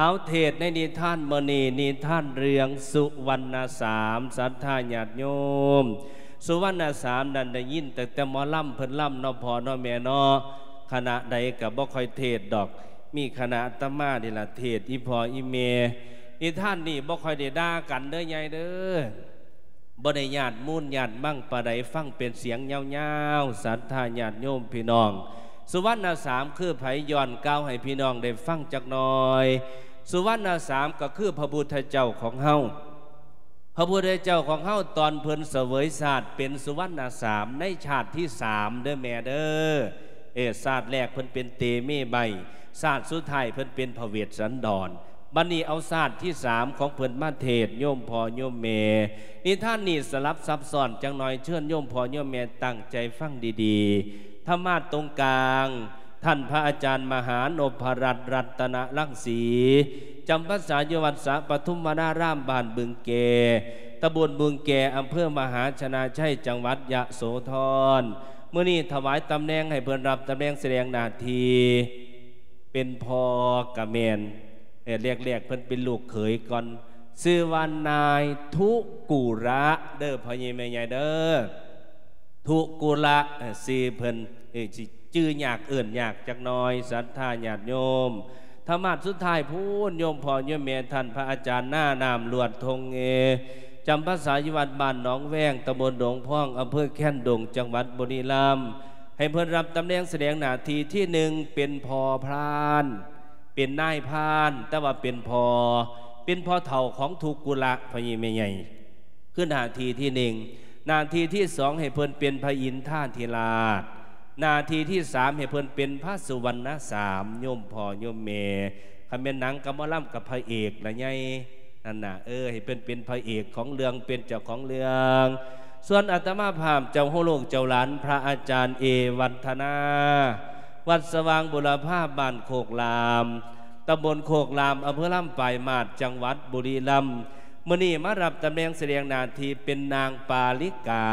ເອົາ ເທດໃນນິທານມື້ນີ້ ນິທານເລື່ອງສຸວັນນະສາມ ສັດທາຍາດໂຍມ. ສຸວັນນະສາມນັ້ນໄດ້ຍິນຕັ້ງແຕ່ໝໍລຳເພິ່ນລຳເນາະ ພໍ່ເນາະ ແມ່ເນາະ, ຄະນະໃດກໍບໍ່ຄ່ອຍເທດດອກ ມີຄະນະອາດຕະມານີ້ລະເທດ ອີ່ພໍ່ອີ່ແມ່. ນິທານນີ້ບໍ່ຄ່ອຍໄດ້ດ່າກັນເດີໃຫຍ່ເດີ. ບໍ່ໄດ້ຍາດມູນຍາດມັງປານໃດ, ຟັງເປັນສຽງຍາວໆ ສັດທາຍາດໂຍມພີ່ນ້ອງ. ສຸວັນນະສາມຄືໃຜ? ຍ້ອນກ່າວໃຫ້ພີ່ນ້ອງໄດ້ຟັງຈັກໜ່ອຍ. ສຸວັນນະສາມກໍຄືພະພຸດທະເຈົ້າຂອງເຮົາ. ພະພຸດທະເຈົ້າຂອງເຮົາ ຕອນເພິ່ນສະເຫວີຍຊາດເປັນສຸວັນນະສາມ ໃນຊາດທີສາມເດີແມ່ເດີ. ເອີ ຊາດແລກເພິ່ນເປັນເຕເມໃບ, ຊາດສຸດທ້າຍເພິ່ນເປັນພະເວດສັນດອນ. ບັດນີ້ເອົາຊາດທີສາມຂອງເພິ່ນມາເທດ ໂຍມພໍ່ໂຍມແມ່. ນິທານນີ້ສະຫຼັບຊັບຊ້ອນຈັກໜ່ອຍ, ເຊີນໂຍມພໍ່ໂຍມແມ່ຕັ້ງໃຈຟັງດີໆ. ທຳມະຕົງກາງ ທ່ານພະອາຈານມະຫານົບພະລັດ ລັດຕະນະລັງສີ ຈຳພັນສາຢູ່ວັດສະປະທຸມວະນາລາມ ບ້ານບຶງແກ, ຕຳບົນບຶງແກ, ອຳເພີມະຫາຊະນະໄຊ, ຈັງຫວັດຍະໂສທອນ. ມື້ນີ້ຖວາຍຕຳແໜ່ງໃຫ້ເພິ່ນ ຮັບຕຳແໜ່ງສະແດງໜ້າທີ່ ເປັນພໍ່ກະແມ່ນ, ແລກໆ ເພິ່ນເປັນລູກເຂີຍກ່ອນ, ຊື່ວ່ານາຍທຸກຸລະເດີ ພໍ່ໃຫຍ່ແມ່ໃຫຍ່ເດີ. ທຸກຸລະ ເອີ ຊື່ເພິ່ນ ເອີ ຊິຈື່ຍາກເອີ້ນຍາກຈັກໜ່ອຍ ສັດທາຍາດໂຍມ. ທຳມະສຸດທ້າຍພຸ້ນ ໂຍມພໍ່ໂຍມແມ່ ທ່ານພະອາຈານໜ້ານ້ຳ ລວດທົ່ງເອ ຈຳພາສາຢູ່ວັດບ້ານໜອງແວງ ຕຳບົນດົງພອງ ອຳເພີແຄນດົງ ຈັງຫວັດບຸຣີລຳ. ໃຫ້ເພິ່ນຮັບຕຳແໜ່ງສະແດງໜ້າທີ່ທີໜຶ່ງ ເປັນພໍ່ພານ ເປັນນາຍພານ ແຕ່ວ່າເປັນພໍ່ ເປັນພໍ່ເຖົ້າຂອງທຸກຸລະ ພໍ່ໃຫຍ່ແມ່ໃຫຍ່ ຄືໜ້າທີ່ທີໜຶ່ງ. ໜ້າທີ່ທີສອງ ໃຫ້ເພິ່ນເປັນພະອິນທາທິລາດ. ໜ້າທີ່ທີສາມ ໃຫ້ເພິ່ນເປັນພະສຸວັນນະສາມ ໂຍມພໍ່ໂຍມແມ່. ຄັນແມ່ນໜັງກັບໝໍລຳກັບພະເອກລະໃຫຍ່ ນັ້ນນະ ເອີ ໃຫ້ເພິ່ນເປັນພະເອກຂອງເລື່ອງ ເປັນເຈົ້າຂອງເລື່ອງ. ສ່ວນອາດຕະມາພາບເຈົ້າໂຮລູກເຈົ້າຫຼານ ພະອາຈານເອວັດທະນາ ວັດສະຫວ່າງບຸລະພາ ບ້ານໂຄກລາມ ຕຳບົນໂຄກລາມ ອຳເພີລຳປາຍມາດ ຈັງຫວັດບຸຣີລຳ. ມື້ນີ້ມາຮັບຕຳແໜ່ງສະແດງໜ້າທີ່ເປັນນາງປາລິກາ.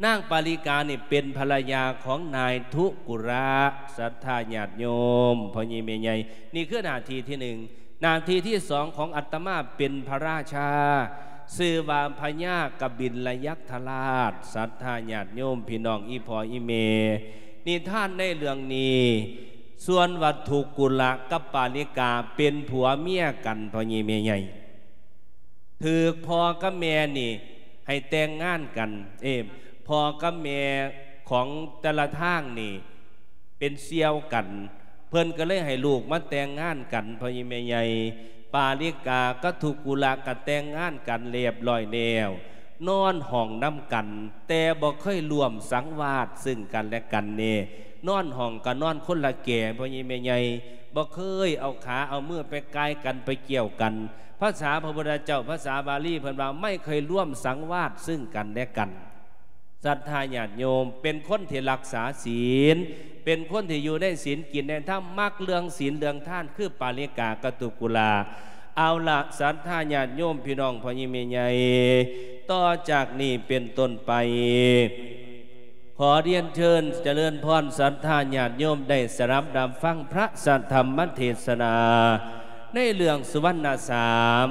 ນາງປາລິການີ້ເປັນພັນລະຍາຂອງນາຍທຸກຸລະ ສັດທາຍາດໂຍມ ພໍ່ໃຫຍ່ແມ່ໃຫຍ່. ນີ້ຄືໜ້າທີ່ທີໜຶ່ງ. ໜ້າທີ່ທີສອງຂອງອາດຕະມາເປັນພະລາຊາ ຊື່ວ່າພະຍາກະບິນລະຍັກທະລາດ ສັດທາຍາດໂຍມ ພີ່ນ້ອງອີ່ພໍ່ອີ່ແມ່. ນິທານໃນເລື່ອງນີ້ ສ່ວນວ່າທຸກຸລະກັບປາລິກາເປັນຜົວເມຍກັນ ພໍ່ໃຫຍ່ແມ່ໃຫຍ່. ຖືກພໍ່ກັບແມ່ນີ້ໃຫ້ແຕ່ງງານກັນ ເອີ ພໍ່ກັບແມ່ຂອງແຕ່ລະທາງນີ້ເປັນສ່ຽວກັນ ເພິ່ນກໍເລີຍໃຫ້ລູກມາແຕ່ງງານກັນ ພໍ່ໃຫຍ່ແມ່ໃຫຍ່. ປາລິກາກັບທຸກຸລະກໍແຕ່ງງານກັນລຽບລ້ອຍແລ້ວ ນອນຫ້ອງນຳກັນ ແຕ່ບໍ່ເຄີຍຮ່ວມສັງວາດຊຶ່ງກັນແລະກັນເດ້. ນອນຫ້ອງກໍນອນຄົນລະແກ ພໍ່ໃຫຍ່ແມ່ໃຫຍ່ ບໍ່ເຄີຍເອົາຂາເອົາມືໄປກ່າຍກັນ ໄປກ່ຽວກັນ. ພາສາພະພຸດທະເຈົ້າ ພາສາບາລີເພິ່ນວ່າ ໄມ່ເຄີຍຮ່ວມສັງວາດຊຶ່ງກັນແລະກັນ. ສັດທາຍາດໂຍມ ເປັນຄົນທີ່ຮັກສາສິນ ເປັນຄົນທີ່ຢູ່ໃນສິນ ກິນໃນທຳ ມັກເລື່ອງສິນເລື່ອງທານ ຄືປາລິກາກັບທຸກຸລະ. ເອົາລະ ສັດທາຍາດໂຍມ ພີ່ນ້ອງພໍ່ໃຫຍ່ແມ່ໃຫຍ່ ຕໍ່ຈາກນີ້ເປັນຕົ້ນໄປ ຂໍຮຽນເຊີນຈະເລີນພອນ ສັດທາຍາດໂຍມໄດ້ສະດັບຮັບຟັງພະສັດທຳມະເທດສະນາ ໃນເລື່ອງສຸວັນນະສາມ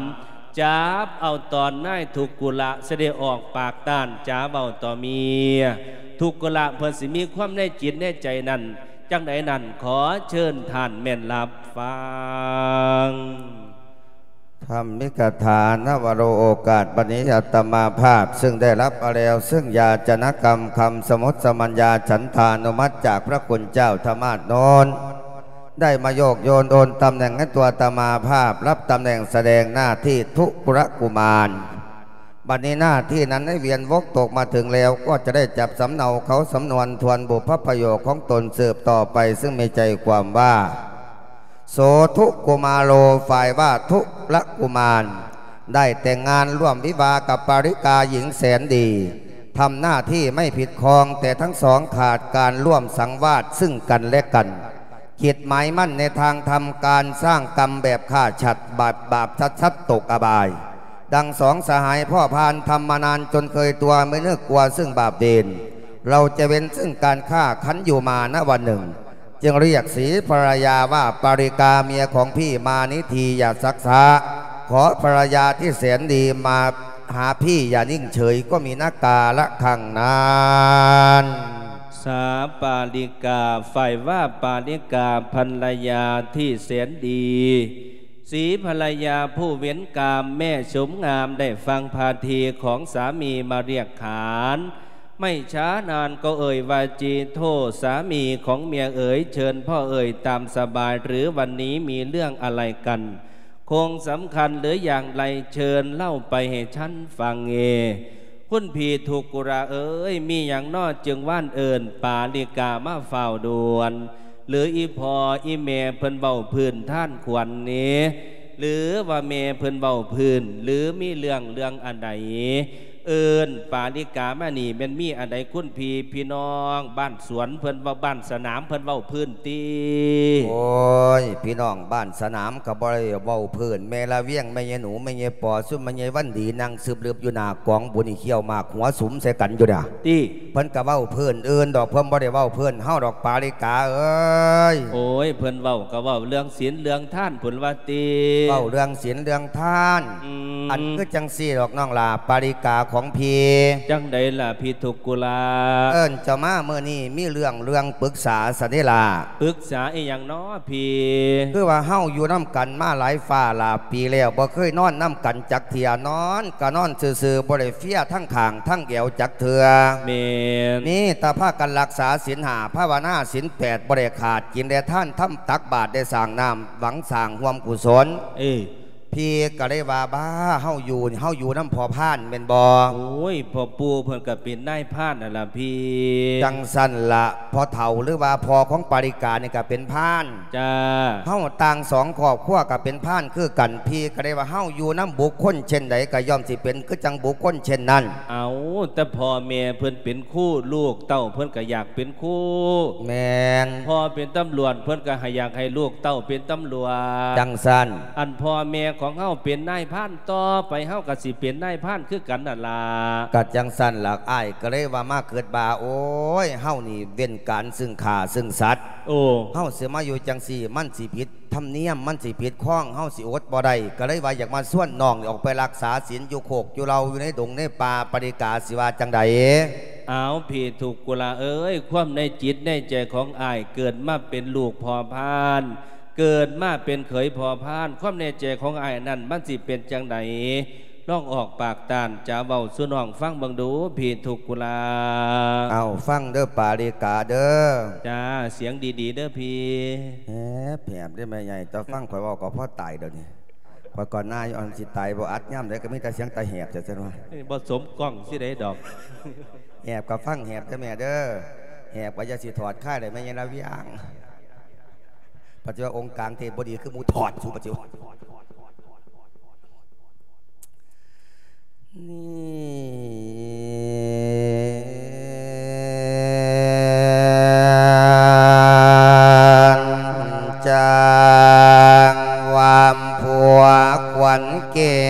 ຈັບເອົາຕອນນາຍທຸກຸລະຊິໄດ້ອອກປາກຕ້ານຈາເວົ້າຕໍ່ເມຍ. ທຸກຸລະເພິ່ນຊິມີຄວາມໃນຈິດໃນໃຈນັ້ນຈັ່ງໃດນັ້ນ ຂໍເຊີນທ່ານແມ່ນຮັບຟັງ. ທຳມິກະຖາ ນະວະໂລ ໂອກາດບັດນີ້ ອາດຕະມາພາບ ຊຶ່ງໄດ້ຮັບເອົາແລ້ວ ຊຶ່ງຢາຈະນະກຳຄຳສະໝຸດສະມັນຍາ ສັນທານຸມັດ ຈາກພະຄຸນເຈົ້າທະມາດໂນນ ໄດ້ມາໂຍກໂຍນໂອນຕຳແໜ່ງໃຫ້ຕົວອາດຕະມາພາບ ຮັບຕຳແໜ່ງສະແດງໜ້າທີ່ທຸກຸລະກຸມານ. ບັດນີ້ໜ້າທີ່ນັ້ນໄດ້ວຽນວົກຕົກມາເຖິງແລ້ວ ກໍຈະໄດ້ຈັບສຳເນົາເຂົ້າສຳນວນທວນບຸບພະປະໂຫຍກຂອງຕົນສືບຕໍ່ໄປ ຊຶ່ງມີໃຈຄວາມວ່າ ໂສທຸກຸມາໂລ ຝ່າຍວ່າທຸລະກຸມານ ໄດ້ແຕ່ງງານຮ່ວມວິວາກັບປາລິກາຍິງແສນດີ ທຳໜ້າທີ່ໄມ້ພິດຄອງ ແຕ່ທັງສອງຂາດການຮ່ວມສັງວາດຊຶ່ງກັນແລະກັນ ຄິດໝາຍໝັ້ນໃນທາງທຳການສ້າງກຳແບບຂ້າສັດ ບາບ ບາບສັດໆ ຕົກອະບາຍ. ດັ່ງສອງສະຫາຍພໍ່ພານທຳມານານຈົນເຄີຍຕົວະ ໄມ່ນຶກກົວຊຶ່ງບາບເວນ ເຮົາຈະເວັ້ນຊຶ່ງການຄ້າ ຂັນຢູ່ມານະວັນໜຶ່ງ จึงเรียกสีภรรยาว่าปาริกา เมียของพี่มานิธี อย่าซักซ้า ขอภรรยาที่แสนดีมาหาพี่อย่านิ่งเฉย ก็มีนักกาละครั้งนั้น สาปาริกา ฝ่ายว่าปาริกา ภรรยาที่แสนดี สีภรรยาผู้เว้นกาม แม่ชมงามได้ฟังพาทีของสามีมาเรียกขาน ไม่ช้านานก็เอ่ยว่า จีโท สามีของเมียเอ๋ย เชิญพ่อเอ่ยตามสบาย หรือวันนี้มีเรื่องอะไรกัน คงสำคัญหรืออย่างไร เชิญเล่าไปให้ฉันฟังเอ คุณพี่ทุกกุลาเอ๋ย มีหยังน้อจึงว่านเอิ้นปาริกามาฟ้าวด่วน หรืออีพ่ออีแม่เพิ่นเว้าพื้นทานขวัญนี้ หรือว่าแม่เพิ่นเว้าพื้น หรือมีเรื่อง เรื่องอันใด เอิ้นปาริกามานี่ แม่นมีอันใดคุณพี่ พี่น้องบ้านสวนเพิ่นเว้า บ้านสนามเพิ่นเว้าพื้นติ โอ้ย พี่น้องบ้านสนามก็บ่ได้เว้าพื้น แม่ละเวียง แม่ยายหนู แม่ยายปอ ซุมแม่ยายวันดี นั่งซืบลืบอยู่หน้ากองบุญ อีเขี้ยวหมากหัวสุมใส่กันอยู่น่ะ ติ เพิ่นก็เว้าพื้นอื่นดอก เพิ่นบ่ได้เว้าพื้นเฮาดอก ปาริกาเอ๋ย โอ้ย เพิ่นเว้าก็เว้าเรื่องศีลเรื่องทานพุ้นว่าติ เว้าเรื่องศีลเรื่องทาน อืม อันคือจั่งซี้ดอกน้องหล้า ปาริกาของพี่ จั่งใดล่ะพี่ทุกกุลา เอิ้นเจ้ามามื้อนี้มีเรื่อง เรื่องปรึกษาซะเด้ล่ะ ปรึกษาอีหยังน้อพี่ คือว่าเฮาอยู่นำกันมาหลายฟ้าหลายปีแล้ว บ่เคยนอนนำกันจักเทื่อ นอนก็นอนซื่อๆ บ่ได้เฟียทั้งข้างทั้งแอวจักเทื่อ แม่น มีแต่พากันรักษาศีลห้า ภาวนาศีลแปด บ่ได้ขาด กินได้ทาน ทำตักบาตร ได้สร้างน้ำ หวังสร้างร่วมกุศล เออ พี่ก็เลยว่า บ้า เฮาอยู่ เฮาอยู่นำพ่อพานแม่นบ่ โอ้ย พ่อปู่เพิ่นก็เป็นนายพานนั่นล่ะพี่ จั่งซั่นล่ะ พ่อเฒ่าหรือว่าพ่อของปาริกานี่ก็เป็นพาน จ้า เฮาต่างสองครอบครัวก็เป็นพานคือกัน พี่ก็เลยว่า เฮาอยู่นำบุคคลเช่นใดก็ย่อมสิเป็นคือจั่งบุคคลเช่นนั้น เอา แต่พ่อแม่เพิ่นเป็นครู ลูกเต้าเพิ่นก็อยากเป็นครู แม่น พ่อเป็นตำรวจ เพิ่นก็ให้ อยากให้ลูกเต้าเป็นตำรวจ จั่งซั่น อันพ่อแม่ของเฮาเป็นนายพาน ต่อไปเฮาก็สิเป็นนายพานคือกันนั่นล่ะ ก็จั่งซั่นล่ะ อ้ายก็เลยว่ามาคิดว่า โอ้ย เฮานี่เว้นการซึ่งฆ่าซึ่งสัตว์ โอ้ เฮาสิมาอยู่จั่งซี้ มันสิผิดธรรมเนียม มันสิผิดคอง เฮาสิอดบ่ได้ ก็เลยว่าอยากมาชวนน้องออกไปรักษาศีลอยู่โคกอยู่เหล่า อยู่ในดงในป่า ปาริกาสิว่าจั่งใด เอาพี่ทุกกุลาเอ๋ย ความในจิตในใจของอ้าย เกิดมาเป็นลูกพ่อพาน เกิดมาเป็นเขยพ่อพาน ความในใจของอ้ายนั้นมันสิเป็นจั่งใด ลองออกปากต้านจ๋าเว้าสู่น้องฟังเบิ่งดู พี่ทุกกุลา เอาฟังเด้อปาริกาเด้อ จ้า เสียงดีๆ เด้อพี่ แหบ แหบเด้อแม่ใหญ่ แต่ฟังข้อยเว้าก็พอตายเดี๋ยวนี้ ข้อยก่อนหน้าอยู่ อันสิตายบ่อัด ยามใดก็มีแต่เสียงตาแหบ จั่งซั่นว่า นี่บ่สมกล้องสิได้ดอก แหบก็ฟังแหบเด้อแม่เด้อ แหบก็อย่าสิถอดค่ายได้แม่ใหญ่ละเวียง ปัจจุบันองค์กลางเทพบ่ดีคือหมู่ถอดสูปัจจุบัน นี่จั่งว่าผัวขวัญแก้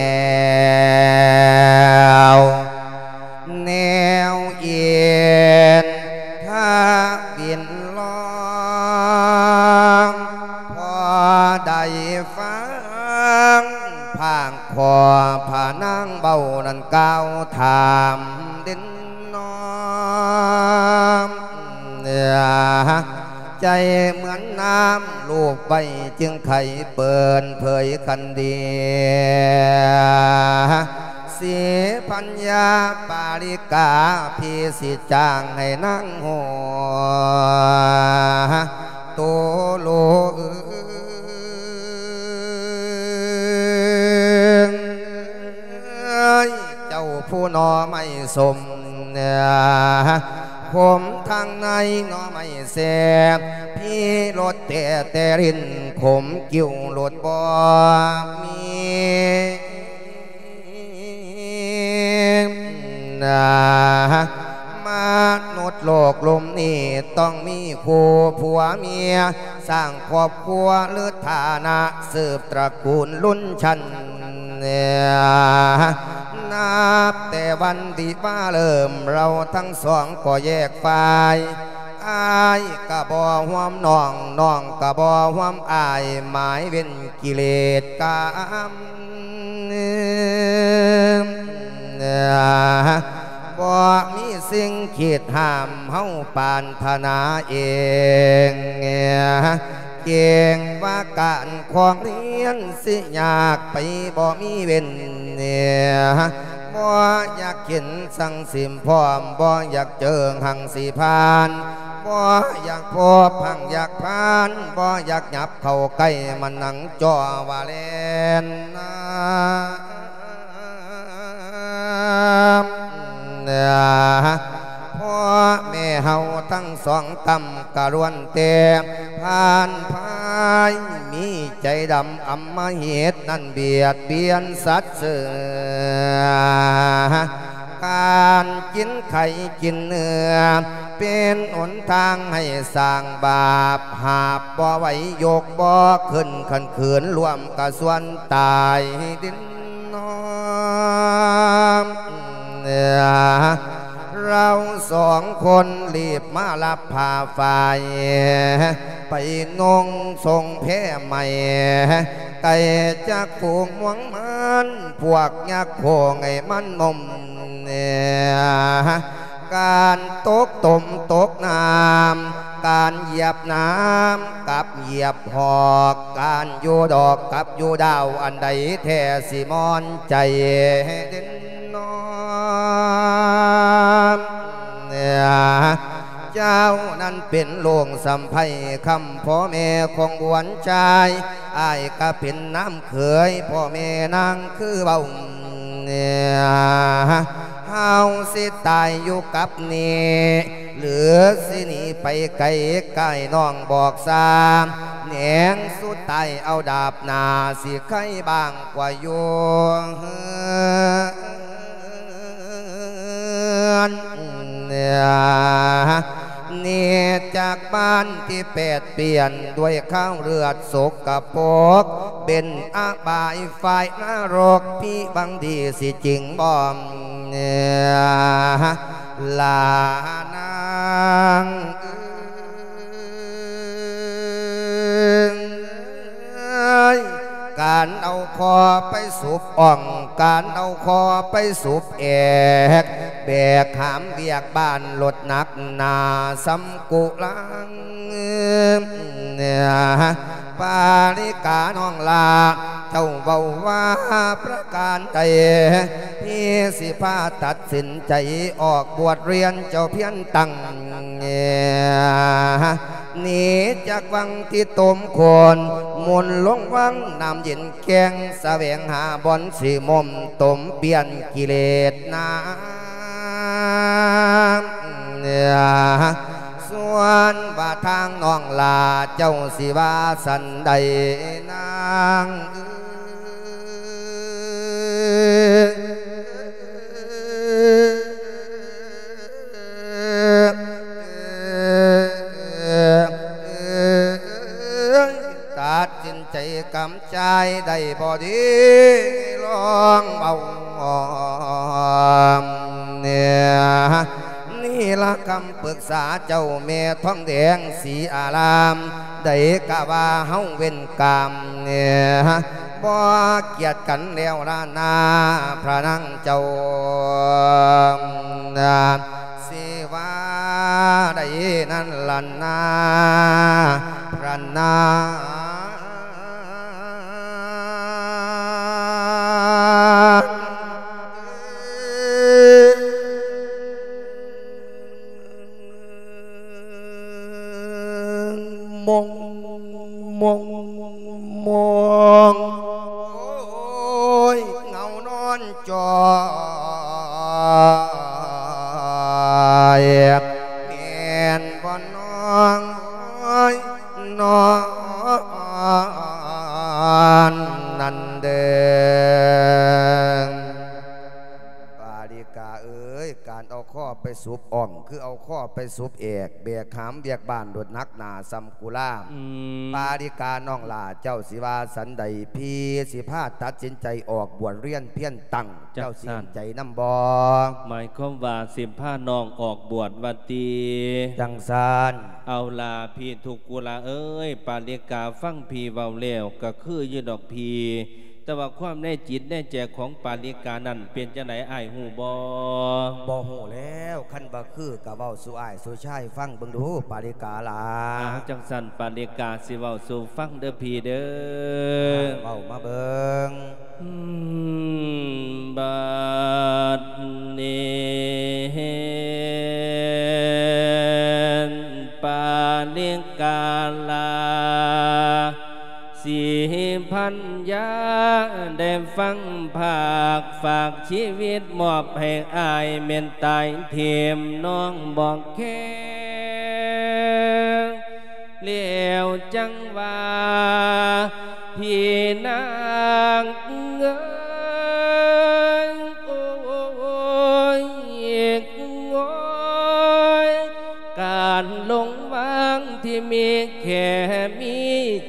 ว แนวเอ็นทวินลอง พอได้ฟังพางขอพระนางเว้านั้นกล่าวถามเด่นน้อม ใจเหมือนน้ำลูบไว้จึงไขเปิดเผยคันดี สีพัญญาปาริกา พี่สิจ้างให้นางหัว โตโลเอ้ย เจ้าผู้หน่อไม้ส้ม ขมทางในหน่อไม้แซ่บ พี่รสแต่แต่ริน ขมกิ้วรสบ่มี มนุษย์โลกลุ่มนี้ต้องมีคู่ผัวเมีย สร้างครอบครัวหรือฐานะ สืบตระกูลรุ่นชั้น นับแต่วันที่มาเริ่ม เราทั้งสองก็แยกฝ่าย ອ້າຍກະບໍ່ຮ່ວມນ້ອງ ນ້ອງກະບໍ່ຮ່ວມອ້າຍ ໝາຍເວັ້ນກິເລດກາມ ບໍ່ມີສິ່ງຂີດຫ້າມເຮົາປານຖະໜາເອງ ເກງວ່າການຄວາມຮຽນຊິຍາກໄປ ບໍ່ມີເວັ້ນ ບໍ່ຢາກເຫັນສັງສິມພ້ອມ ບໍ່ຢາກເຈີຫັງສິຜ່ານ ບໍ່ຢາກພົບຫັງຢາກຜ່ານ ບໍ່ຢາກຫຍັບເຂົ້າໃກ້ ມານັ່ງຈ່ອວ່າແລ່ນນາ ພໍ່ແມ່ເຮົາທັງສອງຕ່ຳກະລ້ວນແຕ່ຜ່ານພາຍ ມີໃຈດຳອຳມະຫິດນັ້ນບຽດບຽນສັດເສືອ ການກິນໄຂ່ກິນເນື້ອ ເປັນຫົນທາງໃຫ້ສ້າງບາບ ຫາບບໍ່ໄຫວຍົກບໍ່ຂຶ້ນ ຄັນຂືນລວມກະຊວນຕາຍດິນ ນ້ອງ ເຮົາສອງຄົນລີບມາຮັບຜ້າຝ້າຍ ໄປນຸ່ງຊົງແພໃໝ່ ໄກ່ຈັກຝູງມວງມັນ ພວກຍັກໂຄງໃຫ້ມັນນົມ ການຕົກຕົມຕົກນ້ຳ ການຢຽບນ້ຳກັບຢຽບຫອກ ການຢູ່ດອກກັບຢູ່ດາວ ອັນໃດແທ້ຊິມ່ອນໃຈເດັ່ນນ້ອງ ເຈົ້ານັ້ນເປັນລຸງສຳໄພຄຳ ພໍ່ແມ່ຂອງບວນຊາຍ ອ້າຍກະເປັນນ້ຳເຂີຍ ພໍ່ແມ່ນາງຄືເວົ້າ ເຮົາຊິຕາຍຢູ່ກັບນີ້ ຫຼືຊິໜີໄປໄກ ກາຍນ້ອງບອກຊາ ແໜງສຸດທ້າຍເອົາດາບໜ້າ ຊິໄຄບ້າງກວ່າຢູ່ເຮືອນ ໜີຈາກບ້ານທີ່ແປດປ່ຽນ ດ້ວຍຄາວເລືອດສົກກະປົກ ເປັນອະບາຍຝ່າຍນະລົກ ພິບັງດີຊິຈິງບໍ່ ລານາງເອີຍ ການເອົາຄໍໄປສູບອ່ອງ ການເອົາຄໍໄປສູບແອກ ແບກຫາມວຽກບ້ານລົດໜັກໜາສຳກຸລັງ ປາລິການ້ອງຫຼ້າ ເຈົ້າເວົ້າວ່າປະການໃດ ພີ່ຊິພາຕັດສິນໃຈອອກບວດຮຽນ ເຈົ້າພຽນຕັ້ງ ໜີຈາກວັງທີ່ຕົມໂຄນ ໝຸນລົງວັງນ້ຳເຢັນແກ້ງ ສະແຫວງຫາບ່ອນຊິມົມ ຕົມປ່ຽນກິເລດນາ ສ່ວນວ່າທາງນ້ອງຫຼ້າ ເຈົ້າຊິວ່າສັນໃດນາງເອີຍ ຕັດສິນໃຈກຳຈາຍໄດ້ບໍ່ດີ ລອງເວົ້າ ນີ້ລະຄຳປຶກສາເຈົ້າແມ່ທອງແດງສີອາລາມ ໃດກະວ່າເຮົາເວັ້ນກາມ ບໍ່ກຽດກັນແລ້ວລະນາ ພະນາງເຈົ້າ ຊິວ່າໃດນັ້ນລະນາ ພະນາງ ມົງ ມົງ ມົງ ໂອ້ຍ ເງົານອນຈ່ອຍ ແມ່ນບໍ່ນ້ອງ ໂອ້ຍ ນອນນັ້ນເດີ. ປາລິກາເອີຍ ການເອົາຄໍໄປ ສຸບອ່ອງ ຄືເອົາຄໍໄປສຸບແອກ ແບກຫາມວຽກບ້ານໂລດ ໜັກໜ້າສ່ຳກຸລາ. ອືມ ປາລິການ້ອງຫຼ້າ ເຈົ້າຊິວ່າສັນໃດ? ພີ່ຊິພາຕັດສິນໃຈອອກບວດຮຽນພຽນຕັ້ງ ເຈົ້າຊິເຫັນໃຈນຳບໍ່? ໝາຍຄວາມວ່າຊິພານ້ອງອອກບວດວ່າຕິ? ຈັ່ງຊັ້ນ. ເອົາລະ ພີ່ທຸກກຸລາເອີຍ, ປາລິກາຟັງພີ່ເວົ້າແລ້ວ ກໍຄືຢູ່ດອກພີ່. ແຕ່ວ່າຄວາມໃນຈິດໃນໃຈຂອງປາລິການັ້ນເປັນຈັ່ງໃດ ອ້າຍຮູ້ບໍ່? ບໍ່ຮູ້ແລ້ວ, ຄັນວ່າຄືກໍເວົ້າສູ່ອ້າຍສູ່ຊາຍຟັງເບິ່ງດູ ປາລິກາຫຼ້າ. ອ່າ ຈັ່ງຊັ້ນ ປາລິກາຊິເວົ້າສູ່ຟັງເດີພີ່ເດີ. ເວົ້າມາເບິ່ງ. ອືມ ບັດນີ້ ປາລິກາຫຼ້າ ສີພັນຍາ ໄດ້ຟັງພາກຝາກຊີວິດມອບໃຫ້ອ້າຍແມ່ນຕາຍຖິ້ມ ນ້ອງບໍ່ແຄ. ແລ້ວຈັ່ງວ່າ ພີ່ນາງເອີຍ ໂອ້ຍ ໂອ້ຍ ການລົງວາງທີ່ມີແຄ່ມີ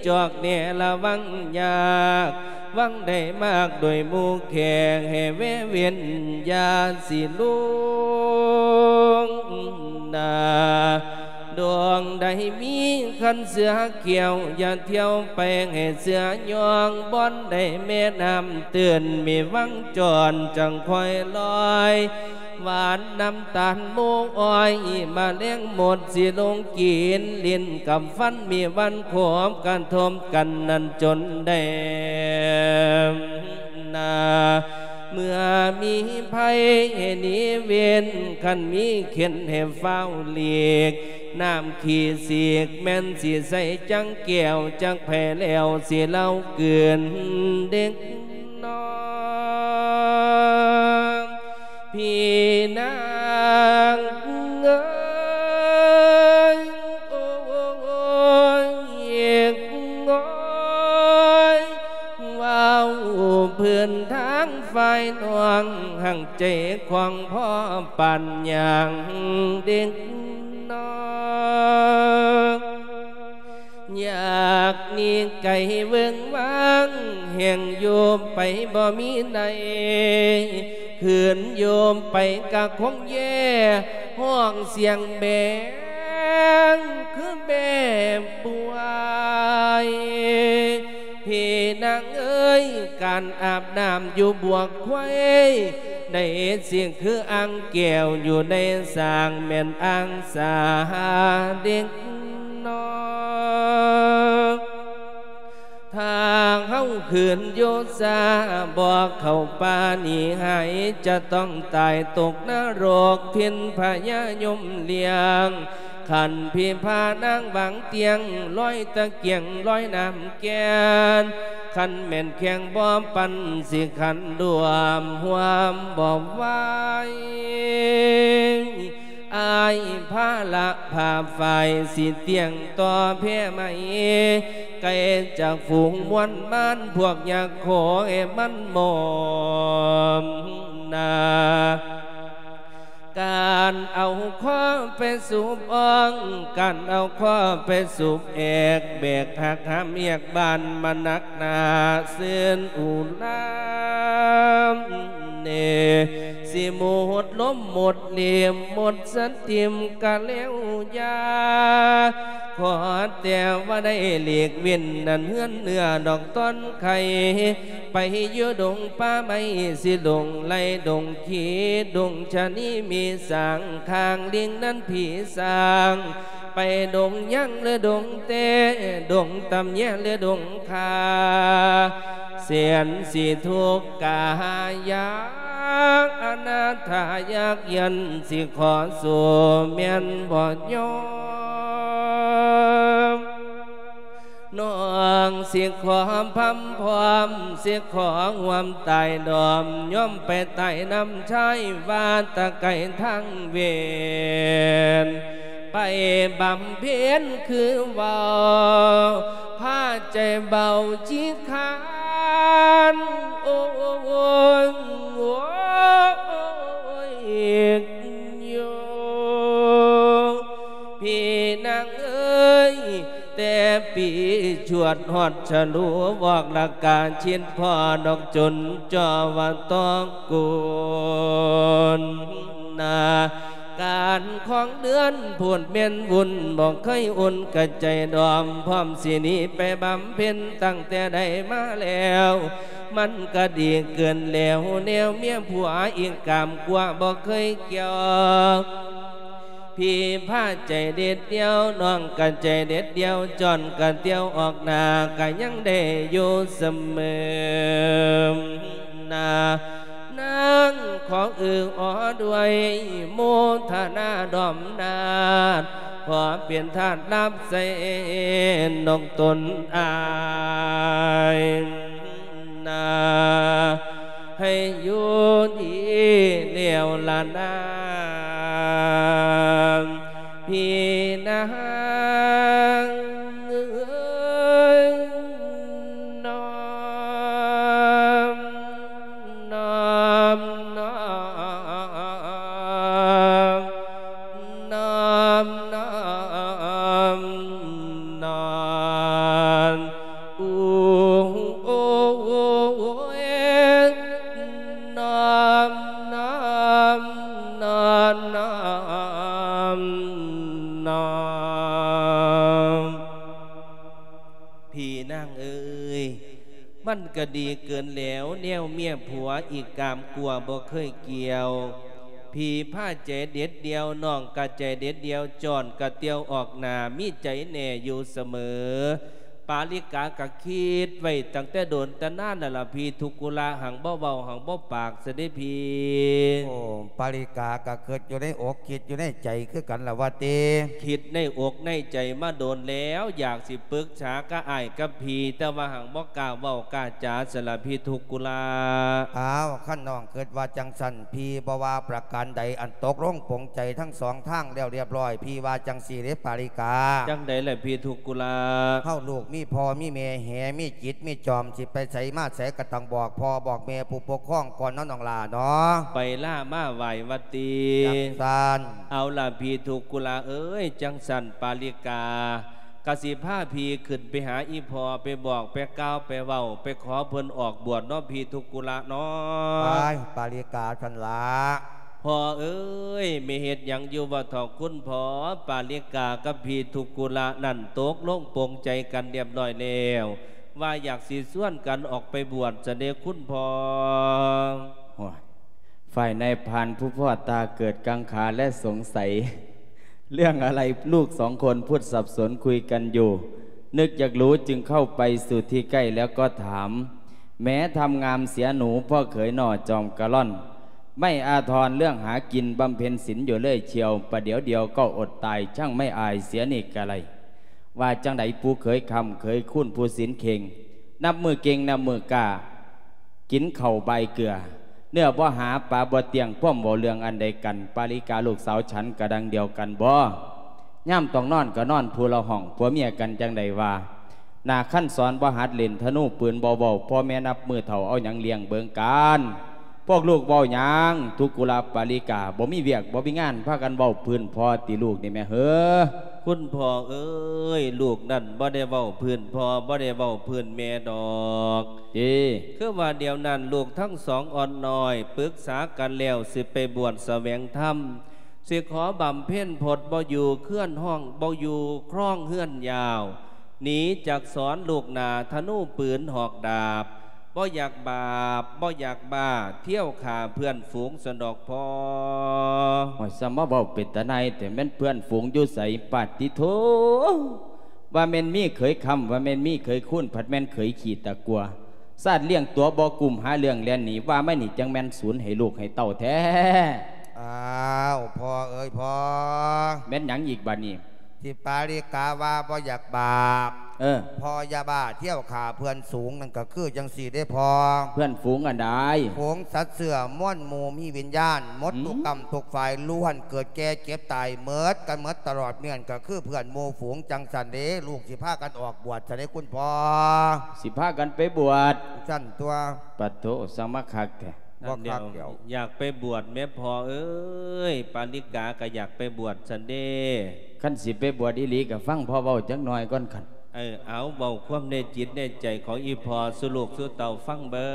ຈອກແນ່ລະວັງຍາກ ຫວັງໄດ້ມາກໂດຍໝູ່ແຂກ ໃຫ້ແວເວັ້ນຢ່າຊິລຸງໜ້າ. ດວງໃດມີຄັນເສືອຂຽວ ຢ່າທ່ຽວໄປໃຫ້ເສືອຍ່ອງ ບ່ອນໃດແມ່ນ້ຳຕື້ນ ມີວັງຈອນຈັ່ງຄ່ອຍລອຍ ຫວານນ້ຳຕານໝູອ້ອຍ ມະແລງມົດຊິລົງກິນ ຫຼິ້ນກັບຟັນມີວັນຄົບ ກະທົບກັນນັ້ນຈົນໄດ້ໜ້າ. ເມື່ອມີໄພໃຫ້ໜີເວັ້ນ ຄັນມີເຂັນໃຫ້ຟ້າວຫຼີກ ນ້ຳຂີ້ສີກແມ່ນຊິໃສ່ຈັງແກ້ວ ຈັກໃຜແລ້ວຊິເລົ່າກືນເດັກ ນ້ອງ ພີ່ນາງເອີຍ ໂອ້ຍ ໂອ້ຍ ເວົ້າພື້ນທາງຝ່າຍນ້ອງ ຫາກໃຈຂວາງພໍປານຫຍັງເດັກ ນ້ອງ ຢາກໜີໄກເວິ້ງວ້າງ ແຮ່ງຢູ່ໄປບໍ່ມີໃນ ຄືນຢູ່ໄປກະຄົງແຍ່ ຮ້ອງສຽງແບງຄືແບບປ່ວຍ. ພີ່ນາງເອີຍ ການອາບນ້ຳຢູ່ບວກໄຂວ້ ໃດຊິຄືອ່າງແກ້ວຢູ່ໃນສ້າງ ແມ່ນອ່າງສາເດັກນ້ອຍ. ຖ້າເຮົາຄືນຢູ່ຊ້າ ບໍ່ເຂົ້າປ່າໜີຫາຍ ຈະຕ້ອງຕາຍຕົກນະລົກ ຖິ່ນພະຍາຍົມລ້ຽງ. ຄັນພີ່ພານາງວາງຕຽງ ລອຍຕະກຽງ ລອຍນ້ຳ ແກ່ນ ຄັນແມ່ນແຂ່ງບໍ່ປັ່ນ ຊິຂັນລວມຮ່ວມບໍ່ໄຫວ. ອ້າຍພາລະພາຝ້າຍ ຊິຕຽງຕໍ່ແພໄໝ ໄກຈາກຝູງມວນມານ ພວກຍັກໂຂໃຫ້ມັນໝອມໜ້າ. ການເອົາຄໍໄປສູບອ່ອງ ການເອົາຄໍໄປສູບແອກ ແບກຫັກຫາມຮຽກບ້ານມາໜັກໜ້າ ຊື່ນອຸລາມເນ ຊິໝົດລົມໝົດເລ່ມໝົດສະຕິມກະແລ້ວຢ່າ ຂໍແຕ່ວ່າໄດ້ຫຼີກເວັ້ນ ນັ້ນເຮືອນເນື້ອດອກຕອນໄຂ່ ໄປຢູ່ດົງປ່າໄມ້ ຊິດົງໄລ່ດົງຂີ້ ດົງຊະນີມີສາງ ຂ້າງລິງນັ້ນຜີສາງ ໄປດົງຍາງຫຼືດົງແຕ້ ດົງຕຳແຍຫຼືດົງຄາ ແສນຊິທຸກກະຫາຍາກ ອະນາຖາຍາກຢັນ ຊິຂໍສູ້ແມ່ນບໍ່ຍອມ. ນ້ອງຊິຂໍພຳພ້ອມ ຊິຂໍຮ່ວມຕາຍດອມ ຍອມໄປຕາຍນຳຊາຍ ວ່າແຕ່ໄກທາງເວນ ໄປບຳເພັນຄືເວົ້າ ພາໃຈເບົາຈິຄານ ໂອ້ຍ ໂອ້ຍ ໂອ້ຍ ໂອ້ຍ ໂອ້ຍ. ຊວດຮອດສະຫຼູ ອອກລະກາຊິດພໍ້ ນອກຈົນຈໍວ່າຕອກກຸນນາ ການຂອງເດືອນພຸດແມ່ນວຸ່ນ ບໍ່ເຄີຍອຸ່ນກະໃຈດອມ ພ້ອມຊິໜີໄປບຳເພັນ ຕັ້ງແຕ່ໃດມາແລ້ວ ມັນກະດີເກີນແລ້ວ ແນວເມຍຜົວອີກກາມກົວ ບໍ່ເຄີຍກ່ຽວ ພີ່ພາໃຈເດັດດ່ຽວ ນ້ອງກະໃຈເດັດດ່ຽວ ຈ້ອນກະຕ່ຽວອອກໜ້າ ກະຍັງໄດ້ຢູ່ສະເໝີນາ ນາງຂໍເອີອອດ້ວຍ ໂມທະນາດ້ອມນາດ ຂໍເປັນທາດຮັບໃຊ້ນອກຕົນອາຍ ນາ ໃຫ້ຢູ່ດີແລ້ວລະນາ ພີ່ນາງເອີຍ ນອມ ນອມ ນອມ ນອມ ນອມ ນອມ ອູ ໂອ ໂອ ໂອ ເອ ນອມ ນອມ ນອມ ນອມ ນອມ ພີ່ນາງເອີຍ ມັນກະດີເກີນແລ້ວ ແນວເມຍຜົວອີກກາມກົວບໍ່ເຄີຍກ່ຽວ ພີ່ພາໃຈເດັດດ່ຽວ ນ້ອງກະໃຈເດັດດ່ຽວ ຈ້ອນກະຕ່ຽວອອກໜ້າ ມີໃຈແນ່ຢູ່ສະເໝີ ປາລິກາກະຄິດໄວ້ຕັ້ງແຕ່ດົນແຕ່ນານນັ້ນລະ ພີ່ທຸກກຸລະ ຫັງບໍ່ເວົ້າ ຫັງບໍ່ປາກຊະເດ້ພີ່. ໂອ້ ປາລິກາກະຄິດຢູ່ໃນອົກ ຄິດຢູ່ໃນໃຈຄືກັນລະວ່າຕິ? ຄິດໃນອົກໃນໃຈມາດົນແລ້ວ ຢາກຊິປຶກສາກັບອ້າຍກັບພີ່ ແຕ່ວ່າຫັງບໍ່ກ້າເວົ້າກ້າຈາຊັ້ນລະ ພີ່ທຸກກຸລະ. ອ້າວ ຄັນນ້ອງຄິດວ່າຈັ່ງຊັ້ນ ພີ່ບໍ່ວ່າປະການໃດ ອັນຕົກລົງປົງໃຈທັງສອງທາງແລ້ວລຽບລ້ອຍ ພີ່ວ່າຈັ່ງຊີ້ເດ້ປາລິກາ. ຈັ່ງໃດລະພີ່ທຸກກຸລະ? ເຮົາລູກມີພໍ່ມີແມ່ແຫ ມີຈິດມີຈອມ ຊິໄປໃສມາໃສກະຕ້ອງບອກພໍ່ບອກແມ່ຜູ້ປົກຄອງກ່ອນເນາະນ້ອງຫຼ້າເນາະ. ໄປລາມາໄຫວ້ວັດຕິ. ຈັ່ງຊັ້ນ. ເອົາລະພີ່ທຸກກຸລະເອີຍ ຈັ່ງຊັ້ນປາລິກາ ກະຊິພາພີ່ຂຶ້ນໄປຫາອີ່ພໍ່ ໄປບອກໄປກ່າວໄປເວົ້າ ໄປຂໍເພິ່ນອອກບວດເນາະ ພີ່ທຸກກຸລະເນາະ. ໄປ ປາລິກາຊັ້ນລະ. ພໍ່ເອີຍ ແມ່ເຮັດຫຍັງຢູ່ບໍ່ເຖາະຄຸນພໍ່? ປາລິກາກັບພີ່ທຸກກຸລະນັ້ນຕົກລົງປົງໃຈກັນລຽບລ້ອຍແລ້ວ ວ່າຢາກຊິຊວນກັນອອກໄປບວດຊະເດ້ຄຸນພໍ່. ໂອ້ຍ ຝ່າຍນາຍພານຜູ້ພໍ່ຕາເກີດກັງຂາແລະສົງໄສ ເລື່ອງອະໄລລູກສອງຄົນພຸດສັບສົນຄຸຍກັນຢູ່ ນຶກຢາກຮູ້ຈຶ່ງເຂົ້າໄປສູ່ທີ່ໃກ້ແລ້ວກໍຖາມ ແມ້ທຳງາມເສຍໜູພໍ່ເຂີຍໜໍ່ຈອມກະລ່ອນ ໄມ້ອາທອນເລື່ອງຫາກິນບຳເພັນສິນຢູ່ເລື້ອຍຊ່ຽວ ປະດຽວດຽວກໍອົດຕາຍ ຊ່າງໄມ້ອາຍເສຍນີ້ກະໄລ ວ່າຈັ່ງໃດປູ່ເຂີຍຄຳເຂີຍຄູນຜູ້ສິນເຄັ່ງ ນັບມື້ເກັ່ງນັບມື້ກ້າ ກິນເຂົ້າບາຍເກືອ ເນື້ອບໍ່ຫາປາບໍ່ຕຽງ ພວມເວົ້າເລື່ອງອັນໃດກັນ ປາລິກາລູກສາວ ສັນກະດັງດຽວກັນບໍ? ຍາມຕ້ອງນອນກະນອນຜູ້ລະຫ້ອງ ຜົວເມຍກັນຈັ່ງໃດວ່າ ໜ້າຄັນສອນບໍ່ຫັດຫຼິ້ນທະນູປືນບໍ່ເວົ້າ ພໍ່ແມ່ນັບມື້ເຖົ້າ ເອົາຫຍັງລ້ຽງເບິ່ງກັນ? ພວກລູກເວົ້າຫຍັງ? ທຸກກຸລະປາລິກາ ບໍ່ມີວຽກບໍ່ມີງານ ພາກັນເວົ້າພື້ນພໍ່ຕິລູກນີ້ແມ່ເຮີ? ຄຸນພໍ່ເອີຍ ລູກນັ້ນບໍ່ໄດ້ເວົ້າພື້ນພໍ່ ບໍ່ໄດ້ເວົ້າພື້ນແມ່ດອກ. ຕິ ຄືວ່າດຽວນັ້ນລູກທັງສອງອ່ອນນ້ອຍ ປຶກສາກັນແລ້ວ ຊິໄປບວດສະແຫວງທຳ ຊິຂໍບຳເພັນພົດ ບໍ່ຢູ່ເຮືອນຫ້ອງ ບໍ່ຢູ່ຄອງເຮືອນຍາວ ໜີຈາກສອນລູກໜ້າ ທະນູປືນຫອກດາບ ບໍ່ຢາກບາບ ບໍ່ຢາກບ້າ ທ່ຽວຂ້າເພື່ອນຝູງຊັ້ນດອກພໍ່. ໂອ້ຍ ສ່ຳມາເວົ້າເປັນຕານາຍແທ້ ແມ່ນເພື່ອນຝູງຢູ່ໃສ? ປາດຕິໂທ ວ່າແມ່ນມີເຂີຍຄຳ ວ່າແມ່ນມີເຂີຍຄູນ ພັດແມ່ນເຂີຍຂີ້ຕະກົວ ຊາດລ້ຽງຕົວບໍ່ກຸ້ມ ຫາເລື່ອງແລ່ນໜີ ວ່າມານີ້ຈັ່ງແມ່ນສູນໃຫ້ລູກໃຫ້ເຕົ້າແທ້. ອ້າວ ພໍ່ເອີຍພໍ່. ແມ່ນຫຍັງອີກບາດນີ້? ທີ່ປາລິກາວ່າບໍ່ຢາກບາບ ເອີ ພໍ່ຢ່າບ້າ ທ່ຽວຂ້າເພື່ອນຝູງ ນັ້ນກະຄືຈັ່ງຊີ້ເດ້ພໍ່. ເພື່ອນຝູງອັນໃດ? ຝູງສັດເຊື້ອມວນໝູ່ມີວິນຍານ ໝົດ ອືມ ທຸກກ້ຳທຸກຝ່າຍ ລ້ວນເກີດແກ່ເຈັບຕາຍ ໝົດກັນໝົດຕະຫຼອດເໝືອນ ກະຄືເພື່ອນໝູ່ຝູງ ຈັ່ງຊັ້ນເດ້ ລູກຊິພາກັນອອກບວດຊັ້ນເດ້ຄຸນພໍ່. ຊິພາກັນໄປບວດ? ຊັ້ນຕົວະ. ປະໂທ ຊ່າງມາຄັກແທ້. ບໍ່ຄັກແລ້ວ ຢາກໄປບວດແມ້ພໍ່ເອີຍ ປາລິກາກະຢາກໄປບວດຊັ້ນເດ້. ຄັນຊິໄປບວດອີ່ຫຼີກະຟັງພໍ່ເວົ້າຈັກໜ່ອຍກ່ອນຄັນ. ເອີ ເອົາ ເວົ້າຄວາມໃນຈິດໃນໃຈຂອງອີ່ພໍ່ສູ່ລູກສູ່ເຕົ້າຟັງເບິ່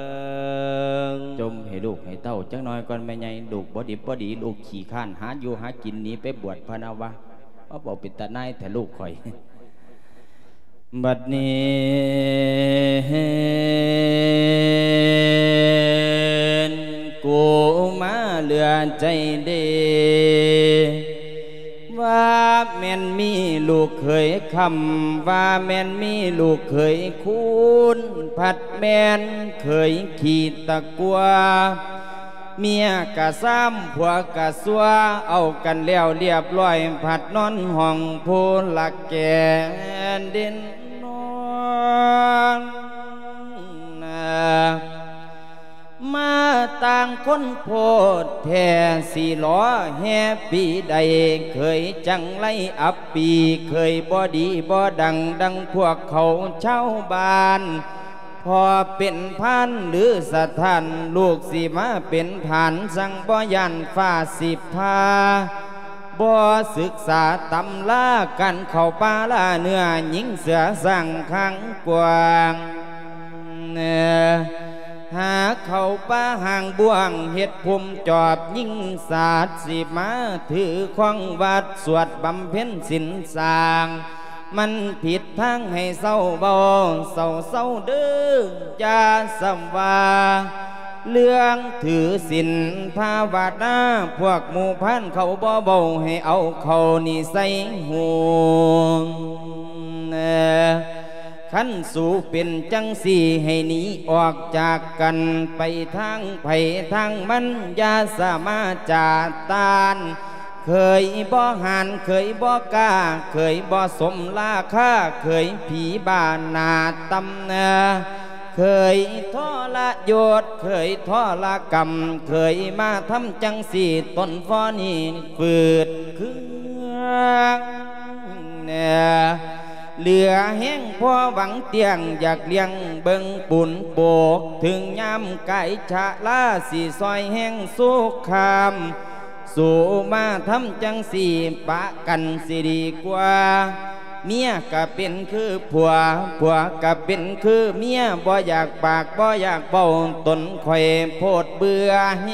ງ. ຈົ່ມໃຫ້ລູກໃຫ້ເຕົ້າຈັກໜ່ອຍກ່ອນແມ່ໃຫຍ່, ລູກບໍ່ດິບບໍ່ດີ, ລູກຂີ້ຄ້ານຫາຢູ່ຫາກິນ ໜີໄປບວດພະນະວະ. ມາເວົ້າເປັນຕານາຍແທ້ລູກຂ້ອຍ. ບັດນີ້ກູມາເຫຼືອໃຈເດ ວ່າແມ່ນມີລູກເຂີຍຄຳ, ວ່າແມ່ນມີລູກເຂີຍຄູນ, ພັດແມ່ນເຂີຍຂີ້ຕະກົວ. ເມຍກະຊາມ ຜົວກະຊົ່ວ ເອົາກັນແລ້ວລຽບລ້ອຍ ພັດນອນຫ້ອງຜູ້ລະແກ່ເດັ່ນນອນ. ມາຕ່າງຄົນໂພດແທ້ ຊິລໍແຮ່ປີໃດ ເຂີຍຈັ່ງໄລອັບປີ ເຂີຍບໍ່ດີບໍ່ດັງ ດັ່ງພວກເຂົາຊາວບ້ານ. ພໍ່ເປັນພານຫຼືສະຖານ ລູກຊິມາເປັນຜານ ຊ່າງບໍ່ຢ້ານຟ້າສິພາ ບໍ່ສຶກສາຕຳລາ ການເຂົ້າປ່າລ່າເນື້ອ ຍິງເສືອສ້າງຂ້າງກວ້າງ ຫາເຂົ້າປ່າຫ້າງບ້ວງ ເຮັດພູມຈອບຍິງສາດ ຊິມາຖືຄອງວັດ ສວດບຳເພັນສິນສ້າງ ມັນຜິດທາງໃຫ້ເຊົາເວົ້າ ເຊົາເຊົາເດີ ຢ່າສ່ຳວ່າເລື່ອງຖືສິນພາວະນາ ພວກໝູ່ພານເຂົາບໍ່ເວົ້າ ໃຫ້ເອົາເຂົ້ານີ້ໃສ່ຫູ. ຄັນສູເປັນຈັ່ງຊີ້ ໃຫ້ໜີອອກຈາກກັນ ໄປທາງໃຜທາງມັນ ຢ່າສາມາຈາດຕ້ານ ເຂີຍບໍ່ຫານ ເຂີຍບໍ່ກ້າ ເຂີຍບໍ່ສົມລາຄາ ເຂີຍຜີບ້າໜ້າຕ່ຳ ເຂີຍທໍລະຍົດ ເຂີຍທໍລະກຳ ເຂີຍມາທຳຈັ່ງຊີ້ ຕົ້ນພໍນີ້ຝືດເຄືອງ ເຫຼືອແຮງພໍຫວັງຕຽງ ຢາກລ້ຽງເບິ່ງປູນໂປກ ເຖິງຍາມກາຍຊະລາ ຊິຊ່ອຍແຮງຊູຄາມ ສູ້ມາທຳຈັ່ງຊີ້ປະກັນຊິດີກວ່າ ເມຍກະເປັນຄືຜົວ ຜົວກະເປັນຄືເມຍ ບໍ່ຢາກປາກບໍ່ຢາກເວົ້າ ຕົນຂ້ອຍໂພດເບື່ອແຮ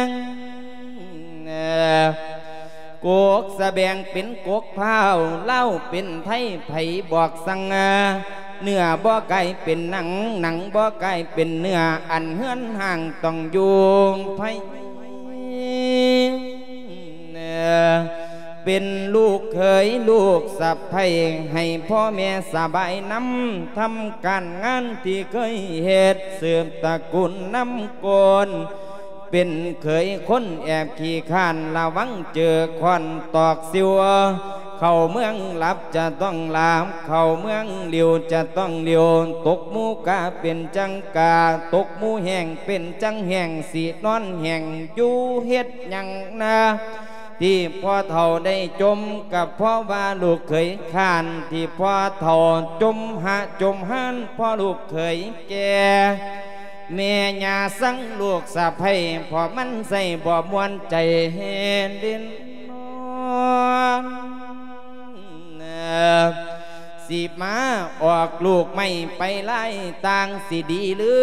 ງ ກົກສະແບງເປັນກົກພ້າວ ລາວເປັນໄທ ໃຜບອກສັ່ງ ເນື້ອບໍ່ກາຍເປັນໜັງ ໜັງບໍ່ກາຍເປັນເນື້ອ ອັນເຮືອນຮ່າງຕ້ອງຢູ່ໃຜ ເປັນລູກເຂີຍລູກສະໃພ້ ໃຫ້ພໍ່ແມ່ສະບາຍນຳ ທຳການງານທີ່ເຄີຍເຮັດ ສືບຕະກູນນຳໂກນ ເປັນເຂີຍຄົນແອບຂີ້ຄ້ານ ລະວັງເຈີຄ້ອນຕອກຊິວ ເຂົ້າເມືອງຫຼັບຈະຕ້ອງຫຼັບ ເຂົ້າເມືອງຫຼິວຈະຕ້ອງຫຼິວ ຕົກໝູກາເປັນຈັ່ງກາ ຕົກໝູແຫ້ງເປັນຈັ່ງແຫ້ງ ຊິນອນແຫ້ງຢູ່ເຮັດຫຍັງນາ ທີ່ພໍ່ເຖົ້າໄດ້ຈົ່ມ ກໍເພາະວ່າລູກເຂີຍຄ້ານ ທີ່ພໍ່ເຖົ້າຈົ່ມຫະຈົ່ມຮ້ານ ເພາະລູກເຂີຍແກ່ ແມ່ຍ່າຊັງລູກສະໃພ້ ເພາະມັນໃສ່ບໍ່ມ່ວນໃຈເດັ່ນນອນ ຊິມາອອກລູກໃໝ່ໄປລາຍຕ່າງ ຊິດີຫຼື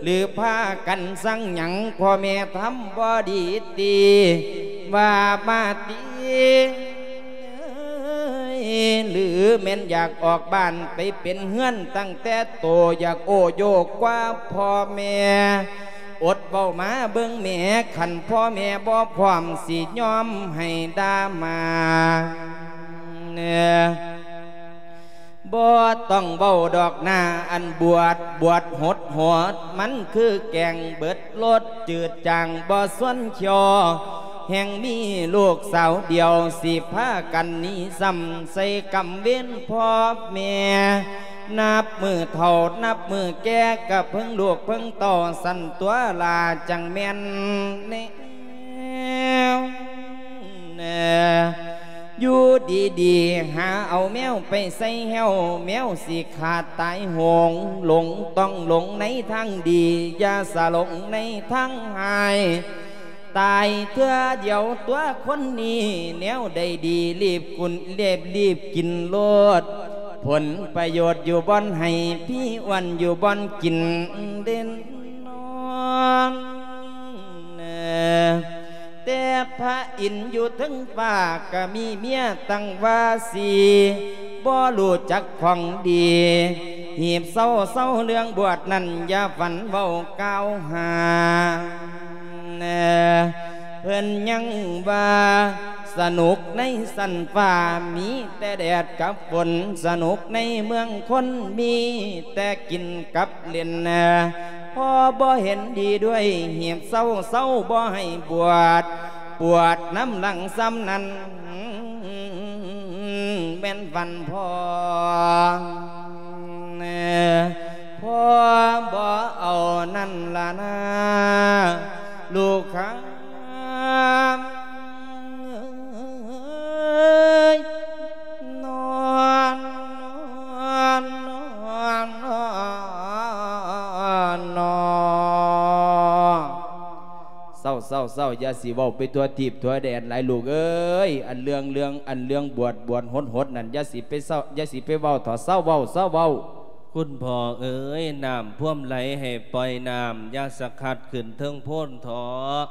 ຫຼືພາກັນຊັງຫຍັງ ພໍ່ແມ່ທຳບໍ່ດີຕິ ວ່າມາຕິ ຫຼືແມ່ນຢາກອອກບ້ານໄປເປັນເຮືອນ ຕັ້ງແຕ່ໂຕຢາກໂອ້ໂຢກວ່າພໍ່ແມ່ ອົດເວົ້າມາເບິ່ງແມ້ ຄັນພໍ່ແມ່ບໍ່ພ້ອມ ຊິຍອມໃຫ້ດ່າມາ ບໍ່ຕ້ອງເວົ້າດອກໜ້າອັນບວດ ບວດຫົດຫົດ ມັນຄືແກງເບິດລົດ ຈືດຈາງບໍ່ຊວນຄ້ຽວ ແຮ່ງມີລູກສາວດຽວ ຊິພາກັນໜີຊ້ຳ ໃສ່ກຳເວນພໍ່ແມ່ ນັບມື້ເຖົ້ານັບມື້ແກ່ ກະເພິ່ງລູກເພິ່ງເຕົ້າ ຊັ້ນຕົວະລາ ຈັ່ງແມ່ນແນວ ຢູ່ດີໆ ຫາເອົາແມວໄປໃສ່ແຮ້ວ ແມວຊິຂາດຕາຍໂຫງ ຫຼົງຕ້ອງຫຼົງໃນທາງດີ ຢ່າສະຫຼົງໃນທາງຮ້າຍ ຕາຍເທື່ອດຽວຕົວະຄົນນີ້ ແນວໃດດີ ລີບກຸນ ເລັບ ລີບກິນໂລດ ຜົນປະໂຫຍດຢູ່ບ່ອນໄຮ່ ຜີອ້ວນຢູ່ບ່ອນກິນເດັ່ນນອນ. ແຕ່ພະອິນຢູ່ເທິງຟ້າກະມີເມຍຕັ້ງວ່າສີ່ ບໍ່ຮູ້ຈັກຂອງດີ ຮີບເຊົາເຊົາເລື່ອງບວດນັ້ນ ຢ່າຝັນເວົ້າກ່າວຫາ. ເພິ່ນຍັງວ່າ ສະໜຸກໃນຊັ້ນຟ້າ ມີແຕ່ແດດກັບຝົນ ສະໜຸກໃນເມືອງຄົນ ມີແຕ່ກິນກັບຫຼິ້ນ. ພໍ່ບໍ່ເຫັນດີດ້ວຍ ຮີບເຊົາເຊົາບໍ່ໃຫ້ບວດ ບວດນຳຫຼັງສ່ຳນັ້ນ ແມ່ນຝັນພໍ່ ພໍ່ບໍ່ເອົານັ້ນລະນາ ລູກຂ້າເອີຍ ນອນ ນອນ ນອນ ນອນ. ເຊົາ ເຊົາ ເຊົາ ຢ່າຊິເວົ້າໄປທົ່ວທີບທົ່ວແດນຫຼາຍລູກເອີຍ. ອັນເລື່ອງ ເລື່ອງ ອັນເລື່ອງບວດ ບວດຫົດໆນັ້ນ ຢ່າຊິໄປເຊົາ ຢ່າຊິໄປເວົ້າເຖາະ ເຊົາເວົ້າ ເຊົາເວົ້າ. ຄຸນພໍ່ເອີຍ ນ້ຳພວມໄຫຼໃຫ້ປ່ອຍນ້ຳ ຢ່າສະຂັດຂຶ້ນເທິງໂພນເຖາະ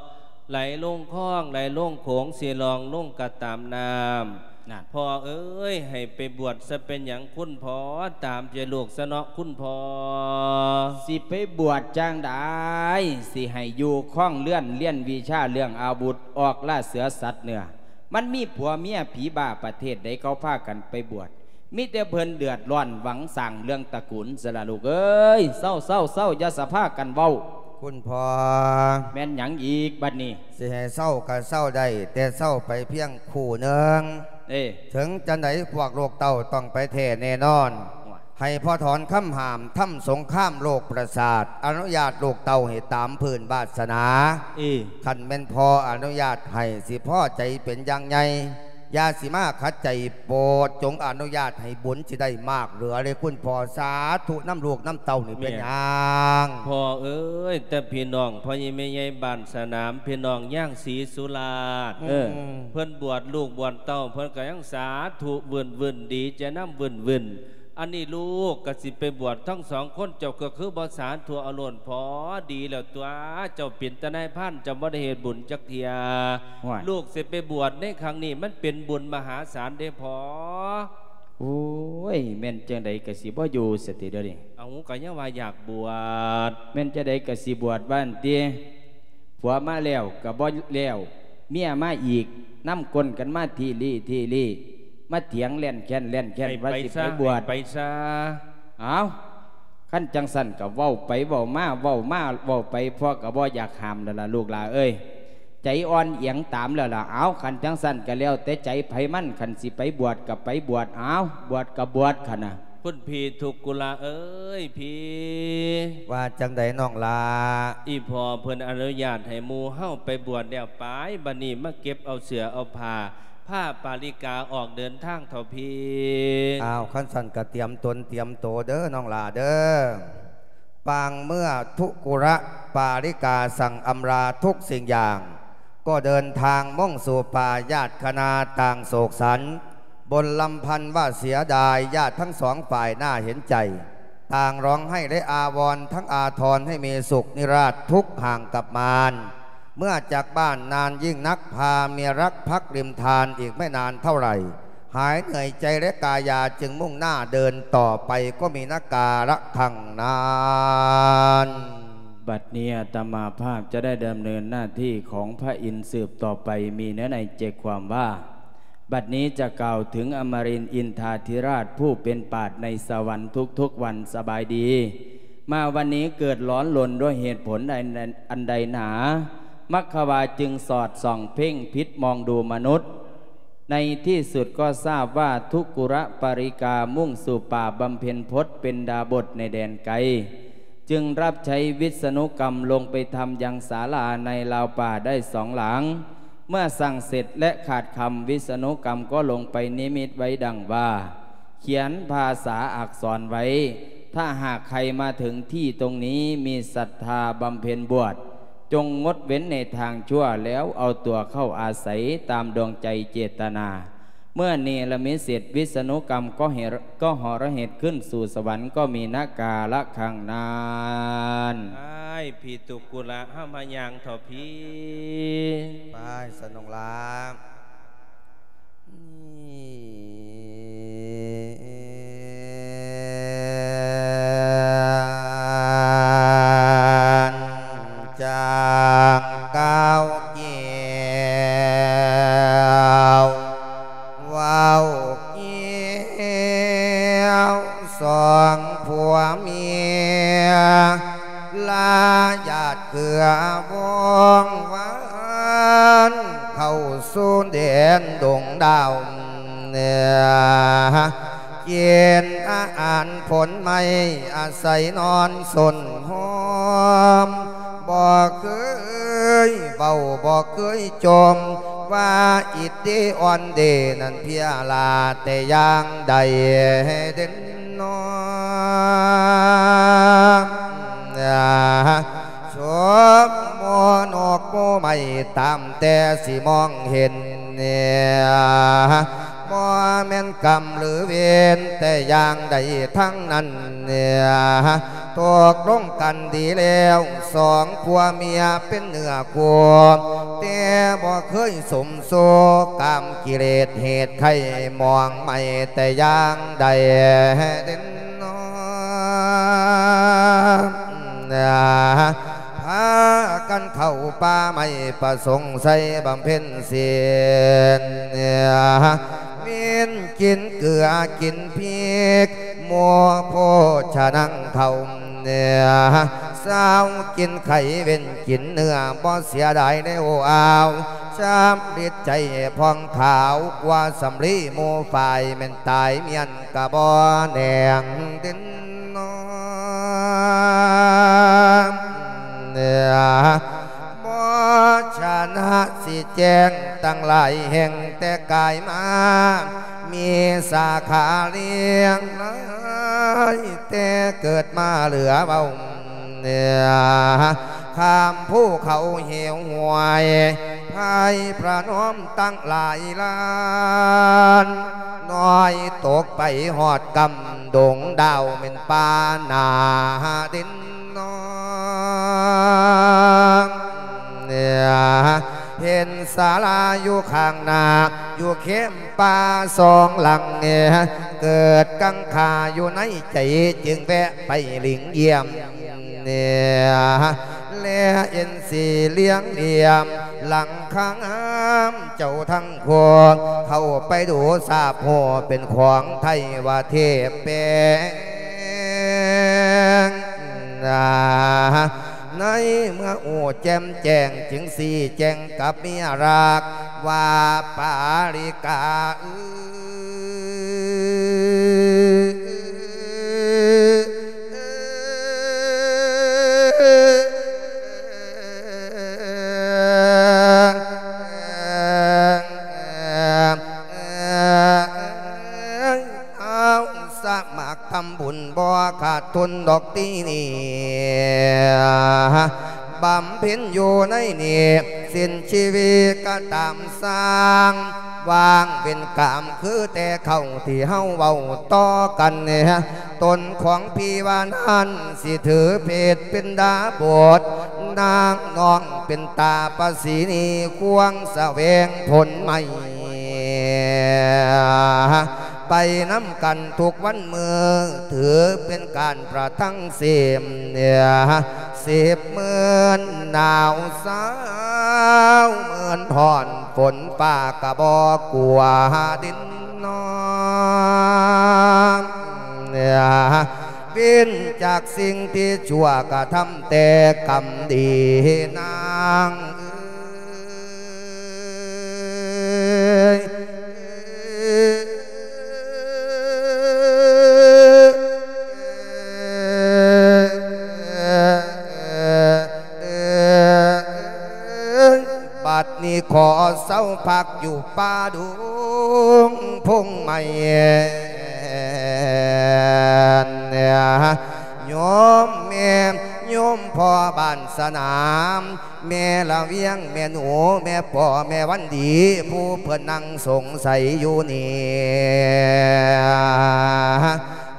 ໄຫຼລົງຄອງ ໄຫຼລົງໂຂງ ຊິລ່ອງລົງກະຕາມນ້ຳ. ນັ້ນ ພໍ່ເອີຍ ໃຫ້ໄປບວດຊະເປັນຫຍັງຄຸນພໍ່ ຕາມໃຈລູກຊະເນາະຄຸນພໍ່. ຊິໄປບວດຈັ່ງໃດ ຊິໃຫ້ຢູ່ຄອງເຮືອນ ຮຽນວິຊາເລື່ອງອາວຸດ ອອກລ່າເສືອສັດເນື້ອ. ມັນມີຜົວເມຍຜີບ້າປະເທດໃດ ເຂົາພາກັນໄປບວດ ມີແຕ່ເພິ່ນເດືອດຮ້ອນຫວັງສ້າງເລື່ອງຕະກຸນຊະລະລູກເອີຍ. ເຊົາ ເຊົາ ເຊົາ ຢ່າສະພາກັນເວົ້າ. ຄຸນພໍ່ ແມ່ນຫຍັງອີກບັດນີ້? ຊິໃຫ້ເຊົາກໍເຊົາໄດ້ ແຕ່ເຊົາໄປພຽງຄູ່ໜຶ່ງ. ເອີ ເຖິງຈັ່ງໃດພວກລູກເຕົ້າຕ້ອງໄປແທ້ແນ່ນອນ. ໂອ້ຍ ໃຫ້ພໍ່ຖອນຄຳຫ້າມ ທຳສົງຄາມໂລກປະສາດ ອະນຸຍາດລູກເຕົ້າໃຫ້ຕາມພື້ນວາສະໜາ. ເອີ ຄັນແມ່ນພໍ່ອະນຸຍາດໃຫ້ ຊິພໍໃຈເປັນຢ່າງໃຫຍ່. ຢ່າຊິມາຂັດໃຈໂປດ ຈົ່ງອະນຸຍາດໃຫ້ບຸນຊິໄດ້ມາກເຫຼືອເລີຍຄຸນພໍ່. ສາທຸນຳລູກນຳເຕົ້ານີ້ເປັນຫຍັງ? ພໍ່ເອີຍ ແຕ່ພີ່ນ້ອງພໍ່ໃຫຍ່ແມ່ໃຫຍ່ບ້ານສະໜາມ ພີ່ນ້ອງຍາງສີສຸລາດ ເອີ ເພິ່ນບວດລູກບວດເຕົ້າ ເພິ່ນກໍຍັງສາທຸວື່ນໆ ດີໃຈນຳວື່ນໆ. ອັນນີ້ລູກກໍຊິໄປບວດທັງສອງຄົນ ເຈົ້າກໍຄືບໍ່ສາທຸເອົາໂລດພໍ ດີແລ້ວຕົວະ ເຈົ້າເປັນແຕ່ນາຍພານ ເຈົ້າບໍ່ໄດ້ເຮັດບຸນຈັກເທື່ອ. ໂອ້ຍ ລູກຊິໄປບວດໃນຄັ້ງນີ້ ມັນເປັນບຸນມະຫາສານເດ້ພໍ່. ໂອ້ຍ ແມ່ນຈັ່ງໃດກໍຊິບໍ່ຢູ່ສະຕິດຽວນີ້. ເອົາ ກໍຍັງວ່າຢາກບວດ. ແມ່ນຈັ່ງໃດກໍຊິບວດວ່າຫັ້ນຕິ. ຜົວມາແລ້ວກໍບໍ່ແລ້ວ ເມຍມາອີກ ນຳກົ້ນກັນມາທີລີ້ທີລີ້ ມາຖຽງແລ່ນແຄ້ນແລ່ນແຄ້ນວ່າຊິໄປບວດ ໃຫ້ໄປຊະ ໃຫ້ໄປຊະ. ເອົ້າ ຄັນຈັ່ງຊັ້ນກໍເວົ້າໄປເວົ້າມາ ເວົ້າມາເວົ້າໄປ ພໍ່ກໍບໍ່ຢາກຫ້າມແລ້ວລະລູກຫຼ້າເອີຍ ໃຈອ່ອນອຽງຕາມແລ້ວລະ. ເອົ້າ ຄັນຈັ່ງຊັ້ນກໍແລ້ວແຕ່ໃຈໃຜມັນ ຄັນຊິໄປບວດກໍໄປບວດ ເອົ້າ ບວດກໍບວດ ຄັນນະ. ຄຸນພີ່ທຸກກຸລະເອີຍ ພີ່ ວ່າຈັ່ງໃດນ້ອງຫຼ້າ? ອີ່ພໍ່ເພິ່ນອະນຸຍາດໃຫ້ໝູ່ເຮົາໄປບວດແລ້ວ ໄປ ບັດນີ້ມາເກັບເອົາເສື້ອເອົາຜ້າ ພາປາລິກາອອກເດີນທາງເຖາະພີ່. ອ້າວ ຄັນຊັ້ນກະຕຽມຕົນຕຽມໂຕເດີນ້ອງຫຼ້າເດີ. ປາງເມື່ອທຸກຸລະປາລິກາສັ່ງອຳລາທຸກສິ່ງຢ່າງ ກໍເດີນທາງມຸ່ງສູ່ປ່າ ຍາດຄະນາຕ່າງໂສກສັນ ບົນລຳພັນວ່າເສຍດາຍ ຍາດທັງສອງຝ່າຍໜ້າເຫັນໃຈ ຕ່າງຮ້ອງໄຫ້ ແລະ ອາວອນທັງອາທອນໃຫ້ມີສຸກນິລາດທຸກຫ່າງກັບມານ. ເມື່ອຈາກບ້ານນານຍິ່ງນັກ ພາເມຍລັກພັກລິມທານ ອີກໄມ່ນານເທົ່າໃດ ຫາຍເໜື່ອຍໃຈ ແລະ ກາຍາຈຶ່ງມຸ່ງໜ້າເດີນຕໍ່ໄປ ກໍມີນະກາລະຄັ້ງນັ້ນ. ບັດນີ້ອາດຕະມາພາບຈະໄດ້ດຳເນີນໜ້າທີ່ຂອງພະອິນສືບຕໍ່ໄປ ມີເນື້ອໃນໃຈຄວາມວ່າ ບັດນີ້ຈະກ່າວເຖິງອຳມະລິນອິນທາທິລາດ ຜູ້ເປັນປາດໃນສະຫວັນທຸກໆວັນ. ສະບາຍດີ. ມາວັນນີ້ເກີດຫຼອນລົນດ້ວຍເຫດຜົນໃດ ອັນໃດໜາ? ມັກຄະວາຈຶ່ງສອດສ່ອງເພັ່ງພິດມອງດູມະນຸດ. ໃນທີ່ສຸດກໍຊາບວ່າທຸກຸລະປາລິກາມຸ່ງສູ່ປ່າບຳເພັນພົດເປັນດາບົດໃນແດນໄກ ຈຶ່ງຮັບໃຊ້ວິສະນຸກຳລົງໄປທຳຍັງສາລາໃນລາວປ່າໄດ້ສອງຫຼັງ. ເມື່ອສ້າງເສັດແລະຂາດຄຳ ວິສະນຸກຳກໍລົງໄປນິມິດໄວ້ດັ່ງວ່າ ຂຽນພາສາອັກສອນໄວ້ ຖ້າຫາກໃຄມາເຖິງທີ່ຕົງນີ້ ມີສັດທາບຳເພັນບວດ ຈົ່ງງົດເວັ້ນໃນທາງຊົ່ວ ແລ້ວເອົາຕົວເຂົ້າອາໄສຕາມດວງໃຈເຈດຕະນາ. ເມື່ອເນລະມິດເສັດວິສະນຸກຳ ກໍເຫ ກໍເນລະມິດຂຶ້ນສູ່ສະຫວັນ ກໍມີນາກາລະຄັງນັ້ນ. ອ້າຍ ພິຕຸກຸລະ ເຮົາມາຍ່າງເຖາະພີ້. ໄປ ສະໜົງລາ. ຈາງກ່າວກ່ຽວ ເວົ້າກ່ຽວສອງຜົວເມຍ ລາຍາດເກືອວົງວານ ເຂົ້າສູ່ແດນດົງດາວ ເນຍ ກິນອາຫານຜົນໄມ້ ອາໄສນອນສົນໂຮມ ບໍ່ເຄີຍເວົ້າ ບໍ່ເຄີຍຈົ່ມ ວ່າອິດດີອ່ອນເດນັ້ນເພຍລາແຕ່ຢ່າງໃດເດນ ນ້ອງ ສົມໂມນົກໂມໄມ້ຕາມແຕ່ຊິມອງເຫັນ ບໍ່ແມ່ນກຳຫຼືເວນແຕ່ຢ່າງໃດທັງນັ້ນ ຕົກລົງກັນດີແລ້ວ ສອງຜົວເມຍເປັນເນື້ອຄູ່ ແຕ່ບໍ່ເຄີຍສົມ ໂສກາມກິເລດເຫດໄຂ້ໝອງໄໝ້ແຕ່ຢ່າງໃດເດນ ພາກັນເຂົ້າປ່າໄມ້ປະສົງໄຊບຳເພັນສິນ ເປັນກິນເກືອກິນພິກ ໝູ່ໂພຊະນັງເຂົ້າ ເສາກິນໄຂ່ເວັ້ນກິນເນື້ອ ບໍ່ເສຍດາຍແນວອາວ ຊຳລິດໃຈຜ່ອງຂາວກວ່າສຳລີໝູ່ຝ້າຍ ແມ່ນຕາຍມ້ຽນກະບໍ່ແໜງເດນ ບໍ່ຊະນະຊິແຈ້ງຕັ້ງຫຼາຍແຫ່ງແຕ່ກາຍມາ ມີສາຂາລ້ຽງຫຼາຍແຕ່ເກີດມາເຫຼືອເວົ້າ ຂ້າມພູເຂົາເຫວຫ້ວຍ ໄພພະນົມຕັ້ງຫຼາຍລ້ານ ນ້ອຍຕົກໄປຮອດກຳດົງດາວ ແມ່ນປ່າໜ້າເດນ ນ້ອງ ເຫັນສາລາຢູ່ຂ້າງໜ້າ ຢູ່ເຄມປ່າສອງຫຼັງ ເກີດກັງຂາຢູ່ໃນໃຈ ຈຶ່ງແວະໄປຫຼີງຢ້ຽມ ແລເຫັນສີ່ຫຼ່ຽມ ຫຼັງຄາງາມເຈົ້າທັງ ພວກເຂົ້າໄປດູຊາບຮູ້ເປັນຂອງໄທວ່າເທບແປງ ໃນເມື່ອຮູ້ແຈ່ມແຈ້ງ ຈຶ່ງຊີ້ແຈງກັບເມຍລັກວ່າ ປາລິກາເອີຍ ເອົາສະໝັກທຳບຸນບໍ່ຂາດທຶນດອກຕີນີ້ ບຳເພັນຢູ່ໃນນີ້ ສິ້ນຊີວິດກະຕາມຊ່າງ ວ່າງເປັນກາມຄືແຕ່ເກົ່າທີ່ເຮົາເວົ້າຕໍ່ກັນ ຕົນຂອງພີ່ວ່ານັ້ນ ຊິຖືເພດເປັນດາບົດ ນາງນ້ອງເປັນຕາປະສີນີ ຄວາງສະແຫວງຜົນໄມ້ ໄປນຳກັນທຸກວັນມື້ ຖືເປັນການປະທັງເສມ ສິບໝື່ນໜາວສາວ ໝື່ນຮ້ອນຝົນຟ້າກະບໍ່ກົວດິນ ນ້ອງ ເວັ້ນຈາກສິ່ງທີ່ຊົ່ວ ກະທຳແຕ່ກຳດີນາງເອີຍ ບັດນີ້ຂໍເຊົາພັກຢູ່ປ່າດົງພົງໄມ້ ໂຍມແມ່ ໂຍມພໍ່ບ້ານສະໜາມ ແມ່ລະວຽງ ແມ່ໜູ ແມ່ປໍ ແມ່ວັນດີ ຜູ້ເພິ່ນນັ່ງສົງໄສຢູ່ນີ້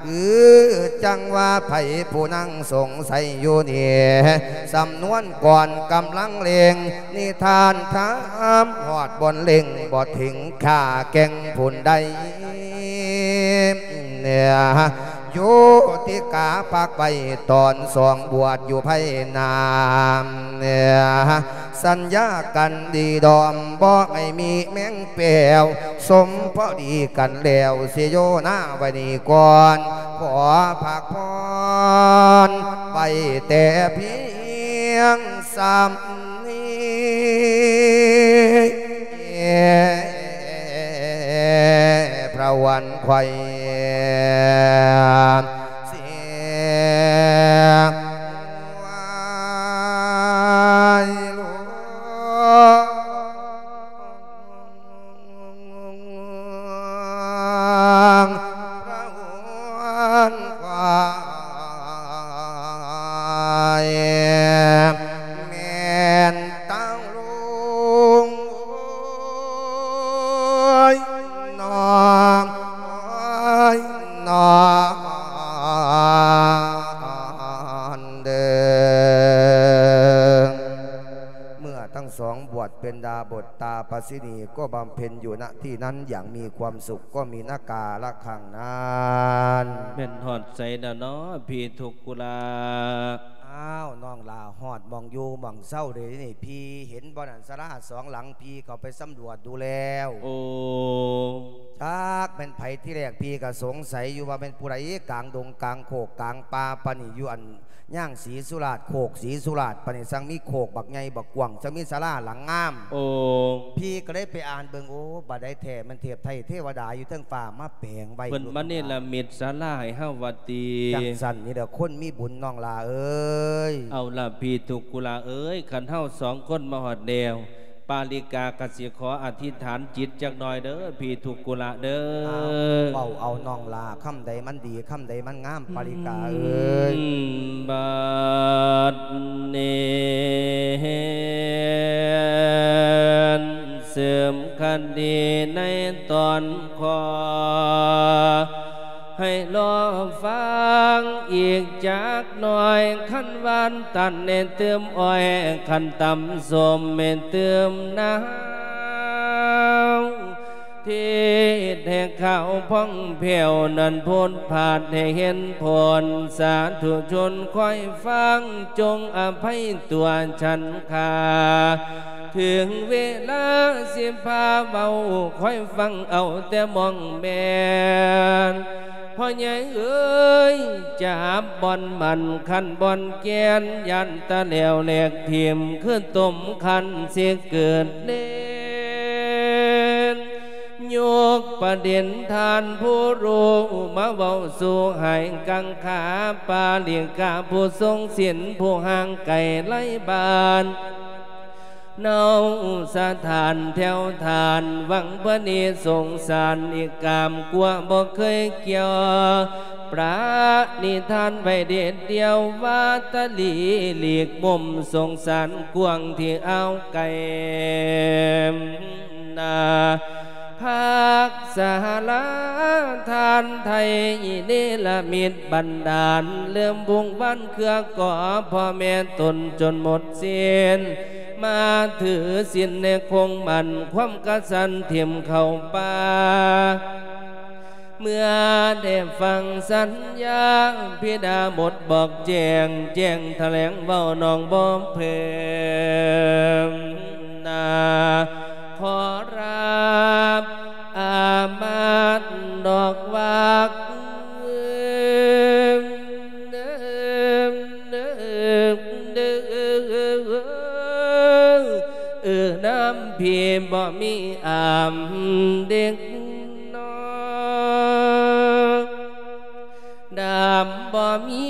ເອີ ຈັ່ງວ່າໃຜຜູ້ນັ່ງສົງໄສຢູ່ນີ້ ສຳນວນກ່ອນກຳລັງເລັ່ງ ນິທານທຳຮອດບ່ອນເລັ່ງ ບໍ່ເຖິງຂ້າແກ່ງຜູ້ໃດ ໂຍຕິກາປັກໄວ້ຕອນສອງບວດຢູ່ໄພນາມ ສັນຍາກັນດີດອມ ບໍ່ໃຫ້ມີແມງແປວ ສົມພໍດີກັນແລ້ວ ຊິໂຍນາໄວ້ນີ້ກ່ອນ ຂໍພັກຜ່ອນໄວ້ແຕ່ພຽງສ່ຳນີ້ ພະວັນໄຂວ້ ເສຍຫວາຍຫຼວງ ພະວັນໄຂວ້ ແມ່ນຕາງລຸງ ໂອ້ຍ ນ້ອງ ໂອ້ຍ ນ້ອງເດີ. ເມື່ອທັງສອງບວດເປັນດາບົດຕາປະສິນີ ກໍບຳເພັນຢູ່ ນະ ທີ່ນັ້ນຢ່າງມີຄວາມສຸກ ກໍມີນະກາລະຄັ້ງນັ້ນ. ແມ່ນຮອດໃສແລ້ວເນາະ ພີ່ທຸກກຸລາ? ອ້າວ ນ້ອງຫຼ້າ ຮອດໝ່ອງຢູ່ໝ່ອງເຊົາເດ້ນີ້ ພີ່ເຫັນບໍ່ນັ້ນ ສາລາສອງຫຼັງ ພີ່ເຂົ້າໄປສຳຫຼວດດູແລ້ວ. ໂອ້ ຈັກແມ່ນໃຜ ທີແລກພີ່ກໍສົງໄສຢູ່ວ່າແມ່ນຜູ້ໃດ ກາງດົງກາງໂຄກກາງປ່າປານນີ້ ຢູ່ອັນ ຍ່າງສີສຸລາດ ໂຄກສີສຸລາດ ປານນີ້ ຊ່າງມີໂຄກບັກໃຫຍ່ບັກກວ້າງ ຊ່າງມີສາລາຫຼັງງາມ. ໂອ້ ພີ່ກໍເລີຍໄປອ່ານເບິ່ງ ໂອ້ ບາດໃດແທ້ ແມ່ນເທບໄທເທວະດາຢູ່ເທິງຟ້າມາແປງໄວ້ ເພິ່ນມາເນລະມິດສາລາໃຫ້ເຮົາວ່າຕິ. ຈັ່ງຊັ້ນນີ້ແຫຼະ ຄົນມີບຸນ ນ້ອງຫຼ້າເອີຍ. ເອົາລະ ພີ່ທຸກກຸລາເອີຍ ຄັນເຮົາສອງຄົນມາຮອດແລ້ວ ປາລິກາກໍຊິຂໍອະທິຖານຈິດຈັກໜ່ອຍເດີ ພີ່ທຸກກຸລະເດີ. ອ້າວ ເວົ້າເອົານ້ອງຫຼ້າ ຄຳໃດມັນດີ ຄຳໃດມັນງາມ ປາລິກາເອີຍ. ບາດນີ້ເສີມຄະດີໃນຕອນຂໍ ໃຫ້ລໍຟັງອີກຈັກໜ່ອຍ ຄັນຫວານຕັນໃຫ້ຕື່ມອ້ອຍ ຄັນຕຳສົ້ມໃຫ້ຕື່ມນ້ຳ ເທດໃຫ້ຂາວຜ່ອງແຜ້ວນັ້ນໂພດພາດໃຫ້ເຫັນຜົນ ສາທຸຊົນຄອຍຟັງ ຈົ່ງອະໄພຕົວ ສັນຂາ ເຖິງເວລາຊິພາເວົ້າ ຄອຍຟັງເອົາແຕ່ໝ່ອງແມ່ນ ພໍ່ໃຫຍ່ເອີຍ ຈັບບ່ອນໝັ້ນ ຄັນບ່ອນແກ່ນ ຢ້ານຕາແຫຼວແຫຼກຖິ້ມ ຄືຕົ້ມຄັນຊິເກີດເລ່ນ ຍົກປະເດັນທ່ານຜູ້ຮູ້ ມາເວົ້າສູ່ໃຫ້ກັງຂາ ປາລິກາຜູ້ຊົງສິນ ຜູ້ຫ່າງໄກໄລບ້ານ ເນົາສະຖານແຖວທ່ານ ຫວັງພະນີສົງສານ ອີກກາມກົວບໍ່ເຄີຍກ່ຽວ ປະນິທານໄວ້ເດັດດ່ຽວ ວ່າຕະຫຼີຫຼີກມຸມສົງສານກວ້າງທີ່ອ່າວໄກ ນາ ພັກສາລາທ່ານໄທ ເນລະມິດບັນດານ ເລີ່ມວົງວານເຄືອກໍ ພໍ່ແມ່ຕົນຈົນໝົດສິ້ນ ມາຖືສິນໃນຄົງໝັ້ນ ຄວາມກະສັນຖິ້ມເຂົ້າປ່າ ເມື່ອໄດ້ຟັງສັນຍາ ພິດາບົດບອກແຈ້ງ ແຈ້ງຖະແຫຼງເວົ້ານ້ອງບໍ່ເພີ່ມນາ ຂໍລາອາມາດດອກຫວາກ ເອີ ນຳພີ່ບໍ່ມີອາມເດັກນ້ອຍ ດຳບໍ່ມີ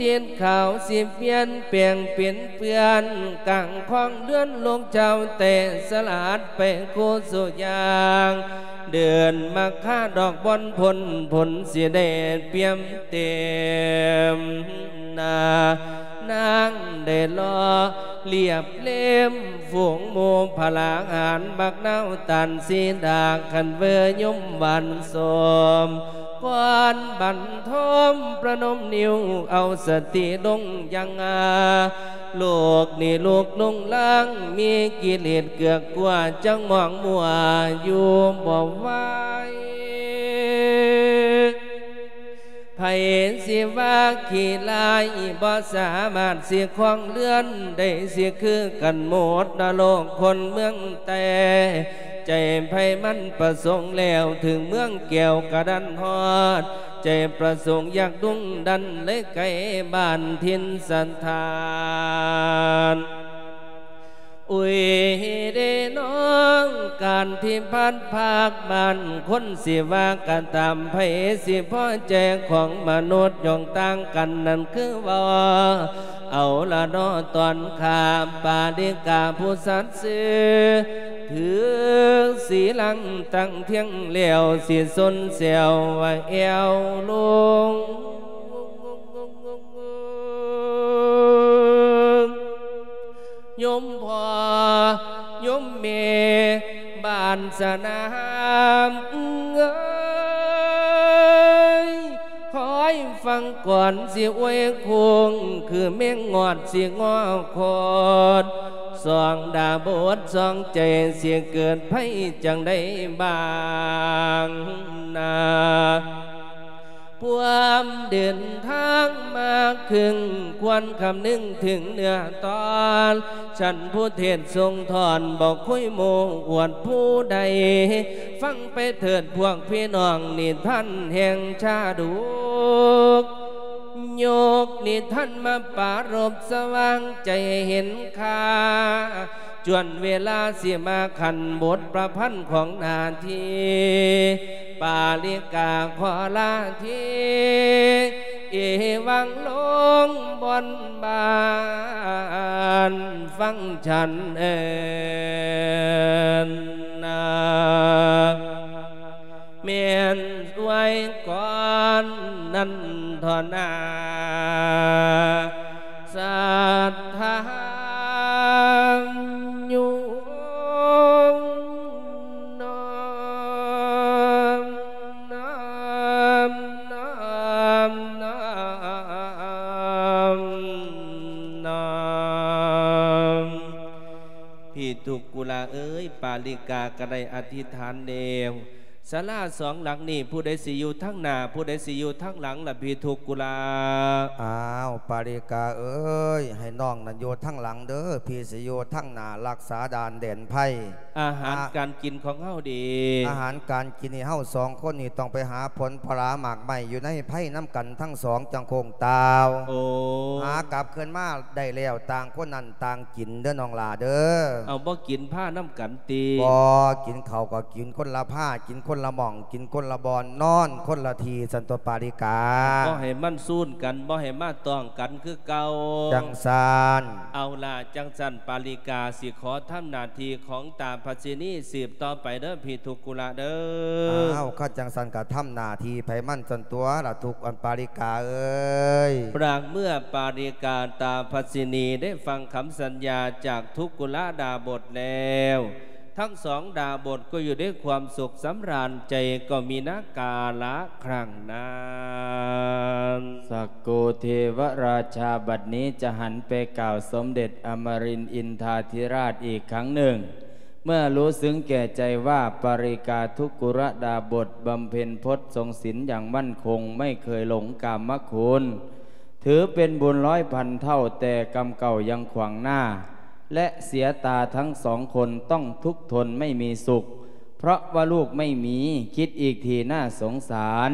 ຕິດຂາວ ຊິປ່ຽນແປງເປັນເພື່ອນ ກາງຄອງເຮືອນລູກເຈົ້າແຕ່ສະຫຼາດໄປຄູ່ສູ່ຢ່າງ ເດືອນມະຄາດອກບ່ອນພົ້ນ ຜົນຊິໄດ້ປ່ຽມເຕັມໜ້າ ນາງໄດ້ຫຼໍ່ລຽບເລັມຝູງໝູ່ພະລາຫານ ບັກນາວຕານສີດາ ຄັນເວີຍົມຫວານສົມ ກ່ອນບັນທົມປະນົມນິ້ວ ເອົາສະຕິລົງຍັງອາ ໂລກນີ້ລູກລຸງລາງ ມີກິເລດເກືອກກົວ ຈັ່ງມອງມົວຢູ່ບໍ່ໄຫວ. ໃຜຊິວ່າຂີ້ລ້າຍ ບໍ່ສາມາດຊິຄອງເຮືອນໄດ້ ຊິຄືກັນໝົດນະໂລກຄົນເມືອງແຕ່ ໃຈໃຜມັນປະສົງແລ້ວ ເຖິງເມືອງແກ້ວກະດັນຮອດ ໃຈປະສົງຢາກດຸງດັນ ເລີຍໄກບ້ານຖິ່ນສະຖານ. ອຸຍເດນ້ອງ ການທີ່ພັດພາກບ້ານຄົນ ຊິວ່າກະຕາມ ໃຜຊິພໍໃຈຂອງມະນຸດ ຍ່ອງຕ່າງກັນນັ້ນຄືເວົ້າ ເອົາລະເນາະ ຕອນຂ້າປາລິກາຜູ້ສັດຊື່ ຖືສີລັງຕັ້ງທ່ຽງແລ້ວ ຊິຊົນແຊວວ່າແອວລົງ ໂຍມພໍ່ໂຍມແມ່ບ້ານສະໜາມເອີຍ ຄອຍຟັງກ່ອນຊິອວຍໂຄ້ງ ຄືແມງງອດຊິງໍຂອດ ສອງດາບົດສອງໃຈ ຊິເກີດໄພຈັ່ງໃດບາງນາ ພວມເດີນທາງມາເຄິ່ງ ຄວນຄຳນຶງເຖິງເນື້ອຕອນ ຊັ້ນຜູ້ເທດຊົງທອນ ບໍ່ຄຸຍໂມ້ອວດຜູ້ໃດ ຟັງໄປເຖີດພວກພີ່ນ້ອງ ນິທານແຫ່ງຊາດົກ ຍົກນິທານມາປາລົບ ສະຫວ່າງໃຈໃຫ້ເຫັນຄ່າ ຈວນເວລາຊິມາຂັນບົດປະພັນຂອງໜ້າທີ່ ປາລິກາຂໍລາທີ ເອວັງລົງບ່ອນບ້ານຟັງສັນເອີນນາ ແມ່ນໄວ້ກ່ອນນັ້ນທໍ່ນາ ສັດທາໂຍມນ້ອມ ນ້ອມ ນ້ອມ ນ້ອມ ນ້ອມ ພີ່ທຸກກຸລາເອີຍ ປາລິກາກະໄດ້ອະທິຖານແລ້ວ ສາລາສອງຫຼັງນີ້ ຜູ້ໃດຊິຢູ່ທາງໜ້າ ຜູ້ໃດຊິຢູ່ທາງຫຼັງລະພີ່ທຸກກຸລາ? ອ້າວ ປາລິກາເອີຍ ໃຫ້ນ້ອງນັ້ນຢູ່ທາງຫຼັງເດີ ພີ່ຊິຢູ່ທາງໜ້າ ຮັກສາດ່ານແດນໄພ. ອາຫານ ອາ ການກິນຂອງເຮົາເດ? ອາຫານການກິນນີ້ ເຮົາສອງຄົນນີ້ຕ້ອງໄປຫາຜົນຜະລາໝາກໄມ້ຢູ່ໃນໄພນຳກັນທັງສອງ ຈັ່ງຄົງຕ່າວ. ໂອ້ ຫາກັບຄືນມາໄດ້ແລ້ວ ຕ່າງຄົນນັ້ນຕ່າງກິນເດີນ້ອງຫຼ້າເດີ. ເອົາ ບໍ່ກິນພານຳກັນຕິ? ບໍ່ ກິນເຂົ້າກໍກິນຄົນລະພາ ກິນຄົນລະໝ່ອງ ກິນຄົນລະບ່ອນ ນອນຄົນລະທີ່ ຊັ້ນຕົວະປາລິກາ. ບໍ່ໃຫ້ມັນຊູນກັນ ບໍ່ໃຫ້ມາຕ້ອງກັນຄືເກົ່າ. ຈັ່ງຊັ້ນ. ເອົາລະ ຈັ່ງຊັ້ນປາລິກາຊິຂໍທຳໜ້າທີ່ຂອງຕາພັດສິນີສືບຕໍ່ໄປເດີ ພີ່ທຸກກຸລາເດີ. ອ້າວ ຄັນຈັ່ງຊັ້ນກະທຳໜ້າທີ່ໃຜມັນຊັ້ນຕົວະລະທຸກ ອັນປາລິກາເອີຍ. ບາງເມື່ອປາລິກາຕາພັດສິນີໄດ້ຟັງຄຳສັນຍາຈາກທຸກກຸລະດາບົດແລ້ວ ທັງສອງດາບົດກໍຢູ່ດ້ວຍຄວາມສຸກສຳລານໃຈ ກໍມີນາກາລະຄັ້ງນັ້ນ. ສັກໂກເທວະລາຊາ ບັດນີ້ຈະຫັນໄປກ່າວສົມເດັດອະມະລິນອິນທາທິລາດອີກຄັ້ງໜຶ່ງ ເມື່ອຮູ້ເຊິ່ງແກ່ໃຈວ່າ ປາລິກາທຸກກຸລະດາບົດບຳເພັນພົດຊົງສິນຢ່າງໝັ້ນຄົງ ໄມ່ເຄີຍຫຼົງກາມະຄຸນ ຖືເປັນບຸນຮ້ອຍພັນເທົ່າ ແຕ່ກຳເກົ່າຍັງຂວາງໜ້າ ແລະ ເສຍຕາທັງສອງຄົນຕ້ອງທຸກທົນໄມ່ມີສຸກ ເພາະວ່າລູກໄມ່ມີ ຄິດອີກທີໜ້າສົງສານ.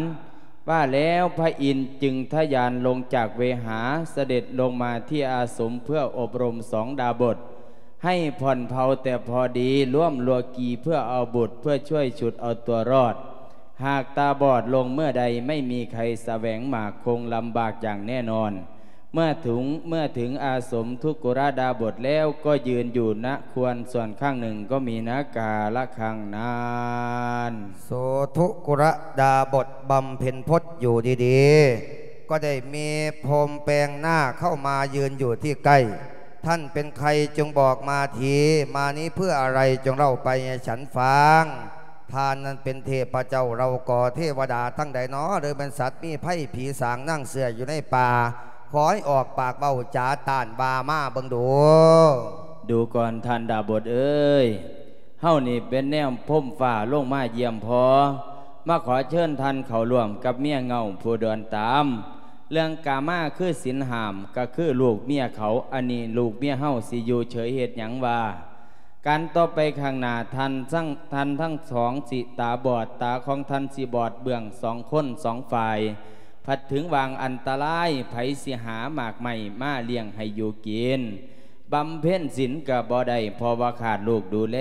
ວ່າແລ້ວພະອິນຈຶ່ງທະຍານລົງຈາກເວຫາ ສະເດັດລົງມາທີ່ອາສົມເພື່ອອົບຮົມສອງດາບົດ ໃຫ້ຜ່ອນເພົາແຕ່ພໍດີ ລວມລົວກີເພື່ອເອົາບຸດ ເພື່ອຊ່ວຍຊຸດເອົາຕົວລອດ. ຫາກຕາບອດລົງເມື່ອໃດ ໄມ່ມີໃຄສະແຫວງໝາກຄົງລຳບາກຢ່າງແນ່ນອນ. ເມື່ອເຖິງ ເມື່ອເຖິງອາສົມທຸກກຸລະດາບົດແລ້ວ ກໍຢືນຢູ່ນະຄວນສ່ວນຂ້າງໜຶ່ງ ກໍມີນາກາລະຄັ້ງນັ້ນ. ໂສທຸກກຸລະດາບົດບຳເພັນພົດຢູ່ດີໆ ກໍໄດ້ມີພົມແປງໜ້າເຂົ້າມາຢືນຢູ່ທີ່ໃກ້. ທ່ານເປັນໃຄຈຶ່ງບອກມາທີ ມານີ້ເພື່ອອະໄລ ຈົ່ງເລົ່າໄປໃຫ້ສັນຟັງ. ທ່ານນັ້ນເປັນເທບພະເຈົ້າເຫຼົ່າກໍເທວະດາທັງໃດນໍ ຫຼືແມ່ນສັດມີໄພ ຜີສາງນາງເສືອຢູ່ໃນປ່າ ຂໍໃຫ້ອອກປາກເວົ້າຈາຕ້ານວ່າມາເບິ່ງດູ. ດູກ່ອນທ່ານດາບົດເອີຍ ເຮົານີ້ເປັນແນວພົມຟ້າລົງມາຢ້ຽມພໍ ມາຂໍເຊີນທ່ານເຂົ້າຮ່ວມກັບເມຍເງົາຜູ້ດອນຕາມ. ເລື່ອງກາມາຄືສິນຫ້າມ ກໍຄືລູກເມຍເຂົາ ອັນນີ້ລູກເມຍເຮົາຊິຢູ່ເສີຍເຮັດຫຍັງວ່າ? ການຕໍ່ໄປຂ້າງໜ້າ ທ່ານທັງ ທ່ານທັງສອງຊິຕາບອດ ຕາຂອງທ່ານຊິບອດເບື້ອງສອງຄົນສອງຝ່າຍ ພັດເຖິງຫວ່າງອັນຕະລາຍ ໃຜຊິຫາໝາກໄມ້ມາລ້ຽງໃຫ້ຢູ່ກິນ ບຳເພັນສິນກໍບໍ່ໄດ້ ເພາະວ່າຂາດລູກດູແລ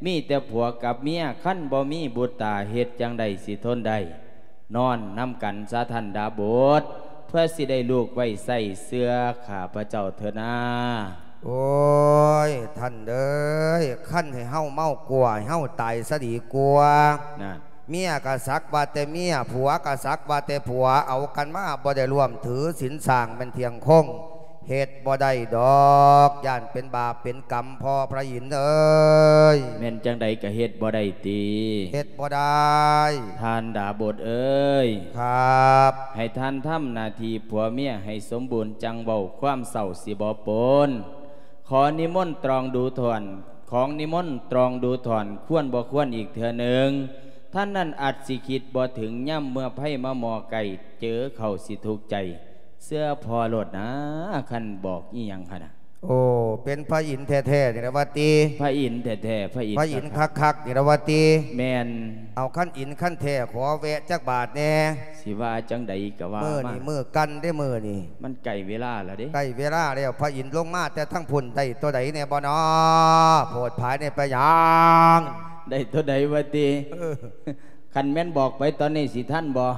ມີແຕ່ຜົວກັບເມຍ ຄັນບໍ່ມີບຸດຕາເຮັດຈັ່ງໃດຊິທົນໄດ້? ນອນນຳກັນຊະທ່ານດາບົດ ເພື່ອຊິໄດ້ລູກໄວ້ໃຊ້ເຊື່ອຂ້າພະເຈົ້າເທີນາ. ໂອ້ຍ ທ່ານເອີຍ ຄັນໃຫ້ເຮົາເມົາກົວ ໃຫ້ເຮົາຕາຍຊະດີກວ່າ. ນັ້ນ ເມຍກໍສັກວ່າແຕ່ເມຍ ຜົວກໍສັກວ່າແຕ່ຜົວ ເອົາກັນມາບໍ່ໄດ້ຮ່ວມຖືສິນສ້າງແມ່ນທ່ຽງຄົງ ເຮັດບໍ່ໄດ້ດອກ ຢ້ານເປັນບາບເປັນກຳ ພໍ່ພະອິນເອີຍ. ແມ່ນຈັ່ງໃດກໍເຮັດບໍ່ໄດ້ຕິ? ເຮັດບໍ່ໄດ້ ທ່ານດາບົດເອີຍ. ຄັບ ໃຫ້ທ່ານທຳໜ້າທີ່ຜົວເມຍໃຫ້ສົມບູນ ຈັ່ງເວົ້າຄວາມເສົ້າຊິບໍ່ປົນ. ຂໍນິມົນຕຣອງດູທ່ອນ ຂໍນິມົນຕຣອງດູທ່ອນ ຄວນບໍ່ຄວນອີກເທື່ອໜຶ່ງ. ທ່ານນັ້ນອາດຊິຄິດບໍ່ເຖິງ ຍາມເມື່ອໄພມາໝໍ້ໃກ້ ເຈີເຂົ້າຊິທຸກໃຈ ເຊື່ອພໍ່ໂລດນາ ຄັນບອກອີ່ຫຍັງຫັ້ນນະ. ໂອ້ ເປັນພະອິນແທ້ໆນີ້ລະວ່າຕິ? ພະອິນແທ້ໆ ພະອິນ ພະອິນຄັກໆນີ້ລະວ່າຕິ? ແມ່ນ. ເອົາ ຄັນອິນຄັນແທ້ ຂໍແວະຈັກບາດແດ່. ຊິວ່າຈັ່ງໃດກໍວ່າມາ. ມື້ນີ້ມື້ກັນເດ້ມື້ນີ້. ມັນໃກ້ເວລາແລ້ວເດ້. ໃກ້ເວລາແລ້ວ ພະອິນລົງມາແຕ່ທາງພຸ້ນ ໄດ້ຕົວໃດແດ່ບໍ່ນໍ? ໂພດພາຍແດ່ໄປຫຍັງ? ໄດ້ຕົວໃດວ່າຕິ? ເອີ ຄັນແມ່ນບອກໄປຕອນນີ້ຊິທັນບໍ່?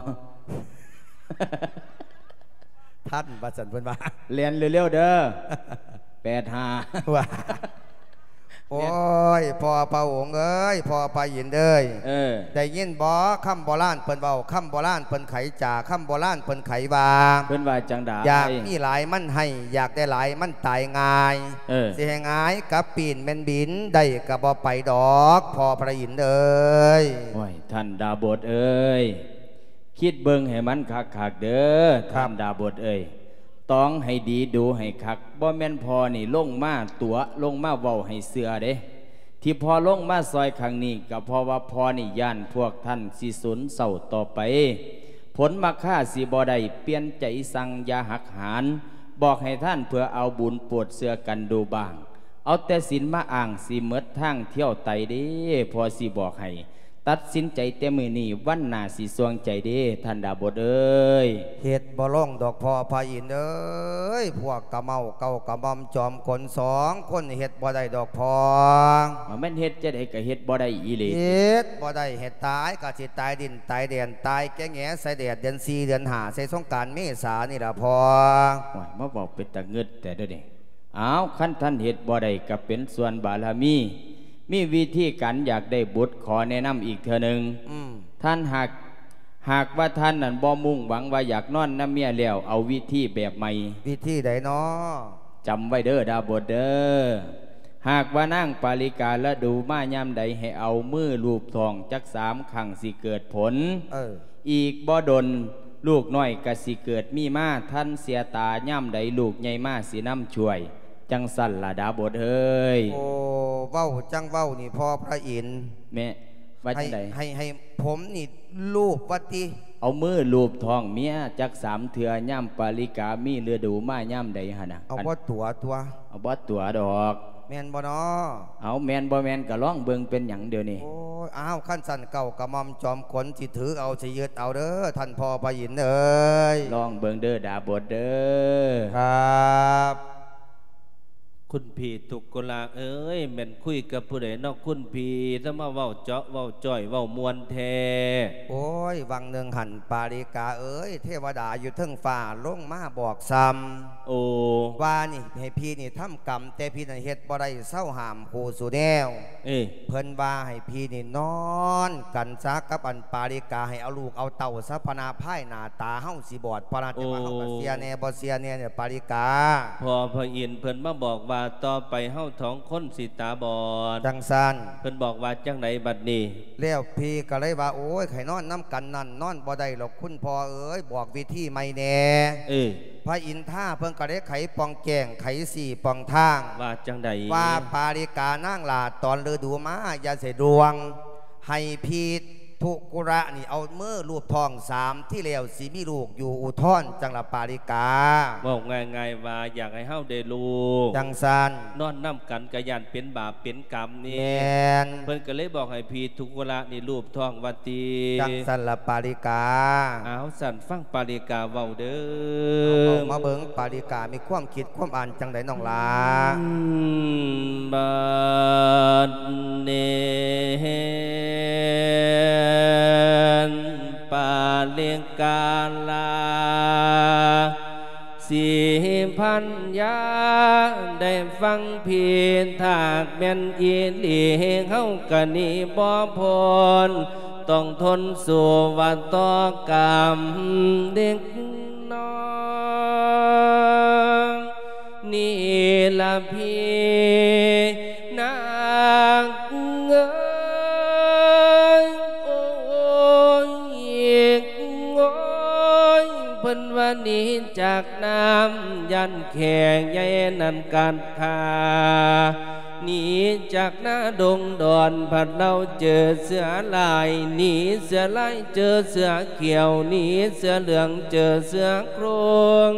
ທັນວ່າຊັ້ນເພິ່ນວ່າ. ແລ່ນເລັວໆເດີ ແປດຫ້າ ວ່າ. ໂອ້ຍ ພໍ່ພະອົງເອີຍ ພໍ່ພະອິນເອີຍ ເອີ ໄດ້ຍິນບໍ່ຄຳໂບລານເພິ່ນເວົ້າ? ຄຳໂບລານເພິ່ນໄຂຈາ ຄຳໂບລານເພິ່ນໄຂວ່າ. ເພິ່ນວ່າຈັ່ງໃດ? ຢາກມີຫຼາຍມັນໃຫ້ ຢາກໄດ້ຫຼາຍມັນຕາຍງ່າຍ. ເອີ ຊິໃຫ້ຫງາຍກັບປີ້ນແມ່ນບິນ ໄດ້ກໍບໍ່ໄປດອກ ພໍ່ພະອິນເອີຍ. ໂອ້ຍ ທ່ານດາບົດເອີຍ ຄິດເບິ່ງໃຫ້ມັນຄັກໆເດີ ທ່ານດາບົດເອີຍ. ຕອງໃຫ້ດີ ດູໃຫ້ຄັກ ບໍ່ແມ່ນພໍ່ນີ້ລົງມາຕົວະ ລົງມາເວົ້າໃຫ້ເຊື່ອເດ້. ທີ່ພໍ່ລົງມາຊ່ອຍຄັ້ງນີ້ ກໍເພາະວ່າພໍ່ນີ້ຢ້ານພວກທ່ານຊິສູນເສົ້າຕໍ່ໄປ ຜົນມັກຄາຊິບໍ່ໄດ້ປ່ຽນໃຈສັ່ງຢ່າຫັກຫານ ບອກໃຫ້ທ່ານເພື່ອເອົາບຸນໂປດເຊື່ອກັນດູບ້າງ. ເອົາແຕ່ສິນມາອ້າງ ຊິໝົດທາງທ່ຽວໄຕເດ້ ພໍ່ຊິບອກໃຫ້ ຕັດສິນໃຈແຕ່ມື້ນີ້ ວັນໜ້າຊິສ່ວງໃຈເດ້ ທ່ານດາບົດເອີຍ. ເຮັດບໍ່ລົງດອກພໍ່ພະອິນເອີຍ ພວກກະເມົາເກົ່າກະໝ່ອມຈອມຂົນສອງຄົນ ເຮັດບໍ່ໄດ້ດອກພໍ່. ວ່າແມ່ນເຮັດຈັ່ງໃດກໍເຮັດບໍ່ໄດ້ອີ່ຫຼີ. ເຮັດບໍ່ໄດ້ ເຮັດຕາຍກໍຊິຕາຍດິນຕາຍແດນ ຕາຍແກ່ແຫງໃສ່ແດດເດືອນສີ່ເດືອນຫ້າ ໃສ່ສົງການເມສານີ້ລະພໍ່. ໂອ້ຍ ມາເວົ້າເປັນຕາງຶດແທ້ເດີນີ້. ອ້າວ ຄັນທ່ານເຮັດບໍ່ໄດ້ກໍເປັນສ່ວນບາລະມີ ມີວິທີການຢາກໄດ້ບຸດ ຂໍແນະນຳອີກເທື່ອໜຶ່ງ. ອືມ ທ່ານຫາກ ຫາກວ່າທ່ານນັ້ນບໍ່ມຸ່ງຫວັງວ່າຢາກນອນນຳເມຍແລ້ວ ເອົາວິທີແບບໃໝ່. ວິທີໃດນໍ? ຈຳໄວ້ເດີດາບົດເດີ ຫາກວ່ານາງປາລິກາລະດູມາຍາມໃດ ໃຫ້ເອົາມືລູບທ້ອງຈັກສາມຄັ້ງ ຊິເກີດຜົນ. ເອີ ອີກບໍ່ດົນ ລູກນ້ອຍກໍຊິເກີດມີມາ ທັນເສຍຕາຍາມໃດ ລູກໃຫຍ່ມາຊິນຳຊ່ວຍ. ຈັ່ງຊັ້ນລະດາບົດເອີຍ. ໂອ້ ເວົ້າຈັ່ງເວົ້ານີ້ພໍ່ພະອິນ. ແມ່ ວ່າຈັ່ງໃດ? ໃຫ້ ໃຫ້ ໃຫ້ຜົມນີ້ລູບວ່າຕິ? ເອົາມືລູບທ້ອງເມຍຈັກສາມເທື່ອ ຍາມປາລິກາມີລະດູມາຍາມໃດຫັ້ນນະ. ເອົາບໍ່ຕົວະຕົວະ? ເອົາບໍ່ຕົວະດອກ. ແມ່ນບໍ່ນໍ? ເອົາ ແມ່ນບໍ່ແມ່ນກໍລອງເບິ່ງ ເປັນຫຍັງດຽວນີ້? ໂອ້ຍ ອ້າວ ຄັນຊັ້ນເກົ້າກະໝ່ອມຈອມຂົນ ຊິຖືເອົາ ຊິຍຶດເອົາເດີ ທ່ານພໍ່ພະອິນເອີຍ. ລອງເບິ່ງເດີດາບົດເດີ. ຄັບ. ຄຸນພີ່ທຸກຄົນລາເອີຍ ແມ່ນຄຸຍກັບຜູ້ໃດເນາະຄຸນພີ່ ແຕ່ມາເວົ້າເຈາະເວົ້າຈ້ອຍເວົ້າມ່ວນແທ້. ໂອ້ຍ ຫວ່າງໜຶ່ງຫັ້ນປາລິກາເອີຍ ເທວະດາຢູ່ເທິງຟ້າລົງມາບອກຊ່ຳ. ໂອ້ ວ່ານີ້ໃຫ້ພີ່ນີ້ທຳກຳ ແຕ່ພີ່ນັ້ນເຮັດບໍ່ໄດ້ ເຊົາຫ້າມຄູ່ສູ່ແນວ. ເອີ ເພິ່ນວ່າໃຫ້ພີ່ນີ້ນອນກັນຊະກັບອັນປາລິກາ ໃຫ້ເອົາລູກເອົາເຕົ້າຊະ ພະນະພາຍໜ້າຕາເຮົາຊິບອດ ພະນະ. ແຕ່ວ່າເຮົາກໍເຊື່ອແດ່ບໍ່ເຊື່ອແດ່ນີ້ ປາລິກາ. ພໍ່ພະອິນເພິ່ນມາບອກວ່າ ຕໍ່ໄປເຮົາສອງຄົນຊິຕາບອດ. ຈັ່ງຊັ້ນ ເພິ່ນບອກວ່າຈັ່ງໃດບັດນີ້? ແລ້ວພີ່ກໍເລີຍວ່າ ໂອ້ຍ ໃຫ້ນອນນຳກັນນັ້ນ ນອນບໍ່ໄດ້ດອກຄຸນພໍ່ເອີຍ ບອກວິທີໃໝ່ແດ່. ເອີ ພະອິນທາເພິ່ນກໍໄດ້ໄຂປ່ອງແຈ້ງ ໄຂຊີ້ປ່ອງທາງ. ວ່າຈັ່ງໃດ? ວ່າປາລິການາງຫຼ້າ ຕອນລະດູມາຢ່າໃສ່ດວງ ໃຫ້ພີທຸກຸລະນີ້ເອົາມືລູບທ້ອງສາມທີແລ້ວ ຊິມີລູກຢູ່ອຸທອນຈັ່ງລະປາລິກາ. ເວົ້າງ່າຍໆວ່າຢາກໃຫ້ເຮົາໄດ້ລູກ. ຈັ່ງຊັ້ນ ນອນນຳກັນກໍຢ້ານເປັນບາບເປັນກຳນີ້. ແມ່ນ. ເພິ່ນກໍເລີຍບອກໃຫ້ພີທຸກຸລະນີ້ລູບທ້ອງວ່າຕິ. ຈັ່ງຊັ້ນລະປາລິກາ. ເອົາ ຊັ້ນຟັງປາລິກາເວົ້າເດີ. ເອົາ ເວົ້າມາເບິ່ງປາລິກາມີຄວາມຄິດຄວາມອ່ານຈັ່ງໃດນ້ອງຫຼ້າ? ອືມ ບັດນີ້ ປາລິກາລາ ສີພັນຍາ ໄດ້ຟັງພິດ ຖ້າແມ່ນອີ່ຫຼີ ເຮົາກະໜີບໍ່ພົ້ນ ຕ້ອງທົນສູ້ວ່າຕໍ່ກຳເດັກນ້ອຍ ນີ້ລະພີ່ນາງເອີຍ ໂອ້ຍ ໂອ້ຍ ເພິ່ນວ່າໜີຈາກນ້ຳ ຢ້ານແຂ້ໃຫຍ່ນັ້ນກັດຂ້າ ໜີຈາກນາດົງດອນ ພັດລາວເຈີເສືອລາຍ ໜີເສືອລາຍເຈີເສືອຂຽວ ໜີເສືອເຫຼືອງເຈີເສືອໂຄງ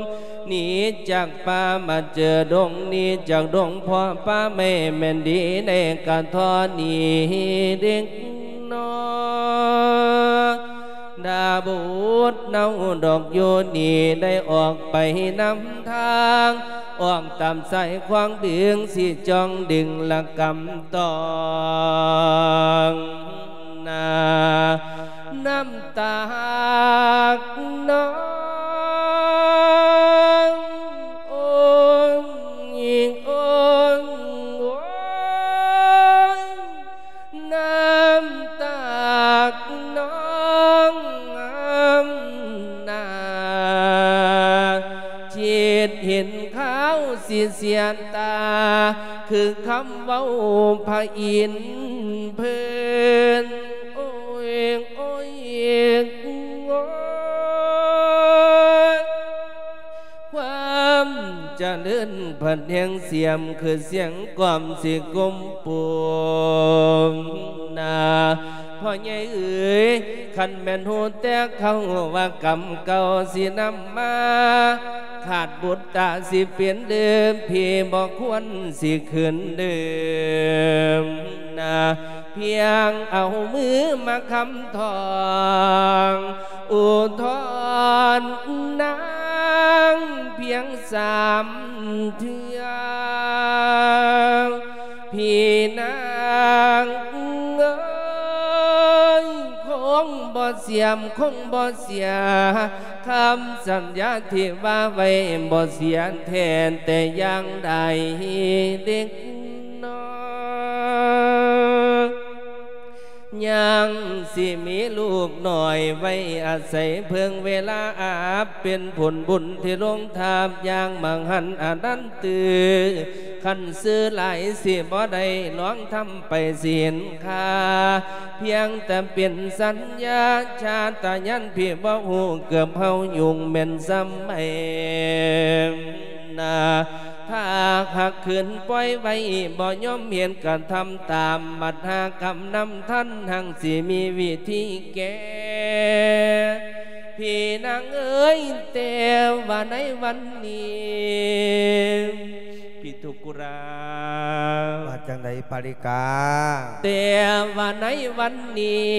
ໜີຈາກປ່າມາເຈີດົງ ໜີຈາກດົງພໍ້ປ່າແມ່ ແມ່ນດີແດ່ກະທໍ່ໜີເດັກນ້ອຍ ດາບຸດເນົ່າດອກຢູ່ນີ້ ໄດ້ອອກໄປນຳທາງ ອອກຕາມສາຍຂວາງເບືອງ ຊິຈ່ອງດຶງລະກຳຕອງ ນາ ນ້ຳຕາກນອງ ໂອ້ຍ ໂອ້ຍ ໂອ້ຍ ນ້ຳຕາກນອງ ນ້ຳຕາ ຄິດເຫັນຄາວຊິເສຍຕາ ຄືຄຳເວົ້າພະອິນເພິ່ນ ໂອ້ຍ ໂອ້ຍ ໂອ້ຍ ຄວາມຈະເລີນພັດແຮງສຽມ ຄືສຽງກອມຊິກຸມປຸມ ນາ ພໍ່ໃຫຍ່ເອີຍ ຄັນແມ່ນຮູ້ແຕ່ເກົ່າວ່າກຳເກົ່າຊິນຳມາ ຂາດບຸດຕາຊິເປັນເດີມ ພີ່ບໍ່ຄວນຊິຄືນເດີມ ນາ ພຽງເອົາມືມາຄຳທອງ ອຸທອນນາງພຽງສາມເທື່ອ ພີ່ນາງເອີຍ ຄົງບໍ່ສຽມ ຄົງບໍ່ເສຍ ຄຳສັນຍາທີ່ວ່າໄວ້ ບໍ່ເສຍແທ້ແຕ່ຢ່າງໃດ ເດັກນ້ອຍ ຍັງຊິມີລູກນ້ອຍໄວ້ອາໄສເພິ່ງເວລາອາບ ເປັນຜົນບຸນທີ່ລົງທາບຢ່າງມະຫັນອະນັນຕື່ ຄັນຊື່ຫຼາຍຊິບໍ່ໄດ້ລອງທຳໄປຊິເຫັນຄ່າ ພຽງແຕ່ເປັນສັນຍາຊາດຕະຍານ ພີ່ບໍ່ຮູ້ເກີບເຮົາຍຸງແມ່ນສ່ຳໃດ ນາ ຖ້າຫາກຄືນປ່ອຍໄວ້ ບໍ່ຍອມເຫັນກະທຳຕາມ ບັດຫາກຳນຳທັນ ຮັ່ງຊິມີວິທີແກ້ ພີ່ນາງເອີຍ ແຕ່ວ່າໃນວັນນີ້ ພິທຸກຸລະ ວ່າຈັ່ງໃດປາລິກາ? ແຕ່ວ່າໃນວັນນີ້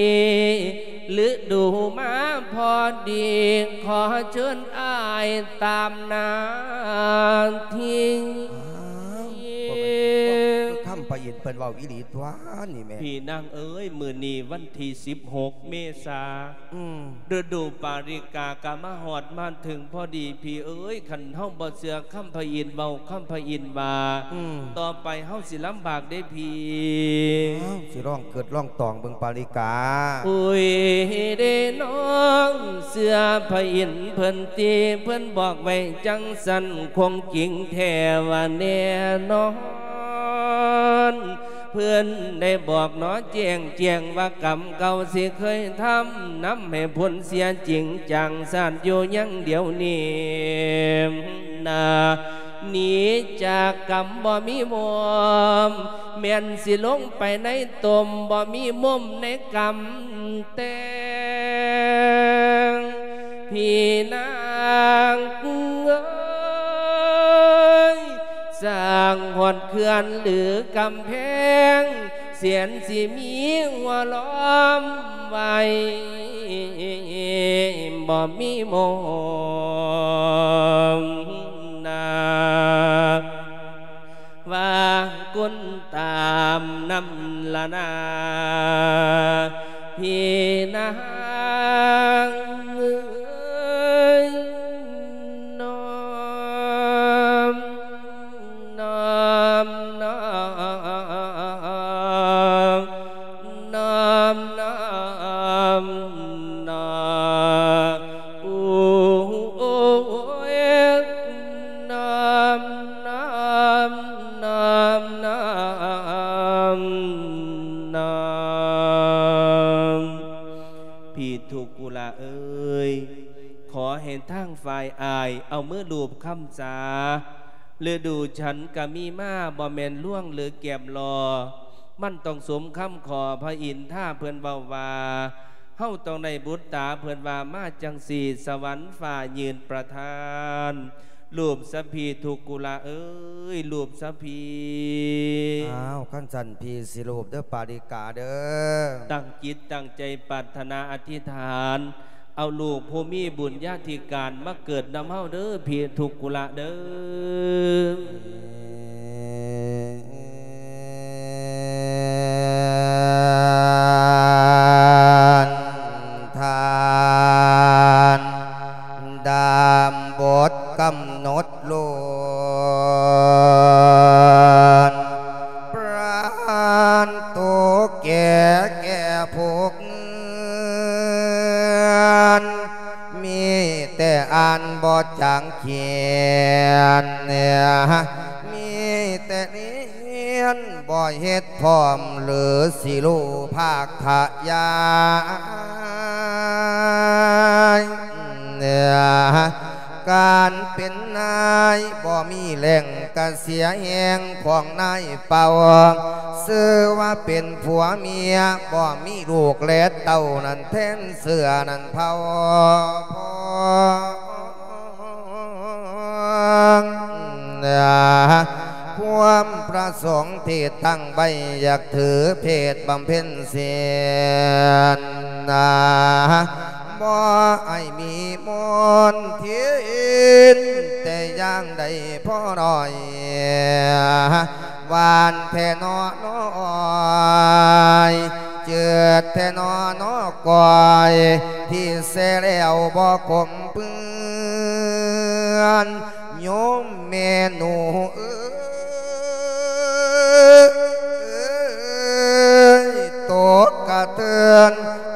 ລະດູມາພໍດີ ຂໍເຊີນອ້າຍຕາມໜ້າທີ່ ອ້າວ ບໍ່ແມ່ນຄຳ ພະອິນເພິ່ນເວົ້າອີ່ຫຼີຕົວະນີ້ແມ່. ພີ່ນາງເອີຍ ມື້ນີ້ວັນທີສິບຫົກເມສາ ອືມ ລະດູປາລິກາກະມາຮອດມາເຖິງພໍດີ. ພີ່ເອີຍ ຄັນເຮົາບໍ່ເຊື່ອຄຳພະອິນເວົ້າ ຄຳພະອິນວ່າ ອືມ ຕໍ່ໄປເຮົາຊິລຳບາກເດ້ພີ່. ອ້າວ ຊິລອງເກີດລອງຕອງເບິ່ງປາລິກາ. ໂອ້ຍເດ້ນ້ອງ ເຊື່ອພະອິນເພິ່ນຕິ ເພິ່ນບອກໄວ້ຈັ່ງຊັ້ນ ຄົງຈິງແທ້ວ່າແນ່ນອນ. ເພິ່ນໄດ້ບອກໜໍແຈ້ງແຈ້ງວ່າ ກຳເກົ່າທີ່ເຄີຍທຳ ນຳໃຫ້ຜົນເສຍຈິງຈາງຊາດຢູ່ຍັງດຽວນີ້ນາ. ໜີຈາກກຳບໍ່ມີມຸມ ແມ່ນຊິລົງໄປໃນຕົມ ບໍ່ມີມຸມໃນກຳແຕ່ງ. ພີ່ນາງເອີຍ ສ້າງຮອດເຂື່ອນຫຼືກຳແພງ ແສນຊິມີຫົວລ້ອມໄວ້ ບໍ່ມີມຸມນາ. ວ່າກຸນຕາມນຳລະນາ ພີ່ນາງເອີຍ ນ້ອມ ນ້ອມ ນ້ອມ ນ້ອມ ນ້ອມ ນ້ອມ ໂອ້ ໂອ້ຍ ນ້ອມ ນ້ອມ ນ້ອມ ນ້ອມ ນ້ອມ. ພີ່ທຸກກຸລະເອີຍ ຂໍໃຫ້ທາງຝ່າຍອ້າຍເອົາມືລູບຄຳສາ ລະດູສັນກະມີມາ ບໍ່ແມ່ນລວງຫຼືແກມລໍ ມັນຕ້ອງສົມຄຳຂໍພະອິນທາເພິ່ນເວົ້າວ່າ ເຮົາຕ້ອງໄດ້ບຸດຕາເພິ່ນວ່າມາຈັ່ງຊີ້ ສະຫວັນຟ້າຍື່ນປະທານ ລູບສະພີທຸກກຸລະເອີຍ ລູບສະພີ. ອ້າວ ຄັນຊັ້ນພີ່ຊິລູບເດີປາລິກາເດີ. ຕັ້ງຈິດຕັ້ງໃຈປາດຖະໜາອະທິຖານ ເອົາລູກຜູ້ມີບຸນຍາທິການມາເກີດນຳເຮົາເດີ ພີ່ທຸກກຸລະເດີ. ທ່ານ ດາມບົດກຳນົດໂລດ ປານໂຕແກ່ແກ່ຜູ້ເກີນ ມີແຕ່ອ່ານບໍ່ຈາງຂຽນ ມີແຕ່ ຮຽນບໍ່ເຮັດພ້ອມ ຫຼືຊິຮູ້ພາກຂະຫຍາຍ ການເປັນນາຍບໍ່ມີແຫຼ່ງກະເສຍແຮງຂອງນາຍເປົ່າ ຊື່ວ່າເປັນຜົວເມຍ ບໍ່ມີລູກແລະເຕົ້ານັ້ນແທນເຊື້ອນັ້ນເຜົ່າ. ຄວາມປະສົງທີ່ຕັ້ງໄວ້ ຢາກຖືເພດບຳເພັນສິນ ບໍ່ໃຫ້ມີມົນທິນແຕ່ຢ່າງໃດພໍໜ້ອຍ ຫວານແທ້ໜໍນ້ອຍ ຈືດແທ້ໜໍນ້ອກ້ອຍ ທີ່ແຊ່ແລ້ວບໍ່ຂົມເປື້ອນ ໂຍມແມ່ໜູເອີຍ ຕົກກະເທືອນ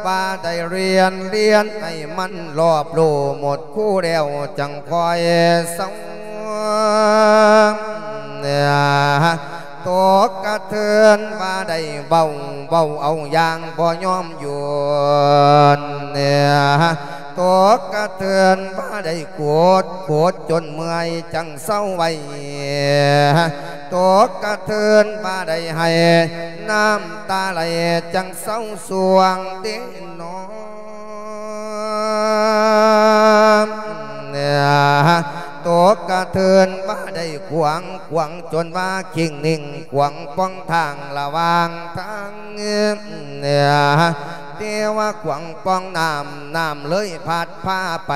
ວ່າໄດ້ຮຽນ ຮຽນໃຫ້ມັນລອບຮູ້ໝົດຄູແລ້ວ ຈັ່ງຄ່ອຍເຊົາ. ຕົກກະເທືອນວ່າໄດ້ເວົ້າ ເວົ້າເອົາຢ່າງບໍ່ຍອມຢຸດ ຕົກກະເທືອນວ່າໄດ້ໂກດ ໂກດຈົນເມື່ອຍຈັ່ງເຊົາໄວ້ ຕົກກະເທືອນວ່າໄດ້ໄຫ້ ນ້ຳຕາໄຫຼຈັ່ງເຊົາຊ່ວງເດ ນ້ອງ ຕົກກະເທີນວ່າໄດ້ຂວາງ ຂວາງຈົນວ່າຄີງໜິ່ງ ຂວາງປ່ອງທາງລະຫວ່າງທາງ ແຕ່ວ່າຂວາງປ່ອງນ້ຳ ນ້ຳເລີຍພັດພາໄປ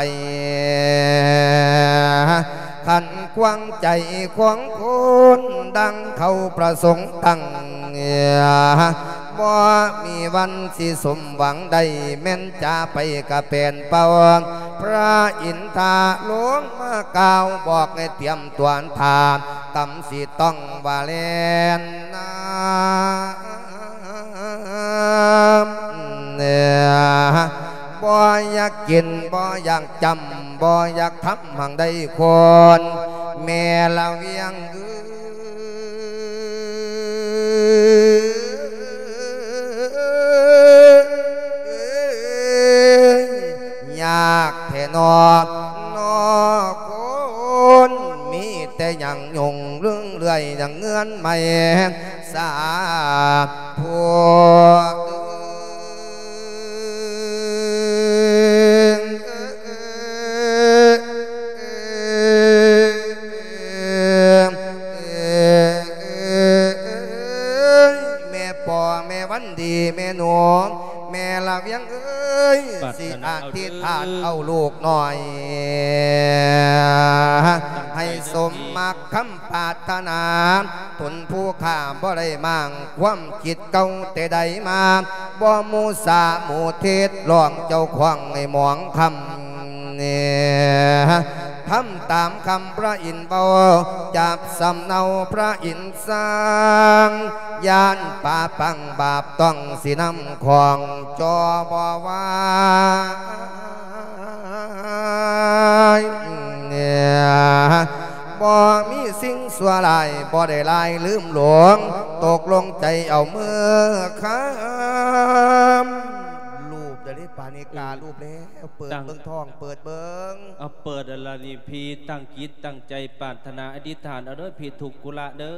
ຂັດຂວາງໃຈຂອງຄົນ ດັ່ງເຂົາປະສົງຕັ້ງ ບໍ່ມີວັນຊິສົມຫວັງໄດ້ ແມ່ນຈາໄປກະແປນເປົ່າ. ພະອິນທາລົງມາກ່າວບອກໃຫ້ຕຽມຕົວຖ້າ ກຳຊິຕ້ອງວ່າແລ່ນນຳ ບໍ່ຢາກກິນ ບໍ່ຢາກຈຳ ບໍ່ຢາກທຳຫັ້ງໃດຄົນ ແມ່ລະວຽງເອີຍ ຍາກແທ້ນໍ ນໍຄົນ ມີແຕ່ຫຍັງຫຍຸ້ງເລື່ອງເລື່ອຍ ຫຍັງເງື່ອນໄໝ ສາທຸ ແມ່ປໍ ແມ່ວັນດີ ແມ່ໜູ ແມ່ລະວຽງເອີຍ ປາດຖະໜາ ຊິອະທິຖານເອົາລູກນ້ອຍ ໃຫ້ສົມມັກຄຳ ປາດຖະໜາ ຕົນຜູ້ຂ້າບໍ່ໄດ້ມ້າງ ຄວາມຄິດເກົ່າແຕ່ໃດມາ ບໍ່ໝູ່ສາໝູ່ເທດ ລອງເຈົ້າຂອງໃຫ້ໝອງຄຳ ທຳຕາມຄຳພະອິນເວົ້າ ຈັບສຳເນົາພະອິນສັ່ງ ຢ້ານປາປັງບາບຕ້ອງ ຊິນຳຂອງຈໍບໍ່ໄຫວ ບໍ່ມີສິ່ງຊົ່ວຮ້າຍ ບໍ່ໄດ້ລາຍລືມຫຼວງ ຕົກລົງໃຈເອົາເມືອຄຳ ລູບເດີເດ້ ປານິກາ ເອີ ລູບແລ້ວ ເປີດ ຕັ້ງ ເບິ່ງທ້ອງ ເປີດເບິ່ງ ເອົາ ເປີດແລ້ວນີ້ ພີ່ຕັ້ງຈິດຕັ້ງໃຈປາດຖະໜາອະທິຖານເອົາເດີ ພີ່ທຸກກຸລະເດີ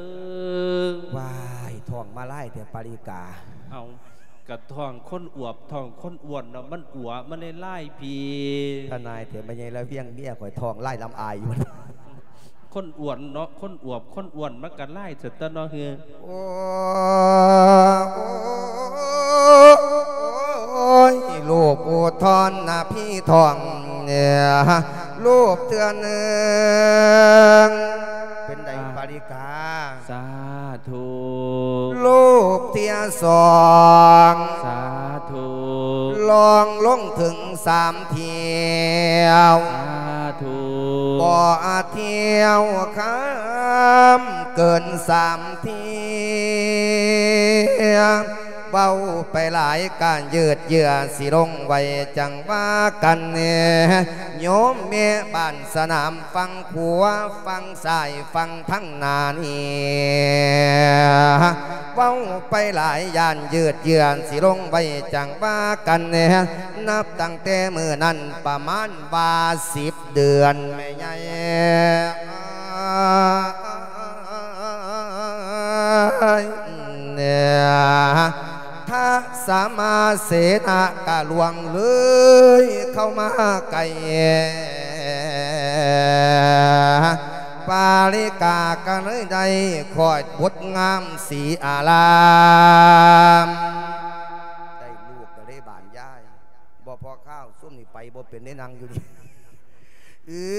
ວ້າຍ ທ້ອງມາລາຍແທ້ ປາລິກາ ເອົາ ກະທ້ອງຄົນອວບ ທ້ອງຄົນອ້ວນເນາະ ມັນອວບ ມັນເລີຍລາຍພີ້ ທະນາຍແທ້ ແມ່ໃຫຍ່ລະວຽງ ເມຍຂ້ອຍທ້ອງລາຍລຳອາຍຢູ່ ຄົນອ້ວນເນາະ ຄົນອວບ ຄົນອ້ວນ ມັນກະລາຍຊະຕົວະເນາະ ເຮີ ໂອ້ຍ ລູກອຸທອນນະ ພີ່ທ້ອງ ລູບເທື່ອໜຶ່ງ ເປັນໃດ ອ່າ ປາລິກາ? ສາທຸ ລູບເທື່ອສອງ ສາທຸ ລອງລົງເຖິງສາມຖ້ຽວ ສາທຸ ບໍ່ອາດຖ້ຽວຄຳເກີນສາມ ເທື່ອ ເວົ້າໄປຫຼາຍການຢືດເຢື້ອ ຊິລົງໄວຈັ່ງວ່າກັນແດ່ ໂຍມແມ່ບ້ານສະໜາມຝັ່ງຂວາ ຝັ່ງຊ້າຍຝັ່ງທາງໜ້ານີ້ ເວົ້າໄປຫຼາຍຢ້ານຢືດເຢື້ອ ຊິລົງໄວຈັ່ງວ່າກັນແດ່ ນັບຕັ້ງແຕ່ມື້ນັ້ນປະມານວ່າສິບ ເດືອນແມ່ໃຫຍ່ ທະສະມາເສນະກະລ່ວງເລີຍເຂົ້າມາໃກ້ ປາລິກາກະເລີຍໄດ້ຄອດບົດງາມສີອາລາມ ໄດ້ລູກກະເລີຍບານຍາຍ ບໍ່ພໍຄາວ ຊຸມນີ້ໄປບໍ່ເປັນເດ້ ນັ່ງຢູ່ນີ້ ເອີ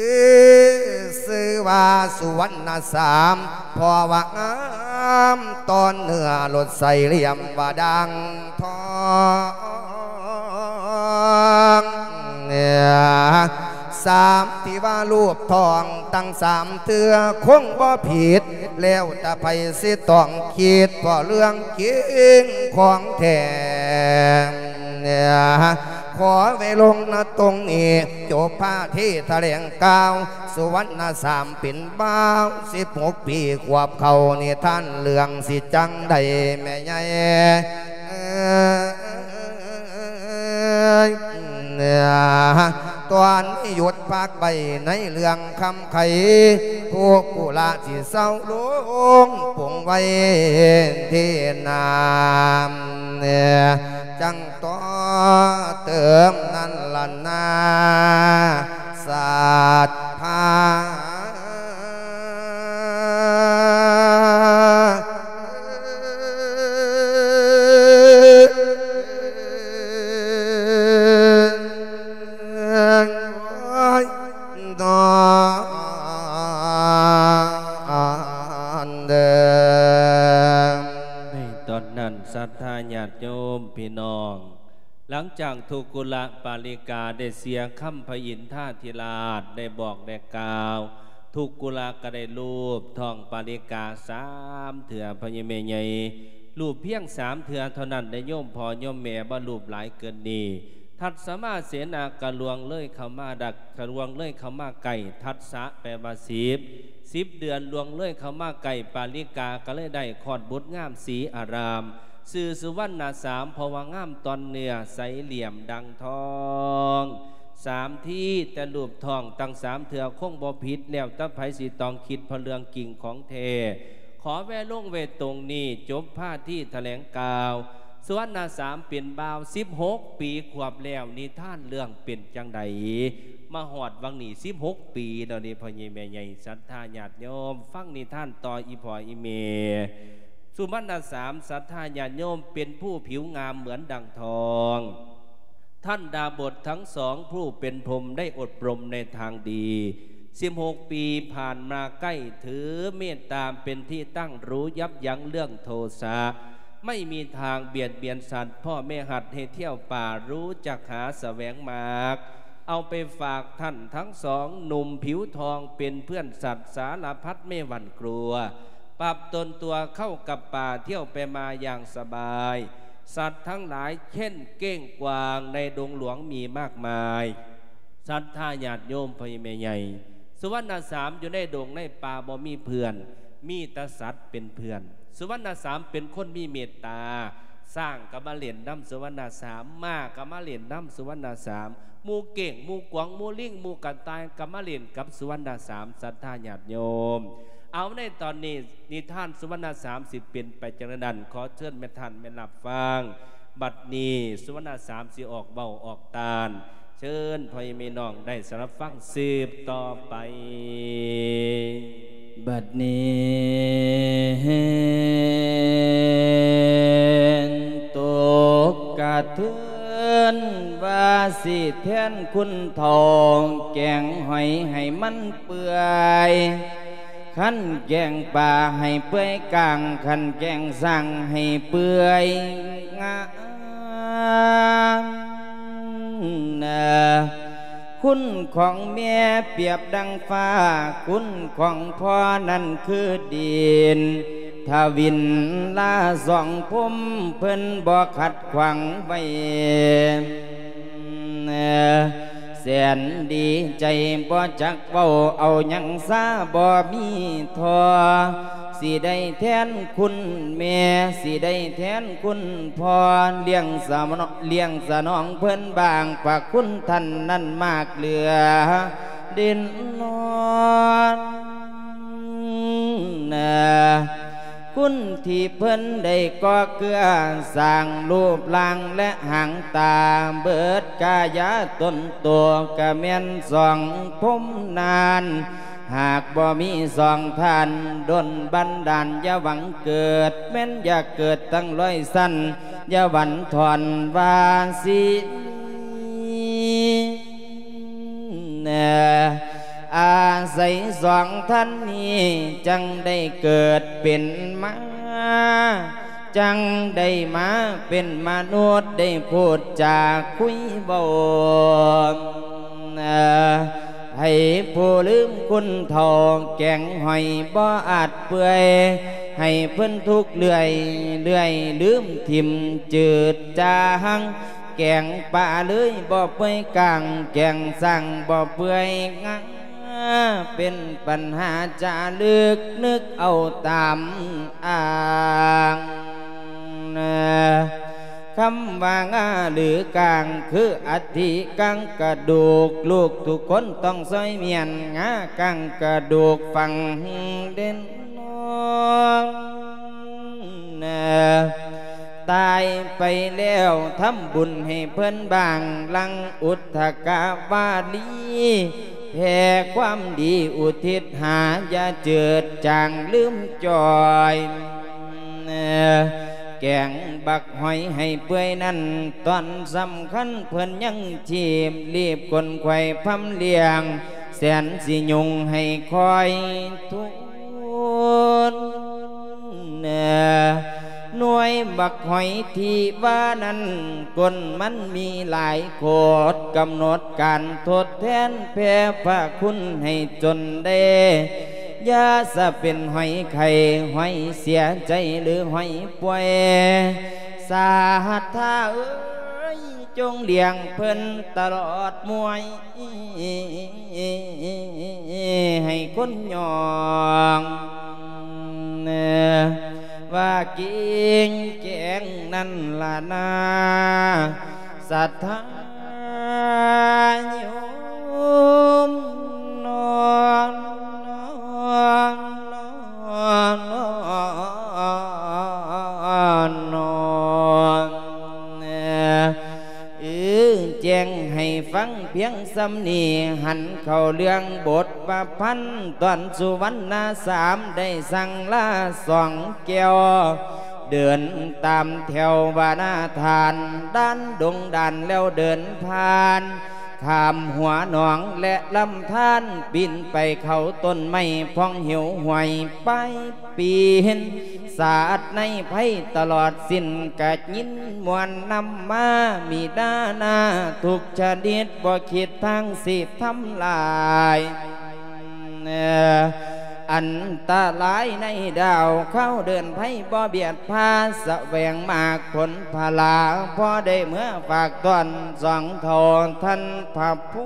ຊື່ວ່າສຸວັນນະສາມ ເພາະວ່າງາມ ຕອນເນື້ອລົດໃສຫຼ່ຽມວ່າດັ່ງທອງ ສາມທີ່ວ່າລູບທ້ອງຕັ້ງສາມເທື່ອ ຄົງບໍ່ຜິດ ແລ້ວແຕ່ໃຜຊິຕ້ອງຄິດ ເພາະເລື່ອງຈິງຂອງແທ້ ຂໍໄວ້ລົງນະຕົງນີ້ ຈົບພາທີຖະແຫຼງກ່າວ ສຸວັນນະສາມເປັນບ່າວ ສິບຫົກປີຂວບເຂົ້າ ນິທານເລື່ອງຊິຈັ່ງໃດແມ່ໃຫຍ່ ຕອນນີ້ຢຸດພັກໄວ້ໃນເລື່ອງຄຳໄຂ ທຸກກຸລະຊິເຊົາລົງປົງໄວ້ທີ່ນາ ຈັ່ງຕໍ່ເຕີມນັ້ນລະນາ ສັດທາ. ໃນຕອ ທ່ານສັດທາຍາດໂຍມພີ່ນ້ອງ, ຫຼັງຈາກທຸກກຸລະປາລິກາໄດ້ເສຍຄຳພະອິນທາທິລາດໄດ້ບອກໄດ້ກ່າວ, ທຸກກຸລະກໍໄດ້ລູບທ້ອງປາລິກາສາມເທື່ອ ພໍ່ໃຫຍ່ແມ່ໃຫຍ່, ລູບພຽງສາມເທື່ອເທົ່ານັ້ນ ໄດ້ໂຍມພໍ່ໂຍມແມ່ບໍ່ລູບຫຼາຍເກີນນີ້. ທັດສະມາເສນາກະລ່ວງເລີຍເຂົ້າມາດັກ ກະລ່ວງເລີຍເຂົ້າມາໃກ້, ທັດສະແປວ່າສິບ ສິບເດືອນລ່ວງເລີຍເຂົ້າມາໃກ້, ປາລິກາກໍເລີຍໄດ້ຄອດບຸດງາມສີອາຣາມ, ຊື່ສຸວັນນະສາມ ເພາະວ່າງາມຕ່ອນເນື້ອ ໃສຫຼ່ຽມດັ່ງທອງ. ສາມທີ ແຕ່ລູບທ້ອງຕັ້ງສາມເທື່ອຄົງບໍ່ຜິດ, ແລ້ວແຕ່ໃຜຊິຕ້ອງຄິດ ເພາະເລື່ອງຈິງຂອງແທ້. ຂໍແວະລົງໄວ້ຕົງນີ້, ຈົບພາທີຖະແຫຼງກ່າວ. ສຸວັນນະສາມເປັນບ່າວສິບຫົກປີຂວບແລ້ວ, ນິທານເລື່ອງເປັນຈັ່ງໃດ? ມາຮອດວັງນີ້ສິບຫົກປີແລ້ວເດ້ ພໍ່ໃຫຍ່ແມ່ໃຫຍ່ ສັດທາຍາດໂຍມ, ຟັງນິທານຕໍ່ອີ່ພໍ່ອີ່ແມ່. ສຸວັນນະສາມ ສັດທາຍາດໂຍມ ເປັນຜູ້ຜິວງາມເໝືອນດັ່ງທອງ. ທ່ານดาบททั้งสองผู้เป็นพรหมได้อบรมในทางดี สิบหก ปีผ่านมาใกล้ ถือเมตตาเป็นที่ตั้ง รู้ยับยั้งเรื่องโทสะ ไม่มีทางเบียดเบียนสัตว์ พ่อแม่หัดให้เที่ยวป่า รู้จักหาแสวงมาก เอาไปฝากท่านทั้งสอง หนุ่มผิวทองเป็นเพื่อนสัตว์สารพัดไม่หวั่นกลัว ปรับตนตัวเข้ากับป่า เที่ยวไปมาอย่างสบาย สัตว์ทั้งหลายเช่นเก้งกวางในดงหลวงมีมากมาย ສັດທາຍາດໂຍມ ພໍ່ໃຫຍ່ແມ່ໃຫຍ່ ສຸວັນນະສາມຢູ່ໃນດົງໃນປ່າບໍ່ມີເພື່ອນ ມີແຕ່ສັດເປັນເພື່ອນ. ສຸວັນນະສາມເປັນຄົນມີເມດຕາ, ຊ້າງກໍມາຫຼິ້ນນຳສຸວັນນະສາມ, ມ້າກໍມາຫຼິ້ນນຳສຸວັນນະສາມ, ໝູ່ເກ້ງ ໝູ່ກວາງ ໝູ່ລິງ ໝູ່ກະຕ່າຍກໍມາຫຼິ້ນກັບສຸວັນນະສາມ ສັດທາຍາດໂຍມ. ເອົາ ໃນຕອນນີ້ນິທານສຸວັນນະສາມຊິເປັນໄປຈັ່ງໃດນັ້ນ, ຂໍເຊີນແມ່ທ່ານແມ່ນຮັບຟັງ. ບັດນີ້ສຸວັນນະສາມຊິອອກເວົ້າອອກຕານ, ເຊີນພໍ່ແມ່ພີ່ນ້ອງໄດ້ສະດັບຟັງສືບຕໍ່ໄປ. ບັດນີ້ຕົກກະເທືອນວ່າຊິແທນຄຸນເຖົ້າແກງຫອຍໃຫ້ມັນເປື່ອຍ, ຄັນແກງປາໃຫ້ເປື່ອຍກາງ, ຄັນແກງຊ້າງໃຫ້ເປື່ອຍງາ. ຄຸນຂອງແມ່ປຽບດັ່ງຟ້າ, ຄຸນຂອງພໍ່ນັ້ນຄືດິນ, ທະວິນລາສອງພົມເພິ່ນບໍ່ຂັດຂວາງໄວ້. ແສນດີໃຈບໍ່ຈັກເວົ້າເອົາຫຍັງສາບໍ່ມີທໍ່, ຊິໄດ້ແທນຄຸນແມ່ ຊິໄດ້ແທນຄຸນພໍ່, ລ້ຽງສະໜອງ ລ້ຽງສະໜອງເພິ່ນບາງ, ພະຄຸນທ່ານນັ້ນມາກເຫຼືອເດັ່ນນອນ. ຄຸນທີ່ເພິ່ນໄດ້ກໍ່ເກື້ອສ້າງຮູບຮ່າງ ແລະ ຫາງຕາເບິດກາຍາຕົນໂຕ ກະແມ່ນສອງພົມນານ. ຫາກບໍ່ມີສອງທ່ານດົນບັນດານ ຢ່າຫວັງເກີດ, ແມ່ນຢາກເກີດຕັ້ງຮ້ອຍຊັ້ນ ຢ່າຫວັນທອນວ່າຊິມີ. ອາໄສສອງທ່ານນີ້ ຈັ່ງໄດ້ເກີດເປັນມາ, ຈັ່ງໄດ້ມາເປັນມະນຸດ ໄດ້ພູດຈາຄຸຍເວົ້າ. ໃຫ້ຜູ້ລືມຄຸນເຖົ້າແກງຫອຍບໍ່ອາດເປື່ອຍ, ໃຫ້ເພິ່ນທຸກເລື້ອຍເລື້ອຍລືມຖິ້ມຈືດຈາງ. ແກງປາເລີຍບໍ່ເປື່ອຍກາງ, ແກງຊ້າງບໍ່ເປື່ອຍງາ, ເປັນປັນຫາຈາລຶກ ນຶກເອົາຕາມອ່າງ. ຄຳວ່າງາຫຼືກາງ ຄືອັດຖິກາງກະດູກ, ລູກທຸກຄົນຕ້ອງຊ່ອຍມ້ຽນ ງາກາງກະດູກຝັງເດັ່ນນອນ. ຕາຍໄປແລ້ວທຳບຸນໃຫ້ເພິ່ນບາງ, ຫຼັ່ງອຸດທະກະວາລີ ແຜ່ຄວາມດີອຸທິດຫາ, ຢ່າເຈີດຈາງລືມຈ່ອຍ. ແກງບັກຫອຍໃຫ້ເປື່ອຍນັ້ນ ຕອນສຳຄັນເພິ່ນຍັງຊີບ, ລີບຂົນຂວາຍພຳລ້ຽງ, ແສນຊິຍຸງໃຫ້ຄອຍທຸນ. ໜ່ວຍ ບັກຫອຍທີ່ວ່ານັ້ນ ກົ້ນມັນມີຫຼາຍໂຄດ ກຳນົດການທົດແທນແຜ່ພະຄຸນໃຫ້ຈົນໄດ້ ຢ່າສະເປັນຫອຍໄຂ້ ຫອຍເສຍໃຈ ຫຼື ຫອຍປ່ວຍ ສາທາເອີຍ ຈົ່ງລ້ຽງເພິ່ນຕະຫຼອດມວຍ ໃຫ້ຄົນຍ້ອງ ວ່າເກັ່ງແຈ້ງນັ້ນລະນາ ສັດທາໂຍມ ນອນ ນອນ ນອນ ນອນ ເອີ ແຈ້ງໃຫ້ຟັງພຽງສ່ຳນີ້ ຫັນເຂົ້າເລື່ອງບົດປະພັນ ຕອນສຸວັນນະສາມໄດ້ສັ່ງລາສອງແກ້ວ ເດີນຕາມແຖວວານາທ່ານ ດ່ານດົງດ່ານແລ້ວເດີນຜ່ານ ຂ້າມຫົວໜອງແລະລຳທານ ປີນໄປເຂົ້າຕົ້ນໄມ້ພອງເຫວຫ້ວຍ ໄປ ປີນສາດໃນໄພຕະຫຼອດສິ້ນ ກະຍິນມ່ວນນຳມາ ມີນານາທຸກຊະນິດ ບໍ່ຄິດທາງຊິທຳລາຍ ອັນຕະລາຍໃນດາວ ຄາວເດີນໄພບໍ່ບຽດພາ ສະແຫວງໝາກຜົນພະລາ ພໍໄດ້ເມືອຝາກຕ້ອນສອງເຖົ້າທ່ານພະພູ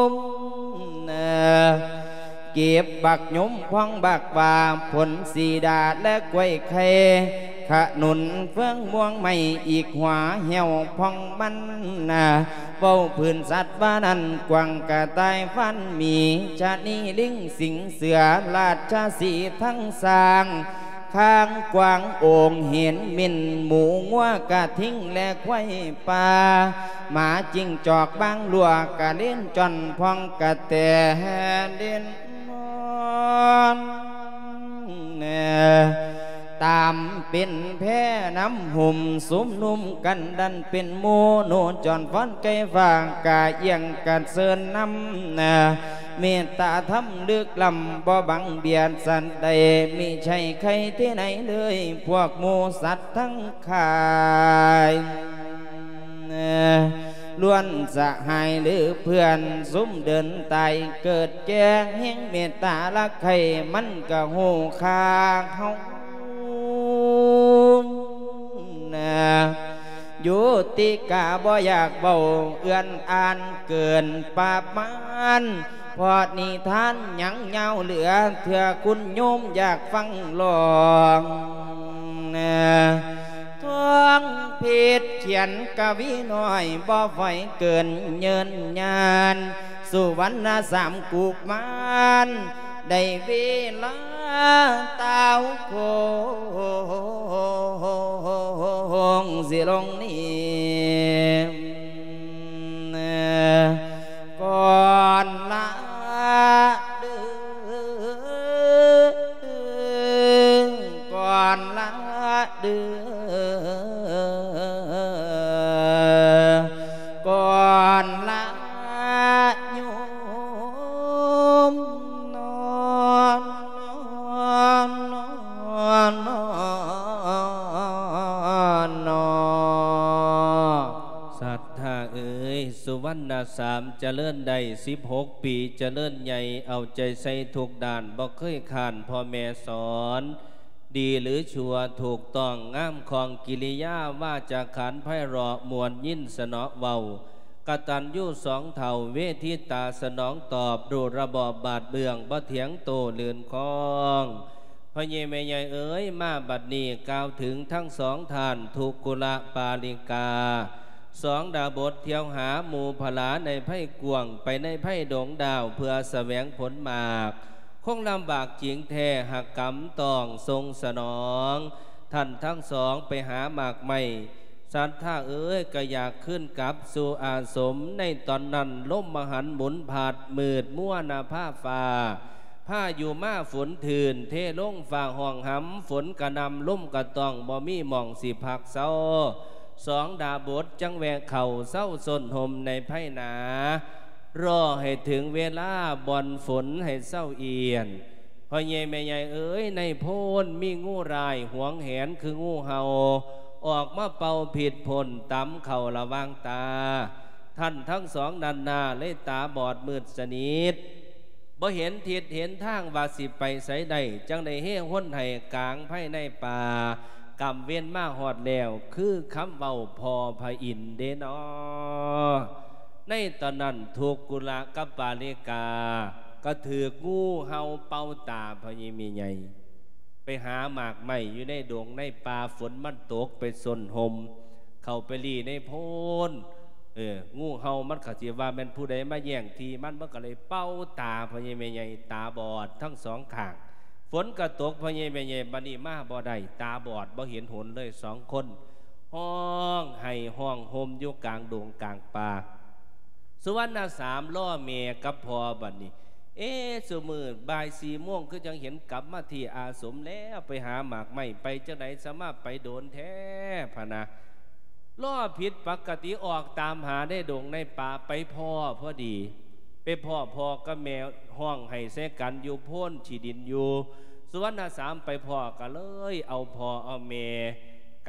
ມ ເກັບບັກຍົມພອງບັກຫວ້າ ຜົນສີດາແລະກ້ວຍໄຂ່ ຂະໜູນເຟືອງມ່ວງໄມ້ ອີກຫົວແຫ້ວພອງມັນນາ ເວົ້າພື້ນສັດວ່ານັ້ນ ກວາງກະຕ່າຍຟານໝີ ຊະນີລິງສິງເສືອ ລາດຊະສີທັງຊ້າງ ຄາງກວາງໂອງເຫັນ ໝິ່ນໝູງົວກະທິງ ແລະຄວາຍປ່າ ໝາຈິງຈອກບາງລົວກະເລນຈ້ອນ ພອງກະແຕເລນນອນ ຕາມເປັນແພນຳຫຸ້ມ ຊຸມນຸມກັນດັນເປັນໝູ່ ໜູຈອນຟ້ອນໄກ່ຟ້າ ກະອຽງກະເຊີນນຳ ເມດຕາທຳລຶກລ້ຳ ບໍ່ບັງບຽດສັດໃດ ມິໃຊ່ໃຄທີ່ໃນເລີຍ ພວກໝູ່ສັດທັງ ຂາຍ ລ້ວນສະຫາຍຫຼືເພື່ອນ ຊຸມເດີນຕາຍເກີດແກ່ ແຫ່ງເມດຕາລັກໃຄ່ ມັນກະຮູ້ຄ່າເຮົາ ໂຍຕິກາບໍ່ຢາກເວົ້າ ເອື້ອນອ່ານເກີນປະມານ ເພາະນິທານຍັງຍາວເຫຼືອເທື່ອ ຄຸນໂຍມຢາກຟັງລອງ ທອງເພັດຂຽນກະວີນ້ອຍ ບໍ່ໄຫວເກີນເຍີນຍານ ສຸວັນນະສາມກຸມານ ໄດ້ເວລາຕາວໂຄງ ຊິລົງນີ້ ກ່ອນລາເດີ ກ່ອນລາເດີ ກ່ອນລາໂຍມ ນອນ ນອນ ນອນ ນອນ ນອນ. ສັດທາເອີຍ ສຸວັນນະສາມຈະເລີນໄດ້ສິບຫົກປີ ຈະເລີນໃຫຍ່ ເອົາໃຈໃສ່ທຸກດ້ານ ບໍ່ເຄີຍຄ້ານພໍ່ແມ່ສອນ ດີຫຼືຊົ່ວ ຖືກຕ້ອງງາມຄ່ອງ ກິລິຍາວາຈາຂານໄພເລາະ ມ່ວນຍິນສະເນາະເວົ້າ ກະຕັນຍູສອງເຖົ້າ ເວທິຕາສະໜອງຕອບ ຮູ້ລະບອບບາດເບື້ອງ ບໍ່ຖຽງໂຕລື່ນຄອງ. ພໍ່ໃຫຍ່ແມ່ໃຫຍ່ເອີຍ ມາບັດນີ້ກ່າວເຖິງທັງສອງທ່ານ ທຸກກຸລະປາລິກາ ສອງດາບົດ ທ່ຽວຫາໝູ່ພະລາໃນໄພກວ້າງ ໄປໃນໄພດົງດາວ ເພື່ອສະແຫວງຜົນໝາກ ຄົງລຳບາກຈິງແທ້ ຫາກກຳຕ້ອງສົ່ງສະໜອງ ທ່ານທັງສອງໄປຫາໝາກໄມ້. ສັດທາເອີຍ ກະຢາກຄືນກັບສູ່ອາສົມ ໃນຕອນນັ້ນ ລົມມະຫັນໝູນພັດ ມືດມົວນະພາຟ້າ ພາຍຸມາຝົນຖື່ນ ເທລົງຟ້າຮ້ອງຫຳ ຝົນກະໜ່ຳ ລົມກະຕ້ອງ ບໍ່ມີໝ່ອງຊິພັກເຊົາ ສອງດາບົດ ຈັ່ງແວະເຂົ້າເຊົາຊົນຮົ່ມໃນໄພໜາ ລໍໃຫ້ເຖິງເວລາບ່ອນຝົນໃຫ້ເຊົາອຽນ ພໍ່ໃຫຍ່ແມ່ໃຫຍ່ເອີຍ ໃນໂພນມີງູຮ້າຍຫວງແຫນຄືງູເຫົ່າ ອອກມາເປົ່າພິດພົ່ນຕຳເຂົ້າລະຫວ່າງຕາ. ທ່ານທັງສອງນັ້ນນາເລີຍຕາບອດມືດສະໜິດ ບໍ່ເຫັນທິດເຫັນທາງວ່າຊິໄປໃສໄດ້, ຈັ່ງໄດ້ເຮຮົນໃຫ້ກາງພາຍໃນປ່າ. ກຳເວັນມາຮອດແລ້ວ ຄືຄຳເວົ້າພໍ່ພະອິນເດເນາະ. ໃນຕອນນັ້ນທຸກກຸລະກັບປາລິກາ ກໍຖືກງູເຫົ່າເປົ່າຕາພໍ່ໃຫຍ່ແມ່ໃຫຍ່. ໄປຫາໝາກໄມ້ຢູ່ໃນດົງໃນປ່າ ຝົນມັນຕົກໄປຊົນຮົ່ມ ເຂົ້າໄປລີ້ໃນໂພນ. ເອີ ງູເຫົ່າມັນກໍຊິວ່າແມ່ນຜູ້ໃດມາແຍ່ງທີ່ມັນ ມັນກໍເລີຍເປົ່າຕາພໍ່ໃຫຍ່ແມ່ໃຫຍ່ ຕາບອດທັງສອງຂ້າງ. ຝົນກໍຕົກ ພໍ່ໃຫຍ່ແມ່ໃຫຍ່ບັດນີ້ມາບໍ່ໄດ້ ຕາບອດບໍ່ເຫັນຫົນເລີຍສອງຄົນ ຮ້ອງໄຫ້ຮ້ອງໂຮມຢູ່ກາງດົງກາງປ່າ. ສຸວັນນະສາມລໍແມ່ກັບພໍ່ບັດນີ້. ເອ ຊຸມື້ບ່າຍສີ່ໂມງຄືຈັ່ງເຫັນກັບມາທີ່ອາສົມແລ້ວ ໄປຫາໝາກໄມ້ໄປຈັ່ງໃດ ສະມາໄປໂດນແທ້ພະນະ. ລໍຜິດປະກະຕິ ອອກຕາມຫາໃນດົງໃນປ່າ ໄປພໍ້ພໍດີ ໄປພໍ້ພໍ່ກັບແມ່ຮ້ອງໄຫ້ໃສ່ກັນຢູ່ໂພນຂີ້ດິນຢູ່. ສຸວັນນະສາມໄປພໍ້ກໍເລີຍເອົາພໍ່ເອົາແມ່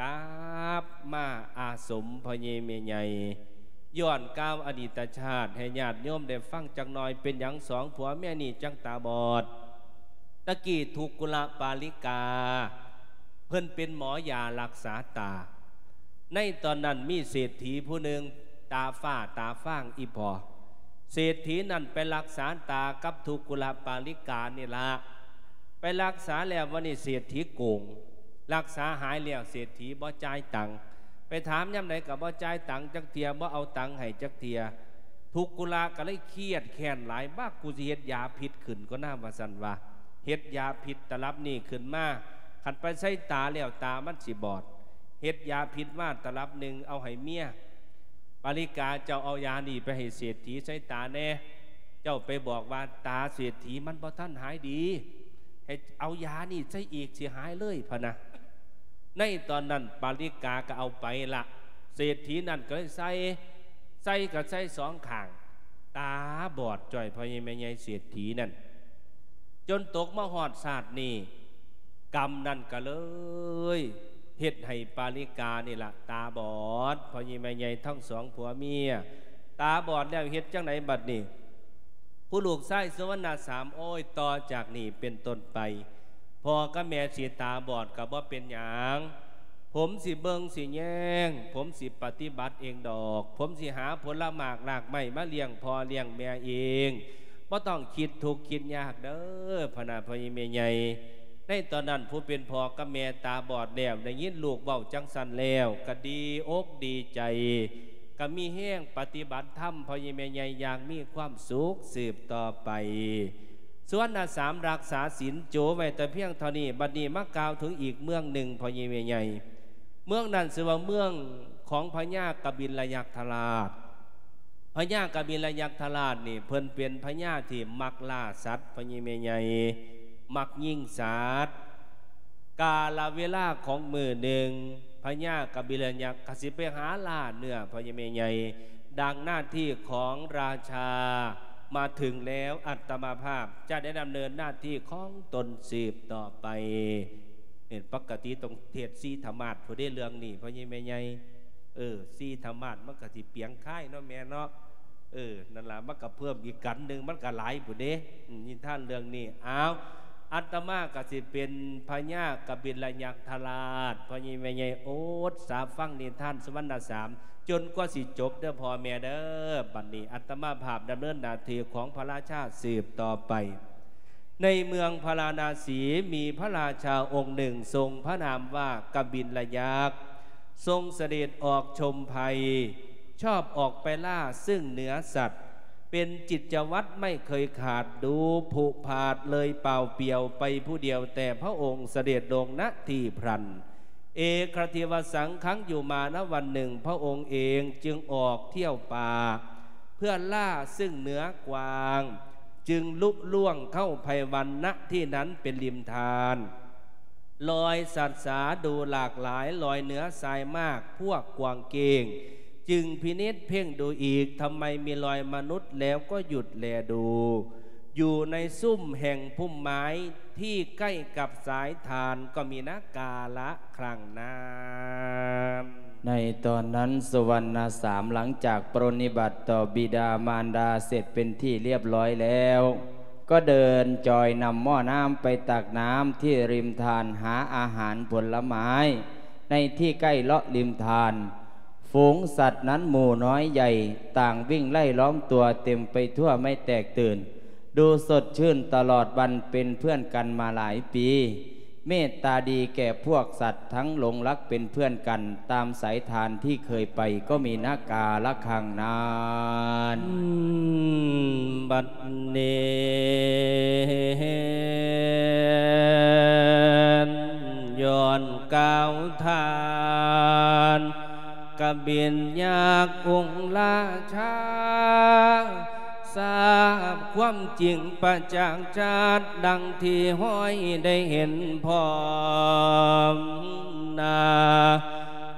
ກັບມາອາສົມພໍ່ໃຫຍ່ແມ່ໃຫຍ່. ຍ້ອນກ່າວອະດີດຕະຊາດໃຫ້ຍາດໂຍມໄດ້ຟັງຈັກໜ່ອຍ ເປັນຫຍັງສອງຜົວເມຍນີ້ຈັ່ງຕາບອດ. ຕະກີ້ທຸກກຸລະປາລິກາ ເພິ່ນເປັນໝໍຢາລັກສາຕາ. ໃນຕອນນັ້ນມີເສດຖີຜູ້ໜຶ່ງ ຕາຟ້າຕາຟາງອີ່ພໍ່. ເສດຖີນັ້ນໄປລັກສາຕາກັບທຸກກຸລະປາລິການີ້ລະ. ໄປລັກສາແລ້ວ ວັນນີ້ເສດຖີໂກງ. ລັກສາຫາຍແລ້ວ ເສດຖີບໍ່ຈ່າຍຕັງ. ໄປຖາມຍາມໃດກໍບໍ່ຈ່າຍຕັງຈັກເທື່ອ ບໍ່ເອົາຕັງໃຫ້ຈັກເທື່ອ. ທຸກກຸລະກໍເລີຍຄຽດແຄ້ນຫຼາຍ ບັກ ກູຊິເຮັດຢາພິດຂຶ້ນກ່ອນນາ ວ່າຊັ້ນວ່າ. ເຮັດຢາພິດຕະລັບນີ້ຂຶ້ນມາ ຄັນໄປໃສ່ຕາແລ້ວຕາມັນຊິບອດ. ເຮັດຢາພິດມາຕະລັບໜຶ່ງ ເອົາໃຫ້ເມຍ. ປາລິກາ ເຈົ້າເອົາຢານີ້ໄປໃຫ້ເສດຖີໃສ່ຕາແດ່. ເຈົ້າໄປບອກວ່າຕາເສດຖີມັນບໍ່ທັນຫາຍດີ ໃຫ້ເອົາຢານີ້ໃສ່ອີກ ຊິຫາຍເລີຍພະນະ. ໃນຕອນນັ້ນປາລິກາກໍເອົາໄປລະ. ເສດຖີນັ້ນກໍເລີຍໃສ່ ໃສ່ກໍໃສ່ສອງຂ້າງ ຕາບອດຈ້ອຍພໍ່ໃຫຍ່ແມ່ໃຫຍ່ເສດຖີນັ້ນ. ຈົນຕົກມາຮອດຊາດນີ້ ກຳນັ້ນກໍເລີຍເຮັດໃຫ້ປາລິການີ້ລະຕາບອດ ພໍ່ໃຫຍ່ແມ່ໃຫຍ່ທັງສອງຜົວເມຍ. ຕາບອດແລ້ວເຮັດຈັ່ງໃດບັດນີ້? ຜູ້ລູກຊາຍສຸວັນນະສາມ ໂອ້ຍ ຕໍ່ຈາກນີ້ເປັນຕົ້ນໄປ ພໍ່ກັບແມ່ຊິຕາບອດກໍບໍ່ເປັນຫຍັງ. ຜົມຊິເບິ່ງຊິແຍງ ຜົມຊິປະຕິບັດເອງດອກ. ຜົມຊິຫາຜົນລະໝາກລາກໄມ້ມາລ້ຽງພໍ່ລ້ຽງແມ່ເອງ. ບໍ່ຕ້ອງຄິດທຸກຄິດຍາກເດີ ພະນະ ພໍ່ໃຫຍ່ແມ່ໃຫຍ່. ໃນຕອນນັ້ນຜູ້ເປັນພໍ່ກັບແມ່ຕາບອດແລ້ວ ໄດ້ຍິນລູກເວົ້າຈັ່ງຊັ້ນແລ້ວ ກໍດີອົກດີໃຈ ກໍມີແຮງປະຕິບັດທຳ ພໍ່ໃຫຍ່ແມ່ໃຫຍ່ຢ່າງມີຄວາມສຸກສືບຕໍ່ໄປ. ສ່ວນນະສາມ ຮັກສາສິນໂຈໄວ້ແຕ່ພຽງເທົ່ານີ້. ບັດນີ້ມາກ່າວເຖິງອີກເມືອງໜຶ່ງ ພໍ່ໃຫຍ່ແມ່ໃຫຍ່. ເມືອງນັ້ນຊື່ວ່າເມືອງຂອງພະຍາກະບິນລະຍັກທະລາດ. ພະຍາກະບິນລະຍັກທະລາດນີ້ ເພິ່ນເປັນພະຍາທີ່ມັກລ່າສັດ ພໍ່ໃຫຍ່ແມ່ໃຫຍ່ ມັກຍິງສັດ. ກາລະເວລາຂອງມື້ໜຶ່ງ ພະຍາກະບິນລະຍັກກໍຊິໄປຫາລ່າເນື້ອ ພໍ່ໃຫຍ່ແມ່ໃຫຍ່ ດັ່ງໜ້າທີ່ຂອງລາຊາມາເຖິງແລ້ວ ອາດຕະມາພາບຈະໄດ້ດຳເນີນໜ້າທີ່ຂອງຕົນສືບຕໍ່ໄປ. ເຫັນ ປະກະຕິຕ້ອງເທດສີທະມາດພຸ້ນເດ້ເລື່ອງນີ້ ພໍ່ໃຫຍ່ແມ່ໃຫຍ່. ເອີ ສີທະມາດມັນກໍຊິປຽງຄາຍເນາະແມ່ເນາະ. ເອີ ນັ້ນລະ ມັນກໍເພີ່ມອີກກັນໜຶ່ງ ມັນກໍຫຼາຍພຸ້ນເດ້ ນິທານເລື່ອງນີ້. ອ້າວ ອາດຕະມາກໍຊິເປັນພະຍາກະບິນລະຍັກທະລາດ ພໍ່ໃຫຍ່ແມ່ໃຫຍ່ ອົດສາຟັງນິທານສຸວັນນະສາມ ຈົນກວ່າຊິຈົບເດີພໍ່ແມ່ເດີ. ບັດນີ້ອາດຕະມາພາບດຳເນີນໜ້າທີ່ຂອງພະລາຊາສືບຕໍ່ໄປ. ໃນເມືອງພາລານະສີ ມີພະລາຊາອົງໜຶ່ງ ຊົງພະນາມວ່າກະບິນລະຍັກ ຊົງສະເດັດອອກຊົມໄພ ຊອບອອກໄປລ່າເຊິ່ງເນື້ອສັດ ເປັນກິດຈະວັດໄມ່ເຄີຍຂາດ ດູຜຸຜາດເລີຍປ່າວປ່ຽວໄປຜູ້ດຽວ ແຕ່ພະອົງສະເດັດລົງ ນະທີ່ພລັນ ເອກະທິວະສັງຄັງ ຢູ່ມານະວັນໜຶ່ງ ພະອົງເອງຈຶ່ງອອກທ່ຽວປ່າ ເພື່ອລ່າເຊິ່ງເນື້ອກວາງ ຈຶ່ງລຸລ່ວງເຂົ້າໄພວັນ ນະທີ່ນັ້ນເປັນລິມທານ ລອຍສັດສາດູຫຼາກຫຼາຍ ລອຍເໜືອຊາຍໝາກພວກກວາງເກ້ງ ຈຶ່ງພິນິດເພັ່ງດູອີກ ທຳໄມມີລອຍມະນຸດ ແລ້ວກໍຢຸດແລດູ ຢູ່ໃນຊຸມແຫ່ງພຸ່ມໄມ້ທີ່ໃກ້ກັບສາຍທານ ກໍມີນະກາລະຄັ້ງນັ້ນ. ໃນຕອນນັ້ນ ສຸວັນນະສາມ ຫຼັງຈາກປະລິນິບາດຕໍ່ບິດາມານດາເສັດເປັນທີ່ລຽບລ້ອຍແລ້ວ ກໍເດີນຈອຍນຳໝໍ້ນ້ຳໄປຕັກນ້ຳທີ່ລິມທານ ຫາອາຫານຜົນລະໄມ້ໃນທີ່ໃກ້ເລາະລິມທານ. ຝູງສັດນັ້ນໝູ່ນ້ອຍໃຫຍ່ ຕ່າງວິ່ງໄລ່ລ້ອມຕົວເຕັມໄປທົ່ວໄມ່ແຕກຕື່ນ ດູສົດຊື່ນຕະຫຼອດວັນ ເປັນເພື່ອນກັນມາຫຼາຍປີ ເມດຕາດີແກ່ພວກສັດ ທັງຫຼົງລັກເປັນເພື່ອນກັນ ຕາມສາຍທານທີ່ເຄີຍໄປ ກໍມີນະກາລະຄັ້ງນັ້ນ. ບັດນີ້ ຍ້ອນກ່າວທ່ານ ກະບິນຍັກອົງລາຊາ ຊາບຄວາມຈິງປະຈັກຊັດ ດັ່ງທີ່ຫ້ອຍໄດ້ເຫັນພ້ອມໜ້າ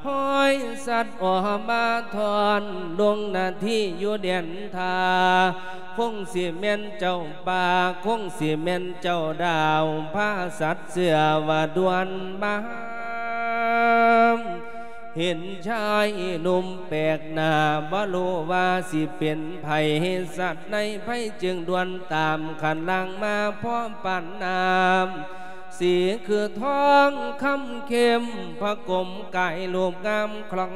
ຫ້ອຍສັດອອກມາທ່ອນ ລົງໜ້າທີ່ຢູ່ແດນທ່າ ຄົງຊິແມ່ນເຈົ້າປ່າ ຄົງຊິແມ່ນເຈົ້າດາວ ພາສັດເຊື່ອວ່າດ່ວນມາ ເຫັນຊາຍໜຸ່ມແປກໜ້າ ບໍ່ຮູ້ວ່າຊິເປັນໃຜ ສັດໃນໄພຈຶ່ງດ່ວນຕາມ ຄັນລ່າງມາພໍປານນ້ຳ ສີຄືທອງຄຳເຂັ້ມ ພະກົມກາຍຮູບງາມຄລ່ອງ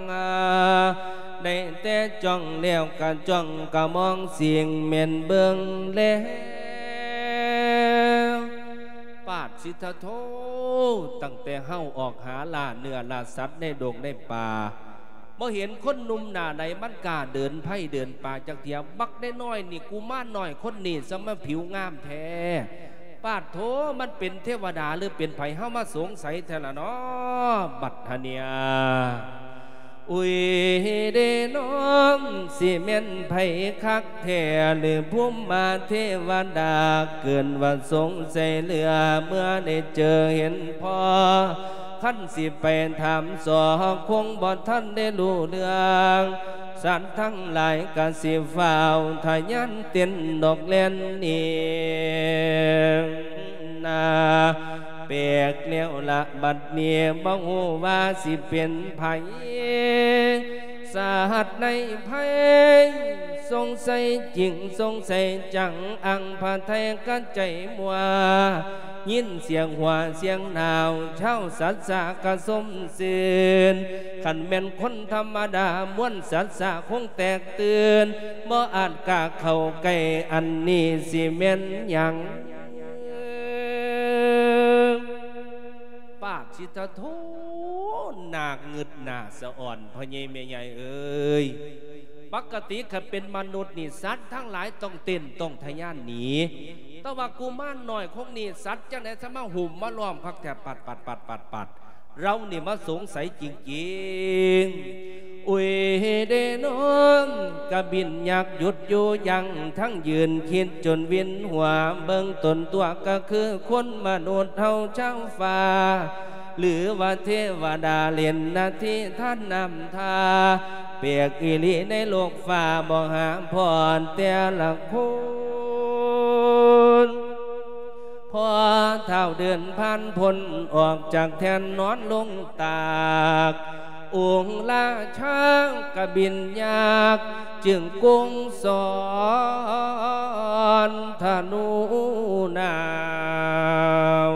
ໄດ້ແຕ່ຈ້ອງແລ້ວກະຈ້ອງ ກະມອງສິງແມ່ນເບິ່ງແລ ປາດຊິທະໂທ ຕັ້ງແຕ່ເຮົາອອກຫາລ່າເນື້ອລ່າສັດໃນດົງໃນປ່າ ບໍ່ເຫັນຄົນໜຸ່ມໜ້າໃດມັນກ້າເດີນໄພເດີນປ່າຈັກເທື່ອ. ບັກນ້ອຍໆນີ້ ກຸມານນ້ອຍຄົນນີ້ ສະມາຜິວງາມແທ້ ປາດໂທ ມັນເປັນເທວະດາ ຫຼື ເປັນໃຜ ເຮົາມາສົງໄສແທ້ລະເນາະ ບັດຫະເນຍ. ອຸຍເດນ້ອງ ຊິແມ່ນໃຜຄັກແທ້ ຫຼື ພູມມາເທວະດາ ເກີນວ່າສົງໄສເຫຼືອ ເມື່ອໄດ້ເຈີເຫັນພໍ ຄັນຊິໄປຖາມສໍ ຄົງບໍ່ທັນໄດ້ຮູ້ເລື່ອງ ສັດທັງຫຼາຍກະຊິຟ້າວທະຍານເຕັ້ນດອກແລ່ນໜີ ໜ້າແປກແລ້ວລະບັດນີ້ ບໍ່ຮູ້ວ່າຊິເປັນໃຜ ສາຫັດໃນໄພ ສົງໄສຈິງສົງໄສຈັງ ອັງພະໄທກະໃຈມົວ ຍິນສຽງຫົວສຽງໜາວ ຊາວສັດສະກະຊົມຊື່ນ ຄັນແມ່ນຄົນທຳມະດາ ມວນສັດສະຄົງແຕກຕື່ນ ບໍ່ອາດກ້າເຂົ້າໃກ້ ອັນນີ້ຊິແມ່ນຫຍັງ ປາດຊິທະໂທ ໜ້າງຶດໜ້າສະອອນ ພໍ່ໃຫຍ່ແມ່ໃຫຍ່ເອີຍ ປົກກະຕິຄັນເປັນມະນຸດນີ້ ສັດທັງຫຼາຍຕ້ອງເຕັ້ນຕ້ອງທະຍານໜີ ແຕ່ວ່າກຸມານນ້ອຍຄົງນີ້ ສັດຈັ່ງໃດສາມາຫຸ້ມມາລ້ອມຄັກແທ້ ປັດໆໆໆ ເຮົານີ້ມາສົງໄສຈິງໆ ອຸຍເດນ້ອງ ກະບິນຍັກຢຸດຢູ່ຢັ້ງ ທັງຢືນຄິດຈົນວິນຫົວ ເບິ່ງຕົນຕົວກະຄືຄົນມະນຸດເຮົາຊາວຟ້າ ຫຼືວ່າເທວະດາເຫຼັ້ນໜ້າທີ່ທານນ້ຳທາ ແປກອີ່ຫຼີໃນໂລກຟ້າ ບໍ່ຫາພໍ້ແຕ່ລະຄົນ ພໍ້ທ້າວເດີນຜ່ານພົ້ນ ອອກຈາກແທ່ນນອນລົງຕາກ ອົງລາຊາກະບິນຍັກ ຈຶ່ງກົງສອນທະນູນາວ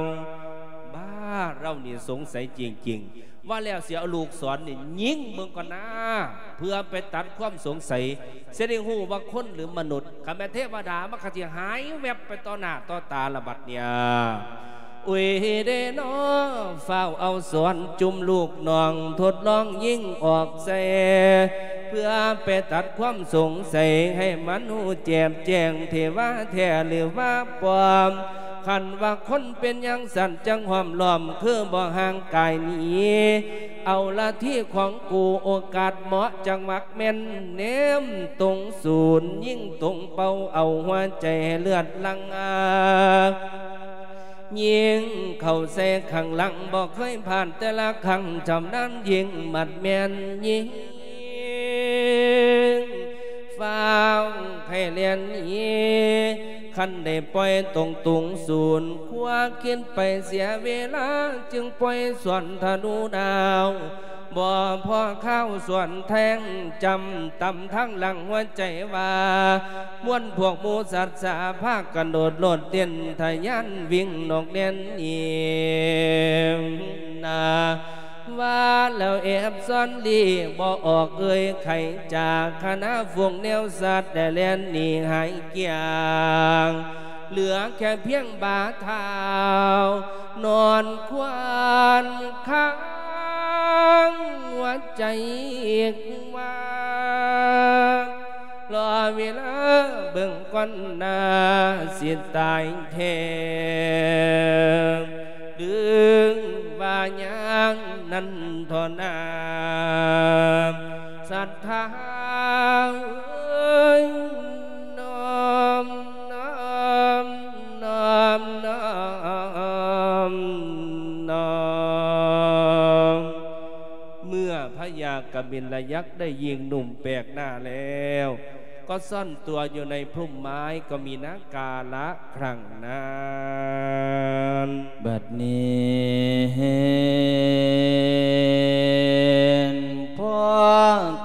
ບ້າ ເຮົານີ້ສົງໄສຈິງໆ ວ່າແລ້ວຊິເອົາລູກສອນນີ້ຍິງເບິ່ງກ່ອນນາ ເພື່ອໄປຕັດຄວາມສົງໄສ ຊິໄດ້ຮູ້ວ່າຄົນຫຼືມະນຸດ ຄັນແມ່ນເທວະດາມັນກະຊິຫາຍແວັບໄປຕໍ່ໜ້າຕໍ່ຕາລະບັດເນຍ ອຸຍເດນ້ອ ຟ້າວເອົາສອນຈຸ່ມລູກນ້ອງ ທົດລອງຍິງອອກໃສ່ ເພື່ອໄປຕັດຄວາມສົງໄສ ໃຫ້ມັນຮູ້ແຈ່ມແຈ້ງ ເທວະແທ້ຫຼືວ່າປອມ ຄັນວ່າຄົນເປັນຫຍັງຊັ້ນ ຈັ່ງຫ້ອມລ້ອມຄືບໍ່ຫ່າງກາຍໜີ ເອົາລະທີຂອງກູ ໂອກາດເໝາະຈັງຫວະແມ່ນ ເນມຕົງສູນ ຍິງຕົງເປົ້າ ເອົາຫົວໃຈໃຫ້ເລືອດຫຼັ່ງອາ ຍິງເຂົ້າໃສ່ຂ້າງຫຼັງ ບໍ່ເຄີຍພາດແຕ່ລະຄັ້ງ ຊຳນານຍິງໝັດແມ່ນຍິງ ຟ້າວໃຫ້ແລ່ນໜີ ຄັນໄດ້ປ່ອຍຕົງຕຸງສູນ ຄວາຄິດໄປເສຍເວລາ ຈຶ່ງປ່ອຍສວນທະນູດາວ ບໍ່ພໍຄາວສວນແທງ ຈຳຕຳທາງຫຼັງຫົວໃຈວ່າ ມວນພວກໝູສັດສາ ພາກັນໂດດໂລດເຕັ້ນ ທະຍານວິ່ງນອກແລ່ນໜີ ນາ ວ່າແລ້ວແອບຊ້ອນຫຼີ່ ບໍ່ອອກເອີ່ຍໄຂຈາກ ຄະນະຝູງແນວສັດ ໄດ້ແລ່ນໜີຫາຍກ້ຽງ ເຫຼືອແຄ່ພຽງບ່າເທົ້າ ນອນຄວານຄ້າງຫົວໃຈວ່າ ລໍເວລາເບິ່ງກ່ອນໜ້າ ຊິຕາຍແທ້ ດຶງວ່າຍາງນັ້ນທໍ່ນາ ສັດທາເອີຍ ນ້ອມ ນ້ອມ ນ້ອມ ນ້ອມ ນ້ອມ. ເມື່ອພະຍາກະບິນລະຍັກໄດ້ຍິງໜຸ່ມແປກໜ້າແລ້ວ ກໍຊ່ອນຕົວຢູ່ໃນພຸ່ມໄມ້ ກໍມີນາກາລະຄັ້ງນັ້ນ ບັດນີ້ພໍ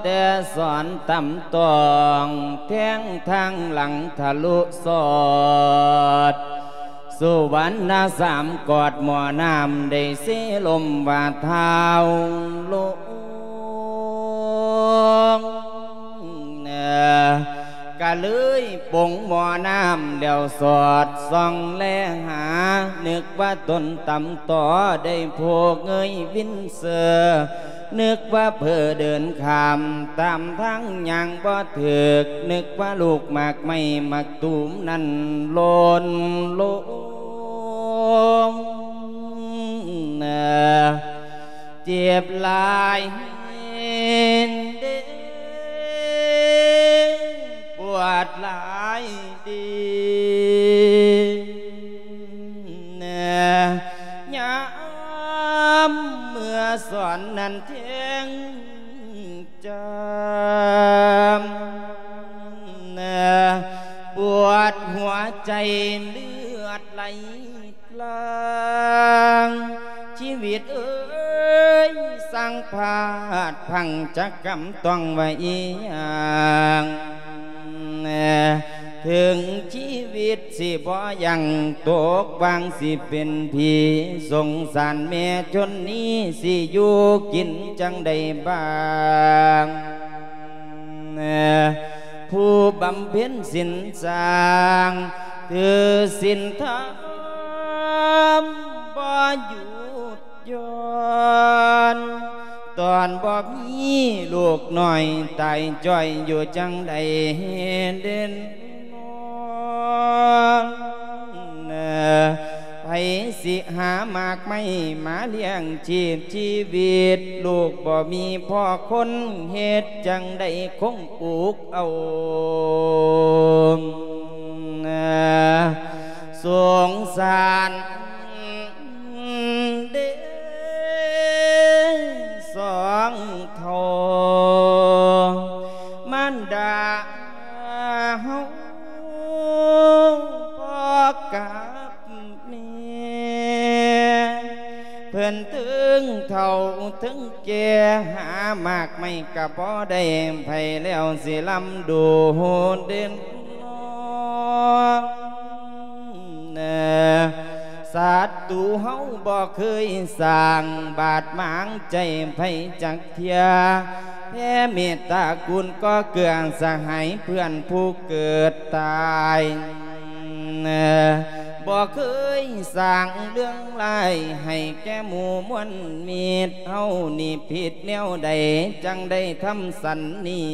ແຕ່ສອນຕຳຕອງ ແທງທາງຫຼັງທະລຸສອດ ສຸວັນນະສາມກອດໝໍ້ນ້ຳ ໄດ້ເຊລົມວ່າທ້າວລົງ ກະເລີຍປົງໝໍ້ນ້ຳ ແລ້ວສອດສ່ອງແລຫາ ນຶກວ່າຕົນຕຳຕໍ່ ໄດ້ໂພກເງີຍວິນເຊີ ນຶກວ່າເຜີເດີນຂ້າມ ຕາມທາງຍ່າງບໍ່ຖືກ ນຶກວ່າລູກໝາກໄມ້ໝາກຕູມນັ້ນຫຼົ່ນລົງ ເຈັບຫຼາຍເດ້ ປວດຫຼາຍເດ້ ຍາມເມື່ອສອນນັ້ນແທງຈຳ ປວດຫົວໃຈເລືອດໄຫຼ ລາງ ຊີວິດເອີຍ ຊ່າງພາດພັງຈັກກຳຕ້ອງວ່າອີ່ຫຍັງ ເຖິງຊີວິດຊິບໍ່ຢັ້ງຕົກວາງ ຊິເປັນຜີສົງສານແມ່ຊົນນີ້ ຊິຢູ່ກິນຈັ່ງໃດບາງ ຜູ້ບຳເພັນສິນສ້າງ ຖືສິນທຳບໍ່ຢຸດຢ່ອນ ຕອນບໍ່ມີລູກນ້ອຍຕາຍຈ້ອຍຢູ່ຈັ່ງໃດເດັ່ນນອນ ໃຜຊິຫາໝາກໄມ້ມາລ້ຽງຊີບຊີວິດ ລູກບໍ່ມີພໍ່ຄົນ ເຮັດຈັ່ງໃດຄົງອຸກເອົາ ສົງສານເດ້ ສອງເຖົ້າມານດາເຮົາ ພໍ່ກັບແມ່ ເພິ່ນເຖິງເຖົ້າເຖິງແກ່ ຫາໝາກໄມ້ກະບໍ່ໄດ້ ໃຜແລ້ວຊິລຳດູເດັ່ນນອນ ສັດຕູເຮົາບໍ່ເຄີຍສ້າງບາດໝາງໃຈໃຜຈັກເທື່ອ ແຜ່ເມດຕາກຸນກໍເກື້ອສະຫາຍເພື່ອນຜູ້ເກີດຕາຍ ບໍ່ເຄີຍສ້າງເລື່ອງຮ້າຍໃຫ້ແກ່ໝູ່ມວນມິດ ເຮົານີ້ຜິດແນວໃດ ຈັ່ງໄດ້ທຳສັນນີ້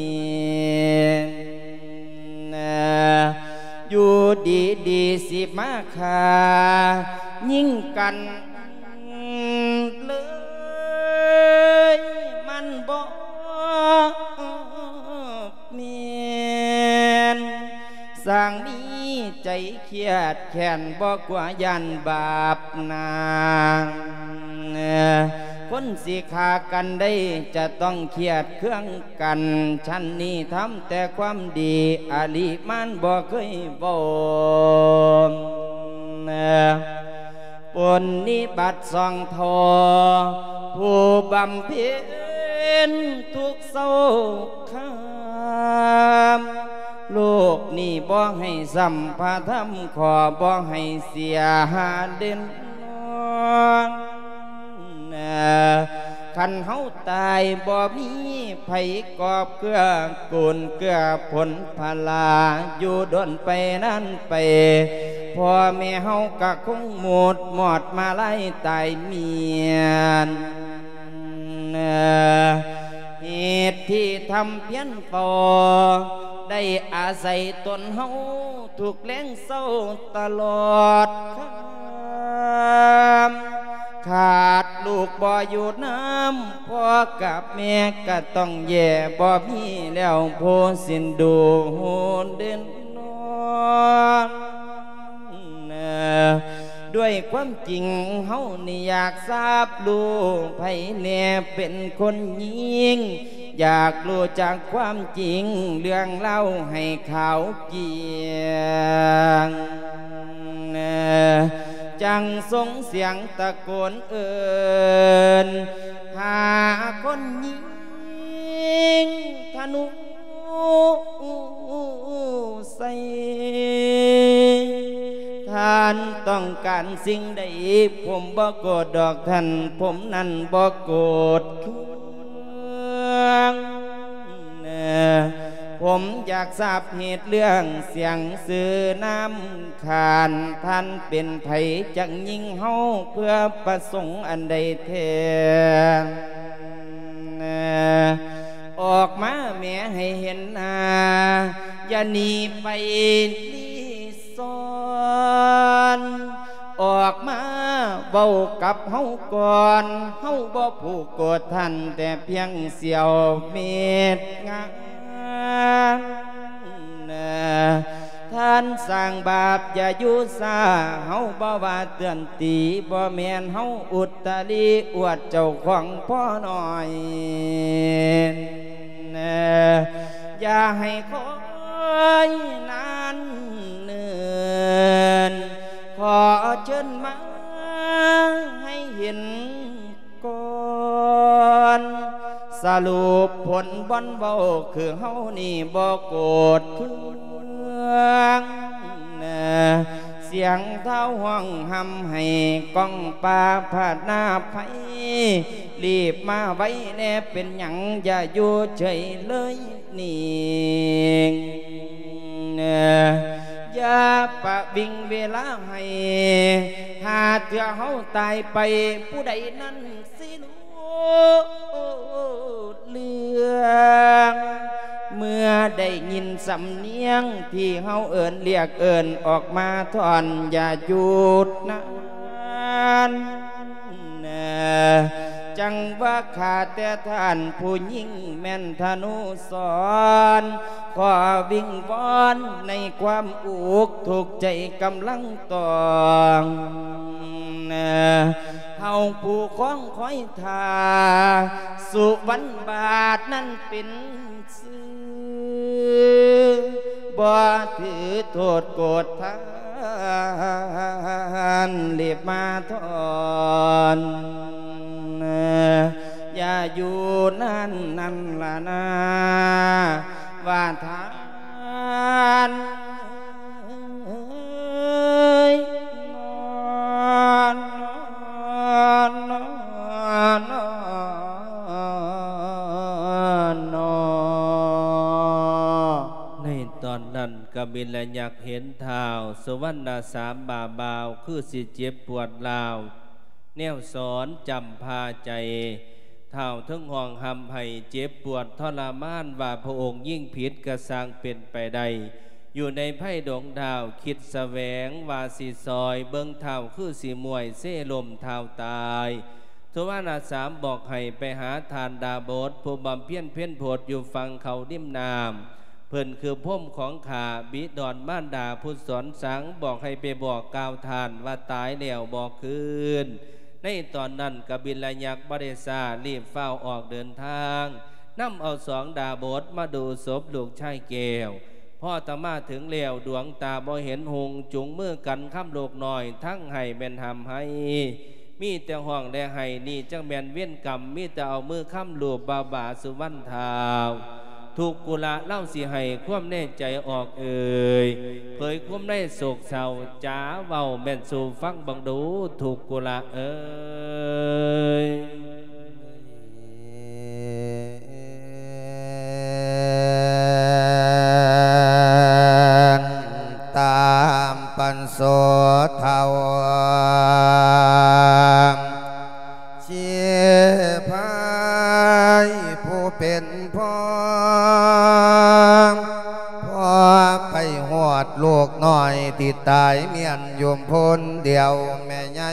ຢູ່ດີໆ ຊິມາຂ້າຍິງກັນເລີຍ ມັນບໍ່ແມ່ນ ຊ່າງມີໃຈຄຽດແຄ້ນ ບໍ່ກົວຢ້ານບາບນາ ຄົນຊິຂ້າກັນໄດ້ ຈະຕ້ອງຄຽດເຄືອງກັນ ຊັ້ນນີ້ທຳແຕ່ຄວາມດີ ອາລິມານບໍ່ເຄີຍເວົ້າ ປຸນນິບັດສອງທໍ່ ຜູ້ບຳເພັນທຸກເຊົາຄາມ ໂລກນີ້ບໍ່ໃຫ້ຊ້ຳພະທຳ ຂໍບໍ່ໃຫ້ເສຍເດັ່ນນອນ ຄັນເຮົາຕາຍບໍ່ມີໃຜກອບເກື້ອ ກຸນເກື້ອຜົນພະລາ ຢູ່ດົນໄປນານໄປ ພໍ່ແມ່ເຮົາກະຄົງໝົດມອດມາລາຍຕາຍເມຍນ ເຫດທີ່ທຳພຽນເຝົ້າ ໄດ້ອາໄສຕົນເຮົາທຸກແລງເຊົ້າຕະຫຼອດຄ່ຳ ຂາດລູກບໍ່ຢູ່ນຳ ພໍ່ກັບແມ່ກະຕ້ອງແຍ່ ບໍ່ມີແລ້ວຜູ້ສິນດູເດັ່ນນອນ ດ້ວຍຄວາມຈິງເຮົານີ້ຢາກຊາບຮູ້ ໃຜແນ່ເປັນຄົນຍິງ ຢາກຮູ້ຈັກຄວາມຈິງ ເລື່ອງລາວໃຫ້ຂາວກຽງ ຈັ່ງສົ່ງສຽງຕະໂກນເອີ້ນ ຫາຄົນຍິງທະນູໃສ່ ທ່ານຕ້ອງການສິ່ງໃດ ຜົມບໍ່ໂກດດອກທ່ານ ຜົມນັ້ນບໍ່ໂກດເຄືອງ ຜົມຢາກຊາບເຫດເລື່ອງສຽງຊື່ນາມ ຂ້ານທ່ານເປັນໃຜ ຈັ່ງຍິງເຮົາເພື່ອປະສົງອັນໃດແທ້ ອອກມາແມ້ໃຫ້ເຫັນໜ້າ ຢ່າໜີໄປລີ້ຊອນ ອອກມາເວົ້າກັບເຮົາກ່ອນ ເຮົາບໍ່ຜູກໂກດທ່ານ ແຕ່ພຽງສຽວເມັດງາ ທ່ານສ້າງບາບຢ່າຢູ່ຊ້າ ເຮົາບໍ່ວ່າເຕືອນຕີ ບໍ່ແມ່ນເຮົາອຸດຕະລິອວດເຈົ້າຂອງພໍ່ນ້ອຍ ຢ່າໃຫ້ຄອຍນານເນີນ ຂໍເຊີນມາໃຫ້ເຫັນ ກ່ອນ ສະຫຼຸບຜົນບ່ອນເວົ້າ ຄືເຮົານີ້ບໍ່ໂກດເຄືອງ ສຽງທ້າວຮ້ອງຮ່ຳໄຫ້ ກ້ອງປ່າພະນາໄພ ລີບມາໄວແດ່ ເປັນຫຍັງຢ່າຢູ່ເສີຍເລີຍ ນີ້ ຢ່າປະວິງເວລາໃຫ້ ຫາເທື່ອເຮົາຕາຍໄປ ຜູ້ໃດນັ້ນຊິຮູ້ເລື່ອງ ເມື່ອໄດ້ຍິນສຳນຽງ ທີ່ເຮົາເອີ້ນລຽກເອີ້ນອອກມາທ່ອນ ຢ່າຢຸດນານ ຈັ່ງວ່າຂ້າແຕ່ທ່ານຜູ້ຍິງແມ່ນທະນູສອນ ຂໍວິງວອນໃນຄວາມອຸກທຸກໃຈກຳລັງຕ້ອງ ເຮົາຜູ້ຄອງຄອຍທ່າ ສຸວັນບາດນັ້ນເປັນຊື່ ບໍ່ຖືໂທດໂກດທ່ານ ລີບມາທ່ອນ ຢ່າຢູ່ນານນັ້ນລະນາ ວ່າທ່ານເອີຍ ນອນ ນອນ ນອນ ນອນ ນອນ ໃນຕອນນັ້ນ ກະບິນລະຍັກເຫັນທ້າວສຸວັນນະສາມບ່າບ່າວ ຄືຊິເຈັບປວດຮ້າວ ແນວສອນຈຳພາໃຈ ທ້າວເທິງຮ້ອງຮ່ຳໄຫ້ເຈັບປວດທໍລະມານ ວ່າພະອົງຍິງຜິດກະຊ່າງເປັນໄປໄດ້ ຢູ່ໃນໄພດົງທ້າວຄິດສະແຫວງວ່າຊິຊ່ອຍເບິ່ງທ້າວ ຄືຊິມ້ວຍເຊລົ້ມທ້າວຕາຍ. ສຸວັນນະສາມບອກໃຫ້ໄປຫາທ່ານດາບົດ ຜູ້ບຳເພັນເພັນໂພດຢູ່ຝັ່ງເຂົາລິມນ້ຳ ເພິ່ນຄືພົມຂອງຂ້າ ບິດອນມານດາຜູ້ສອນສັງ ບອກໃຫ້ໄປບອກກ່າວທ່ານວ່າຕາຍແລ້ວບໍ່ຄືນ. ໃນຕອນນັ້ນ ກະບິນລະຍັກບໍ່ໄດ້ຊ້າ ລີບຟ້າວອອກເດີນທາງ ນຳເອົາສອງດາບົດມາດູສົບລູກຊາຍແກ້ວ. ພໍຕະມາເຖິງແລ້ວ ດວງຕາບໍ່ເຫັນຮຸ່ງ ຈູງມືກັນຄຳລູກນ້ອຍ ທັງໄຫ້ແມ່ນຮ່ຳໄຫ້ ມີແຕ່ຮ້ອງແລະໄຫ້ ນີ້ຈັກແມ່ນເວນກຳ ມີແຕ່ເອົາມືຄຳລູບບ່າໆ ສຸວັນທ້າວ. ທຸກກຸລະ ລາວຊິໃຫ້ຄວາມໃນໃຈອອກເອີ່ຍ ເຜີຍຄວາມໃນໂສກເສົ້າ ຈາເວົ້າແມ່ນສູ່ຟັງເບິ່ງດູ ທຸກກຸລະເອີຍ. ຕາມປັນໂສເຖົ້າ ຊີພາຍຜູ້ເປັນພໍ່ ພໍໄປຮອດລູກນ້ອຍທີ່ຕາຍມ້ຽນຢູ່ພຸ້ນດຽວແມ່ໃຫຍ່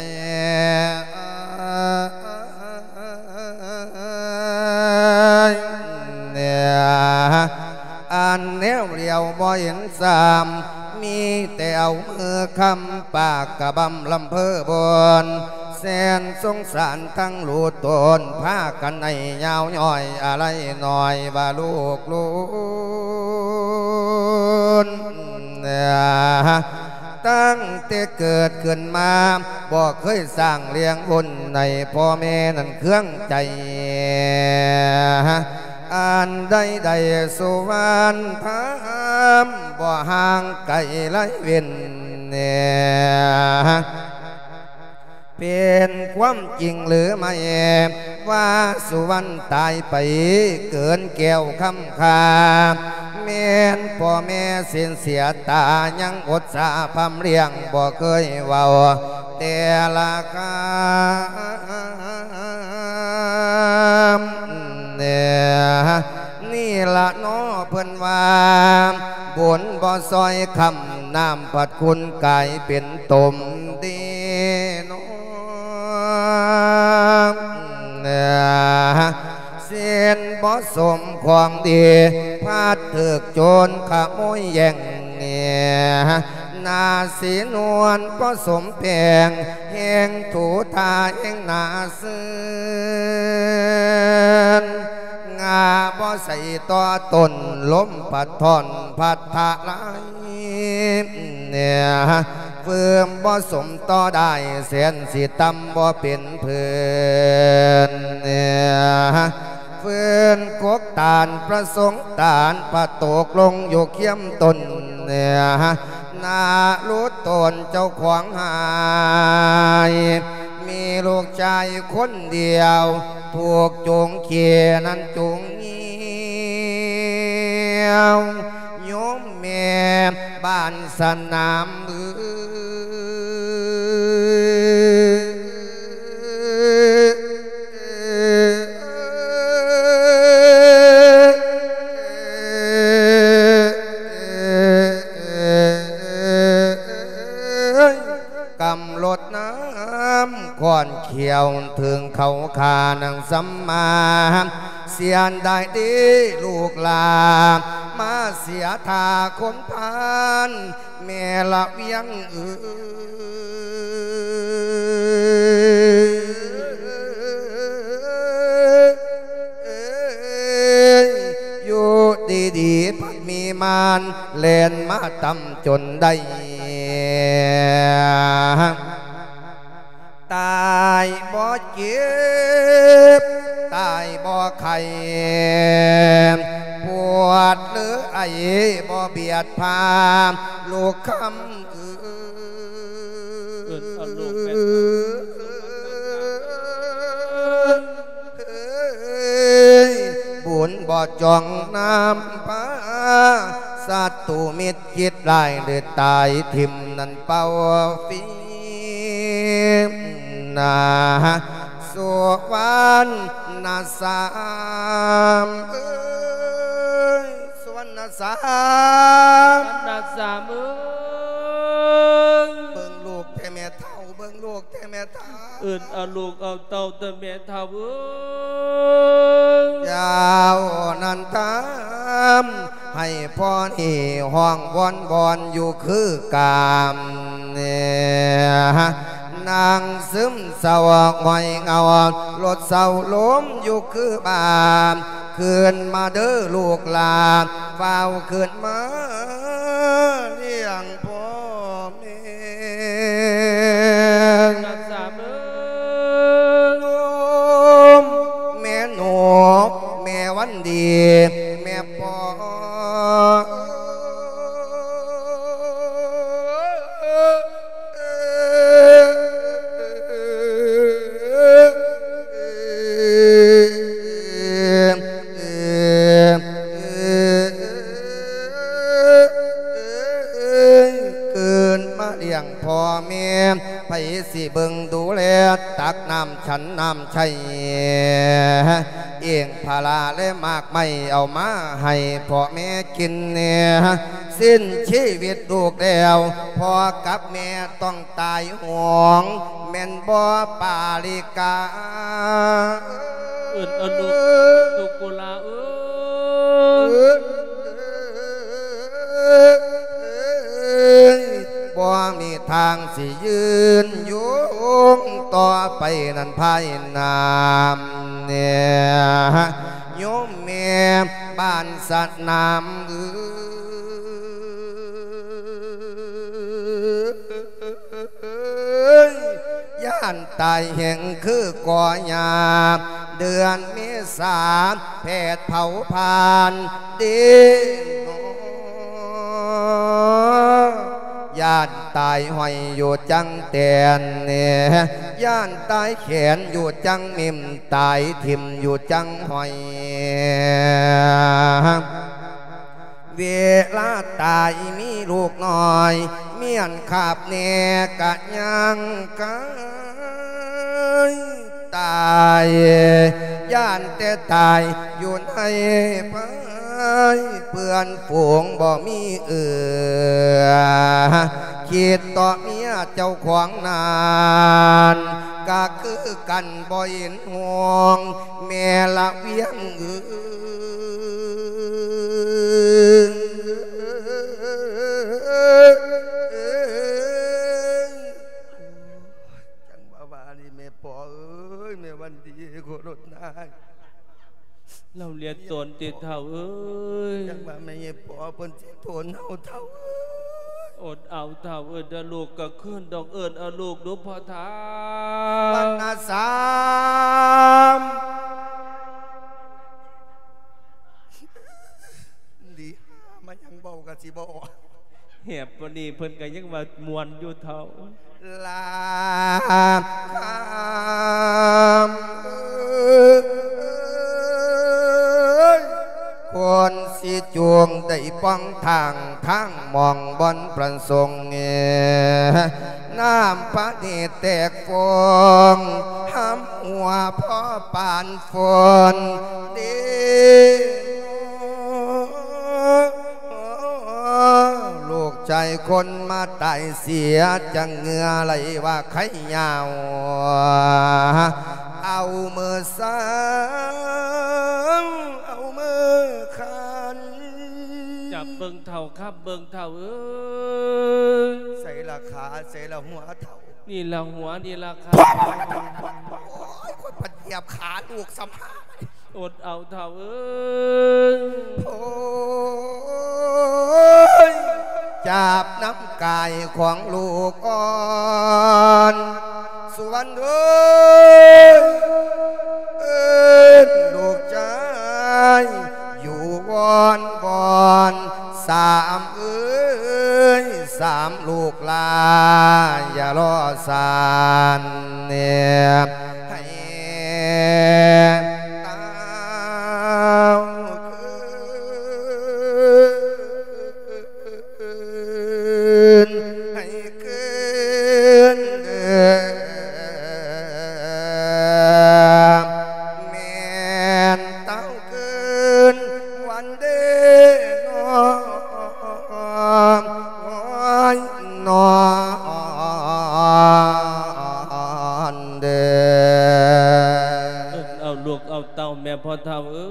ອັນແນວຫຼຽວບໍ່ເຫັນຊ້ຳ ມີແຕ່ເອົາມືຄ້ຳປາກກະບຳລຳເພີບົນ ແສນສົງສານທັງລູກຕົນ ພາກັນໃຫ້ຍາວຍ່ອຍອາໄລນ້ອຍວ່າລູກລຸນ ຕັ້ງແຕ່ເກີດຂຶ້ນມາ ບໍ່ເຄີຍສ້າງລ້ຽງບຸນໃຫ້ພໍ່ແມ່ນັ້ນເຄືອງໃຈ ອັນໃດໆ ສຸວັນທາມ ບໍ່ຫ່າງໄກໄລເວັ້ນ ເປັນຄວາມຈິງຫຼືໄມ່ ວ່າສຸວັນຕາຍໄປເກີນແກ້ວຄຳຄ່າ ແມ່ນພໍ່ແມ່ເສັ້ນເສຍຕາ ຍັງອົດສາພຳລ້ຽງ ບໍ່ເຄີຍເວົ້າແຕ່ລະຄຳ ນີ້ລະເນາະເພິ່ນວ່າ ບຸນບໍ່ຊ່ອຍຄ້ຳ ນ້ຳພັດຂຸນກາຍເປັນຕົມດີເນາະ ສິນບໍ່ສົມຂອງດີ ພັດຖືກໂຈນຂະໂມຍແຍ່ງ ໜ້າສີນວນບໍ່ສົມແປງ ແຮງຖູທາແຮງໜ້າຊື່ນ ງາບໍ່ໃສ່ຕໍ່ຕົ້ນ ລົມພັດທ້ອນພັດທະລາຍ ຟືມບໍ່ສົມຕໍ່ໄດ້ ແສນຊິຕ່ຳບໍ່ເປັນພື້ນ ຟືນກົກຕານ ພະສົງຕານ ພະຕົກລົງຢູ່ຄຽມຕົ້ນ ນາລຸຕົນເຈົ້າຂອງຫາຍ ມີລູກຊາຍຄົນດຽວ ຖືກໂຈງເຂຍນັ້ນໂຈງງຽວ ໂຍມແມ່ບ້ານສະໜາມເອີຍ ກຳລົດນ້ຳຂອນຂຽວ ເຖິງເຂົາຂ້ານາງສຳມາ ເສຍດາຍເດ້ລູກຫຼານ ມາເສຍທ່າຄົນພານ ແມ່ລະວຽງເອີຍ ຢູ່ດີໆ ພັດມີມານ ແລ່ນມາຕຳຈົນໄດ້ ຕາຍບໍ່ເຈັບ ຕາຍບໍ່ໄຂ້ ປວດຫຼືໄອບໍ່ບຽດພາ ລູກຄຳເອີຍ ເອີ້ນເອົາລູກແມ່ນ ເອີຍ ບຸນບໍ່ຈ່ອງນຳພາ ສັດຕູມິດຄິດຮ້າຍ ຫຼືຕາຍຖິ້ມນັ້ນເປົ່າຟີ ນາ ສຸວັນນະສາມເອີຍ ສຸວັນນະສາມ ສຸວັນນະສາມເອີຍ ເບິ່ງລູກແທ້ແມ່ເຖົ້າ ເບິ່ງລູກແທ້ແມ່ເຖົ້າ ເອີ້ນເອົາລູກເອົາເຕົ້າແທ້ແມ່ເຖົ້າເອີຍ ເຈົ້ານັ້ນຕາມ ໃຫ້ພໍ່ນີ້ຮ້ອງວອນວອນຢູ່ຄືກາມ ນາງຊຶມເສົ້າຫ້ອຍເຫງົາ ລົດເສົ້າລົມຢູ່ຄືບ້ານ ຂຶ້ນມາເດີລູກຫຼານ ຟ້າວຂຶ້ນມາລ້ຽງພໍ່ແມ່ ນາງຊາເອີຍ ໂຍມແມ່ນົກ ແມ່ວັນດີ ແມ່ ເກີດມາລ້ຽງພໍ່ແມ່ ໃຜຊິເບິ່ງດູແລ ຕັກນ້ຳ ສັນນ້ຳໃຊ້ ເອງພາລາແລະໝາກໄມ້ ເອົາມາໃຫ້ພໍ່ແມ່ກິນແດ່ ສິ້ນຊີວິດລູກແລ້ວ ພໍ່ກັບແມ່ຕ້ອງຕາຍໂຫງ ແມ່ນບໍ່ປາລິກາ? ເອີ້ນເອົາລູກ ລູກກຸລາເອີຍ ບໍ່ມີທາງຊິຍືນຍົງຕໍ່ໄປນັ້ນພາຍໜ້າແດ່ ໂຍມແມ່ບ້ານສະໜາມເອີຍ ຢ້ານຕາຍແຮງຄືກໍຫຍ້າ ເດືອນເມສາແຜດເຜົາຜ່ານເດ້ ຢ້ານຕາຍຫ້ອຍຢູ່ຈັງແຕນ ຢ້ານຕາຍແຂນຢູ່ຈັງມິມ ຕາຍຖິ້ມຢູ່ຈັງຫ້ອຍ ເວລາຕາຍມີລູກນ້ອຍ ມີອັນຄາບແດ່ກະຍ່າງກາຍ ຕາຍ ຢ້ານແຕ່ຕາຍຢູ່ໃນພາຍ ເພື່ອນຝູງບໍ່ມີເອື້ອ ຄິດຕໍ່ເມຍເຈົ້າຂອງນັ້ນ ກະຄືກັນບໍ່ເຫັນຫ່ວງ ແມ່ລະວຽງເອີຍ ຈັ່ງວ່າວ່ານີ້ແມ່ພໍ່ເອີຍ ແມ່ວັນດີໂຄລົດນາຍ ລາວລຽນຕອນຕິເຖົ້າເອີຍ ຈັ່ງວ່າແມ່ໃຫຍ່ພໍ່ເພິ່ນຊິໂທນເຮົາເຖົ້າເອີຍ ອົດເອົາເຖົ້າເອີຍ ເດີລູກກໍຄືນດອກ ເອີ້ນເອົາລູກດູພໍ່ເຖົ້າ ວັນນະສາມ ດີ ມາຍັງເວົ້າກໍຊິບໍ່ອອກ ແຮບປານນີ້ເພິ່ນກໍຍັງວ່າມ່ວນຢູ່ເຖົ້າ ລາຄຳເອີຍ ຄົນຊິຈູງໄດ້ປ່ອງທາງ ທາງໝ່ອງບ່ອນປະສົງ ນ້ຳພະເນດແຕກຟອງ ຫຳຫົວພໍປານຝົນເດ ລູກຊາຍຄົນມາຕາຍເສຍ ຈັ່ງເຫື່ອໄຫຼວ່າໄຄຍາວ ເອົາມື້ເຊົ້າ ເອົາມື້ຄ່ຳ ຈັບເບິ່ງເຖົ້າ ຂັບເບິ່ງເຖົ້າເອີຍ ໃສລະຂາ ໃສລະຫົວເຖົ້າ ນີ້ລະຫົວ ນີ້ລະຂາ ໂອ້ຍ ຄົນພັດຢຽບຂາລູກສຳພາ ອົດເອົາເຖົ້າເອີຍ ໂອ້ຍ ຈັບນຳກາຍຂອງລູກອ່ອນ ສຸວັນເອີຍ ເອີ້ນລູກຊາຍຢູ່ວອນວອນ ສາມເອີຍ ສາມລູກຫຼ້າ ຢ່າລໍສານແນບໃຫ້ ຄືນ ໃຫ້ຄືນເດີ ແມ່ນເຕົ້າຄືນວັນເດນໍ ນ້ອນເດີ ເອີ້ນເອົາລູກເອົາເຕົ້າແມ່ພໍ່ເຖົ້າເອີ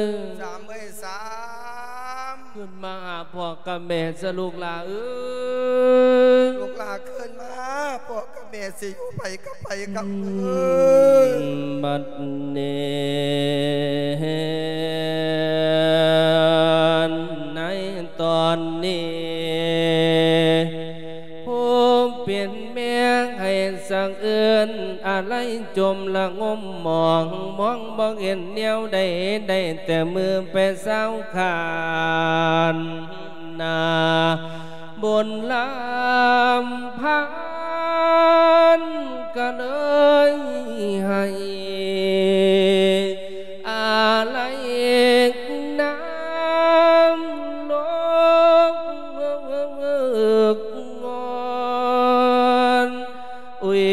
ຍ ສາມເອີຍສາມ ຂຶ້ນມາຫາພໍ່ກັບແມ່ຊະລູກຫຼ້າເອີຍ ລູກຫຼ້າຂຶ້ນມາຫາພໍ່ກັບ ກັບໃຜກັບເອີຍ ບັດນີ້ ໃນຕອນນີ້ ຜູ້ເປັນແມ່ໃຫ້ສະເອືອນອາໄລຈົມລະງົມໝອງ ມອງບໍ່ເຫັນແນວໃດ ໄດ້ແຕ່ມືໄປຊາວຂານໜ້າ ບຸນລຳພັນກໍເລີຍໃຫ້ອາໄລນຳລົງງອນ ອຸຍ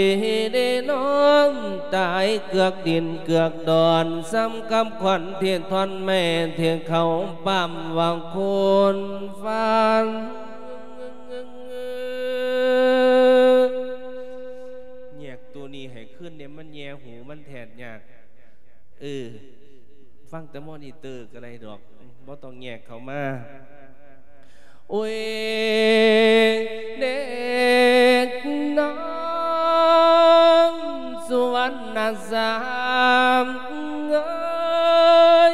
ໄດ້ນ້ອມຕາຍເກືອກດິນເກືອກດອນ ສ່ຳກັບຂວັນທີ່ທ່ອນໄມ້ ທີ່ເຂົາປ້ຳວ່າໂຄນຟັນ ແຍກໂຕນີ້ໃຫ້ຄືນແດ່ ມັນແຍ່ຫູມັນແທດຍາກ. ເອີ ຟັງແຕ່ມໍນິເຕີກໍໄດ້ດອກ ບໍ່ຕ້ອງແຍກເຂົ້າມາ. ໂອ້ຍ ເດັກນ້ອງສຸວັນນະສາມເອີຍ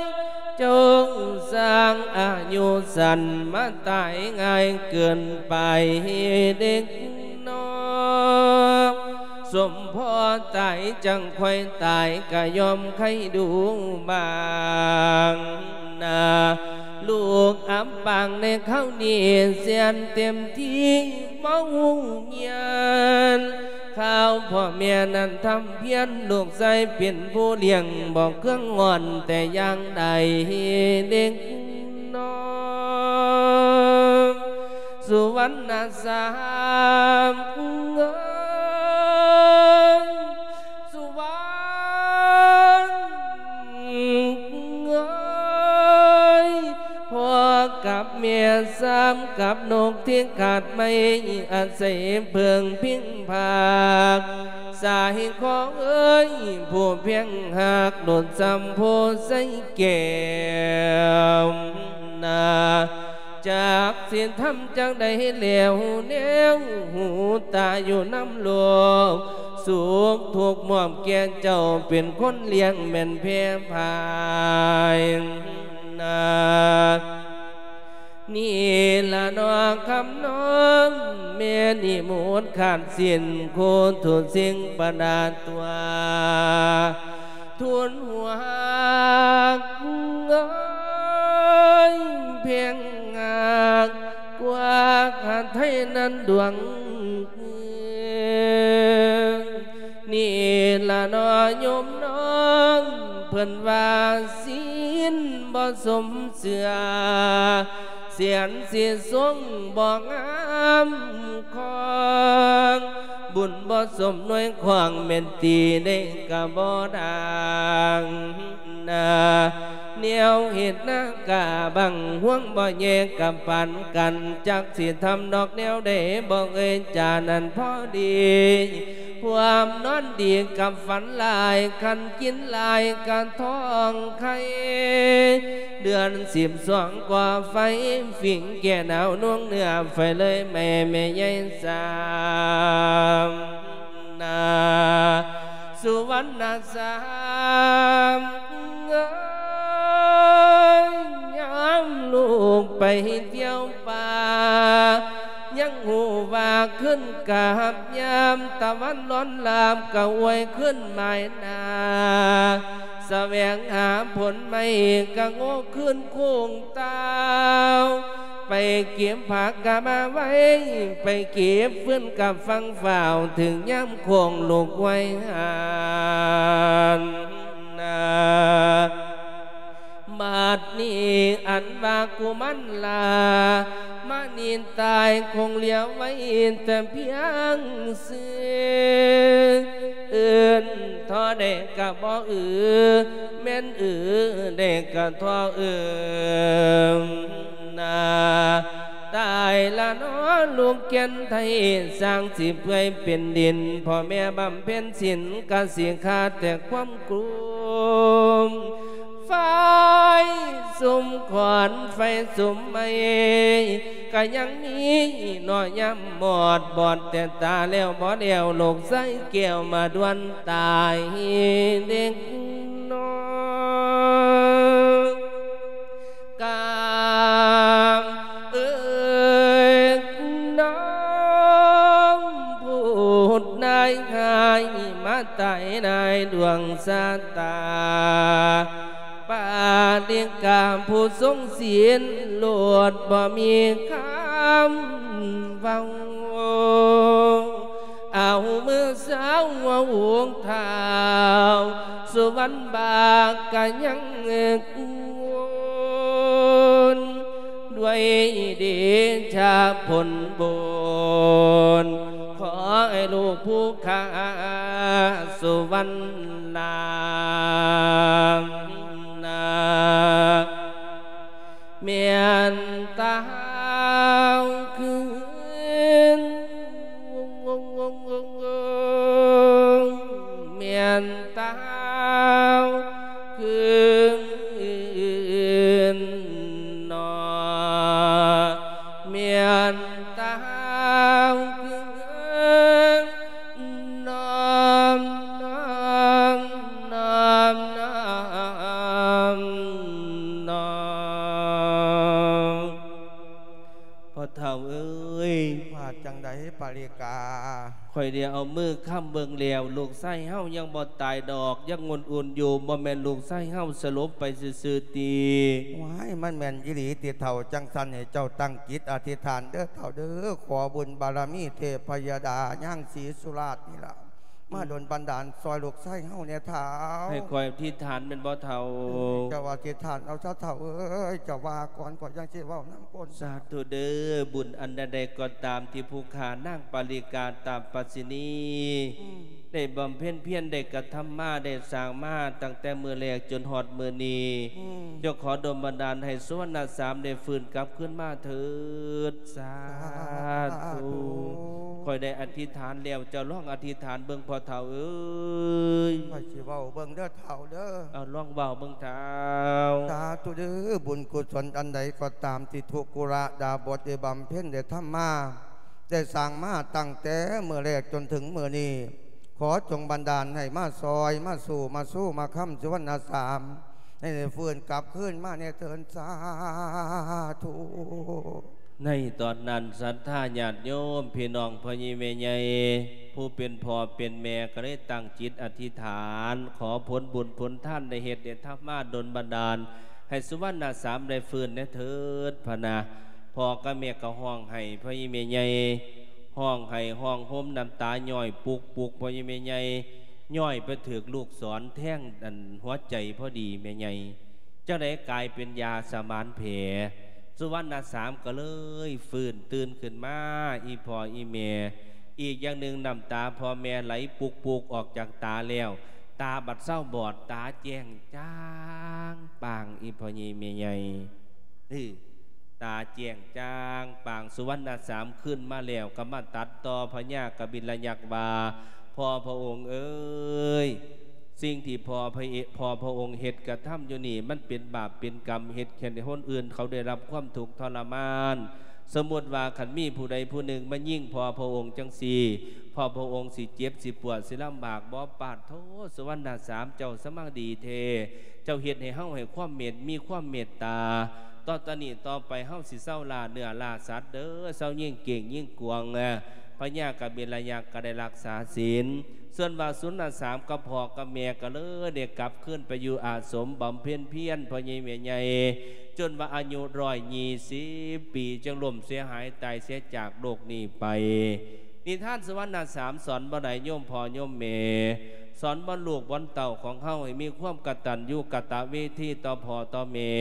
ເຈົ້າຊ່າງອາຍຸສັ້ນ ມາຕາຍງ່າຍເກີນໄປເດັກນ້ອງ ສົມພໍຕາຍຈັ່ງຄ່ອຍຕາຍ ກະຍອມໄຄດູບາງໜ້າ ລູກອັບປາງໃນຄາວນີ້ ແສນເຕັມທີ່ບໍ່ຮູ້ຍານ ຄາວພໍ່ແມ່ນັ້ນທຳພຽນ ລູກຊາຍເປັນຜູ້ລ້ຽງ ບໍ່ເຄືອງງອນແຕ່ຢ່າງໃດເດັກນ້ອງ ສຸວັນນະສາມເອີຍ ສຸວັນເອີຍ ພໍ່ກັບແມ່ສາມກັບນົກທີ່ຂາດໄມ້ ອາໄສເພິ່ງພິງພາກ ສາຍຂໍເອີຍ ຜູ້ພຽງຮັກ ໂດດສ່ຳໂພໄຊແກ້ວໜ້າ ຈັກຊິທຳຈັ່ງໃດແລ້ວ ແນວຫູຕາຢູ່ນຳໂລກ ສຸກທຸກມອບແກ່ເຈົ້າ ເປັນຄົນລ້ຽງແມ່ນແພພາຍນາ ນີ້ລະເນາະຄຳນ້ອງ ແມ່ນອີໝູດຂາດສິ້ນ ຄູ່ທຸກສິ່ງປະດາຕົວ ທູນຫົວຮັກເອີຍ ເພງຮັກກວ່າຫາໄທນັ້ນດວງ ນີ້ລະເນາະໂຍມນ້ອງ ເພິ່ນວ່າສິນບໍ່ສົມເຊື່ອ ສຽນສິສົງບໍ່ງາມຄອງ ບຸນບໍ່ສົມໜ່ວຍຂອງ ແມ່ນຕີໄດ້ກະບໍ່ດັງນາ ແນວເຮັດນາກາບັງຫວງບໍ່ແຍກກັບປັນກັນ ຈັກຊິທຳດອກແນວໃດ ບໍ່ເອີຍຈານັ້ນພໍດີ ພວມນອນດີກັບຝັນຫຼາຍ ຄັນກິນຫຼາຍກະທ້ອງໄຂ່ ເດືອນສິບສອງກໍໄຟ ຝິງແກ່ໜາວໜ່ງເນື້ອ ໄຟເລີຍແມ່ ແມ່ໃຫຍ່ສາມນາ ສຸວັນນະສາມເອີຍ ຍາມລູກໄປທ່ຽວປ່າ ຍັງຮູ້ວ່າຄືນກັບຍາມຕາວັນລອນລາບ ກະອວຍຄືນໝາຍໜ້າ ສະແຫວງຫາຜົນໄມ້ ກະໂງ່ຄືນໂຄ້ງຕາວ ໄປເກັບຜັກກະມາໄວ້ ໄປເກັບຟືນກະຟັງຟ້າວ ເຖິງຍາມໂຄ້ງລູກໄວຫານນາ ບັດນີ້ອັນວ່າກຸມານລາມະນີຕາຍ ຄົງເຫຼືອໄວ້ແຕ່ພຽງຊື່ ເອີ້ນທໍ່ໃດກະບໍ່ອື ແມ່ນອືໄດ້ກະທໍ່ເອີ້ນນາ ຕາຍລະເນາະລູກແກ່ນໄທ ສ້າງຊິເປື່ອຍເປັນດິນ ພໍ່ແມ່ບຳເພັນສິນກະຊິຂາດແຕ່ຄວາມກວມ ໄຟສຸມຂອນໄຟສຸມໄມ້ ກະຍັງມີເນາະ ຍາມມອດບອດແຕ່ຕາແລ້ວບໍ່ແລ້ວ ລູກຊາຍແກ້ວມາດ່ວນຕາຍເດັກນ້ອຍ. ກາມເອີຍ ນ້ອງຜູ້ນາຍຫາຍມາຕາຍໃນດວງຊະຕາ ປາລິກາຜູ້ຊົງສິນໂລດບໍ່ມີຄຳເວົ້າ ເອົາມືສາວຫົວອົງທ້າວ ສຸວັນບາກກະຍັງໂຫງ ດ້ວຍເດຊະຜົນບຸນ ຂໍໃຫ້ລູກຜູ້ຂ້າສຸວັນນາ ແມ່ນຕາວຄືນ ແມ່ນຕາວຄືນ ນອ ແມ່ນຕາວຄືນ ນອມ ນອມ ນອມ ນອມ ນອມ. ພໍ່ເຖົ້າເອີຍ ວ່າຈັ່ງໃດປາລິກາ? ຂ້ອຍໄດ້ເອົາມືຄ້ຳເບິ່ງແລ້ວ ລູກຊາຍເຮົາຍັງບໍ່ຕາຍດອກ ຍັງອຸ່ນໆຢູ່ ບໍ່ແມ່ນລູກຊາຍເຮົາສະຫຼົບໄປຊື່ໆຕິ? ວ້າຍ ມັນແມ່ນອີ່ຫຼີຕິເຖົ້າ? ຈັ່ງຊັ້ນໃຫ້ເຈົ້າຕັ້ງຈິດອະທິຖານເດີເຖົ້າເດີ ຂໍບຸນບາລະມີເທບພະຍະດານາງສີສຸລາດນີ້ລະ ມາດົນບັນດານຊ່ອຍລູກຊາຍເຮົາແດ່ທ້າວ. ໃຫ້ຂ້ອຍອະທິຖານແມ່ນບໍ່ເຖົ້າ? ເຈົ້າອະທິຖານເອົາຊະເຖົ້າເອີຍ ເຈົ້າວ່າກ່ອນ ຂ້ອຍຈັ່ງຊິເວົ້ານຳກ່ອນ. ສາທຸເດີ ບຸນອັນໃດໆກໍຕາມທີ່ຜູ້ຂ້ານາງປາລິກາຕາປະສິນີ ອືມ ໄດ້ບຳເພັນພຽນ ໄດ້ກະທຳມາ ໄດ້ສ້າງມາຕັ້ງແຕ່ມື້ແລກຈົນຮອດມື້ນີ້ ອືມ ເຈົ້າຂໍດົນບັນດານໃຫ້ສຸວັນນະສາມໄດ້ຟື້ນກັບຄືນມາເຖີດ. ສາທຸ ສາທຸ ຂ້ອຍໄດ້ອະທິຖານແລ້ວ ເຈົ້າລອງອະທິຖານເບິ່ງພໍ່ເຖົ້າເອີຍ. ຂ້ອຍຊິເວົ້າເບິ່ງເດີເຖົ້າເດີ. ເອົາ ລອງເວົ້າເບິ່ງເຖົ້າ. ສາທຸເດີ ບຸນກຸສົນອັນໃດກໍຕາມທີ່ທຸກຄຸລະດາບົດໄດ້ບຳເພັນໄດ້ທຳມາ ໄດ້ສ້າງມາຕັ້ງແຕ່ມື້ແລກຈົນເຖິງມື້ນີ້ ຂໍຈົ່ງບັນດານໃຫ້ມາຊ່ອຍ ມາສູ້ ມາຊູ ມາຄ້ຳສຸວັນນະສາມ ໃຫ້ໄດ້ຟື້ນກັບຄືນມາແດ່ເທີນ ສາທຸ. ໃນຕອນນັ້ນ ສັດທາຍາດໂຍມ ພີ່ນ້ອງພໍ່ໃຫຍ່ແມ່ໃຫຍ່ ຜູ້ເປັນພໍ່ເປັນແມ່ ກໍໄດ້ຕັ້ງຈິດອະທິຖານ ຂໍຜົນບຸນຜົນທານໄດ້ເຮັດໄດ້ທຳມາ ດົນບັນດານໃຫ້ສຸວັນນະສາມໄດ້ຟື້ນແດ່ເທີດ ພະນະ. ພໍ່ກັບແມ່ກໍຮ້ອງໄຫ້ພໍ່ໃຫຍ່ແມ່ໃຫຍ່ ຮ້ອງໄຫ້ຮ້ອງໂຮມ ນ້ຳຕາຍ້ອຍປຸກໆ ພໍ່ໃຫຍ່ແມ່ໃຫຍ່ ຍ້ອຍໄປຖືກລູກສອນແທງອັນຫົວໃຈພໍດີແມ່ໃຫຍ່ ຈັ່ງໃດກາຍເປັນຢາສະໝານແຜ ສຸວັນນະສາມກໍເລີຍຟື້ນຕື່ນຂຶ້ນມາ ອີ່ພໍ່ອີ່ແມ່. ອີກຢ່າງໜຶ່ງ ນ້ຳຕາພໍ່ແມ່ໄຫຼປຸກໆອອກຈາກຕາແລ້ວ ຕາບັດເຊົາບອດ ຕາແຈ້ງຈ້າງປາງ ອີ່ພໍ່ໃຫຍ່ແມ່ໃຫຍ່ ເອີ ຕາແຈ້ງຈ້າງປາງ. ສຸວັນນະສາມຄືນມາແລ້ວ ກໍມາຕັດຕໍ່ພະຍາກະບິນລະຍັກວ່າ ພໍ່ພະອົງເອີຍ ສິ່ງທີ່ພໍ່ພະເອ ພໍ່ພະອົງເຮັດກະທຳຢູ່ນີ້ ມັນເປັນບາບເປັນກຳ ເຮັດໃຫ້ຄົນອື່ນເຂົາໄດ້ຮັບຄວາມທຸກທໍລະມານ. ສົມມຸດວ່າຄັນມີຜູ້ໃດຜູ້ໜຶ່ງມາຍິງພໍ່ພະອົງຈັ່ງຊີ້ ພໍ່ພະອົງຊິເຈັບ ຊິປວດ ຊິລຳບາກບໍ? ປາດໂທ ສຸວັນນະສາມ ເຈົ້າສະມັງດີແທ້ ເຈົ້າເຮັດໃຫ້ເຮົາໃຫ້ຄວາມເມດ ມີຄວາມເມດຕາ. ຕໍ່ ຕອນນີ້ຕໍ່ໄປເຮົາຊິເຊົາລ່າເນື້ອລ່າສັດເດີ ເຊົາຍິງເກ້ງຍິງກວາງ. ພະຍາກະບິນລະຍັກກໍໄດ້ຮັກສາສິນ ສ່ວນວ່າສຸວັນນະສາມກັບພໍ່ກັບແມ່ກໍເລີຍໄດ້ກັບຄືນໄປຢູ່ອາສົມບຳເພັນພຽນ ພໍ່ໃຫຍ່ແມ່ໃຫຍ່ ຈົນວ່າອາຍຸຮ້ອຍຍີ່ສິບປີ ຈຶ່ງລົ້ມເສຍຫາຍຕາຍເສຍຈາກໂລກນີ້ໄປ. ນິທານສຸວັນນະສາມສອນບໍ່ໄດ້ໂຍມພໍ່ໂຍມແມ່ ສອນບໍ່ລູກບໍ່ເຕົ້າຂອງເຮົາໃຫ້ມີຄວາມກະຕັນຍູກະຕະເວທີຕໍ່ພໍ່ຕໍ່ແມ່.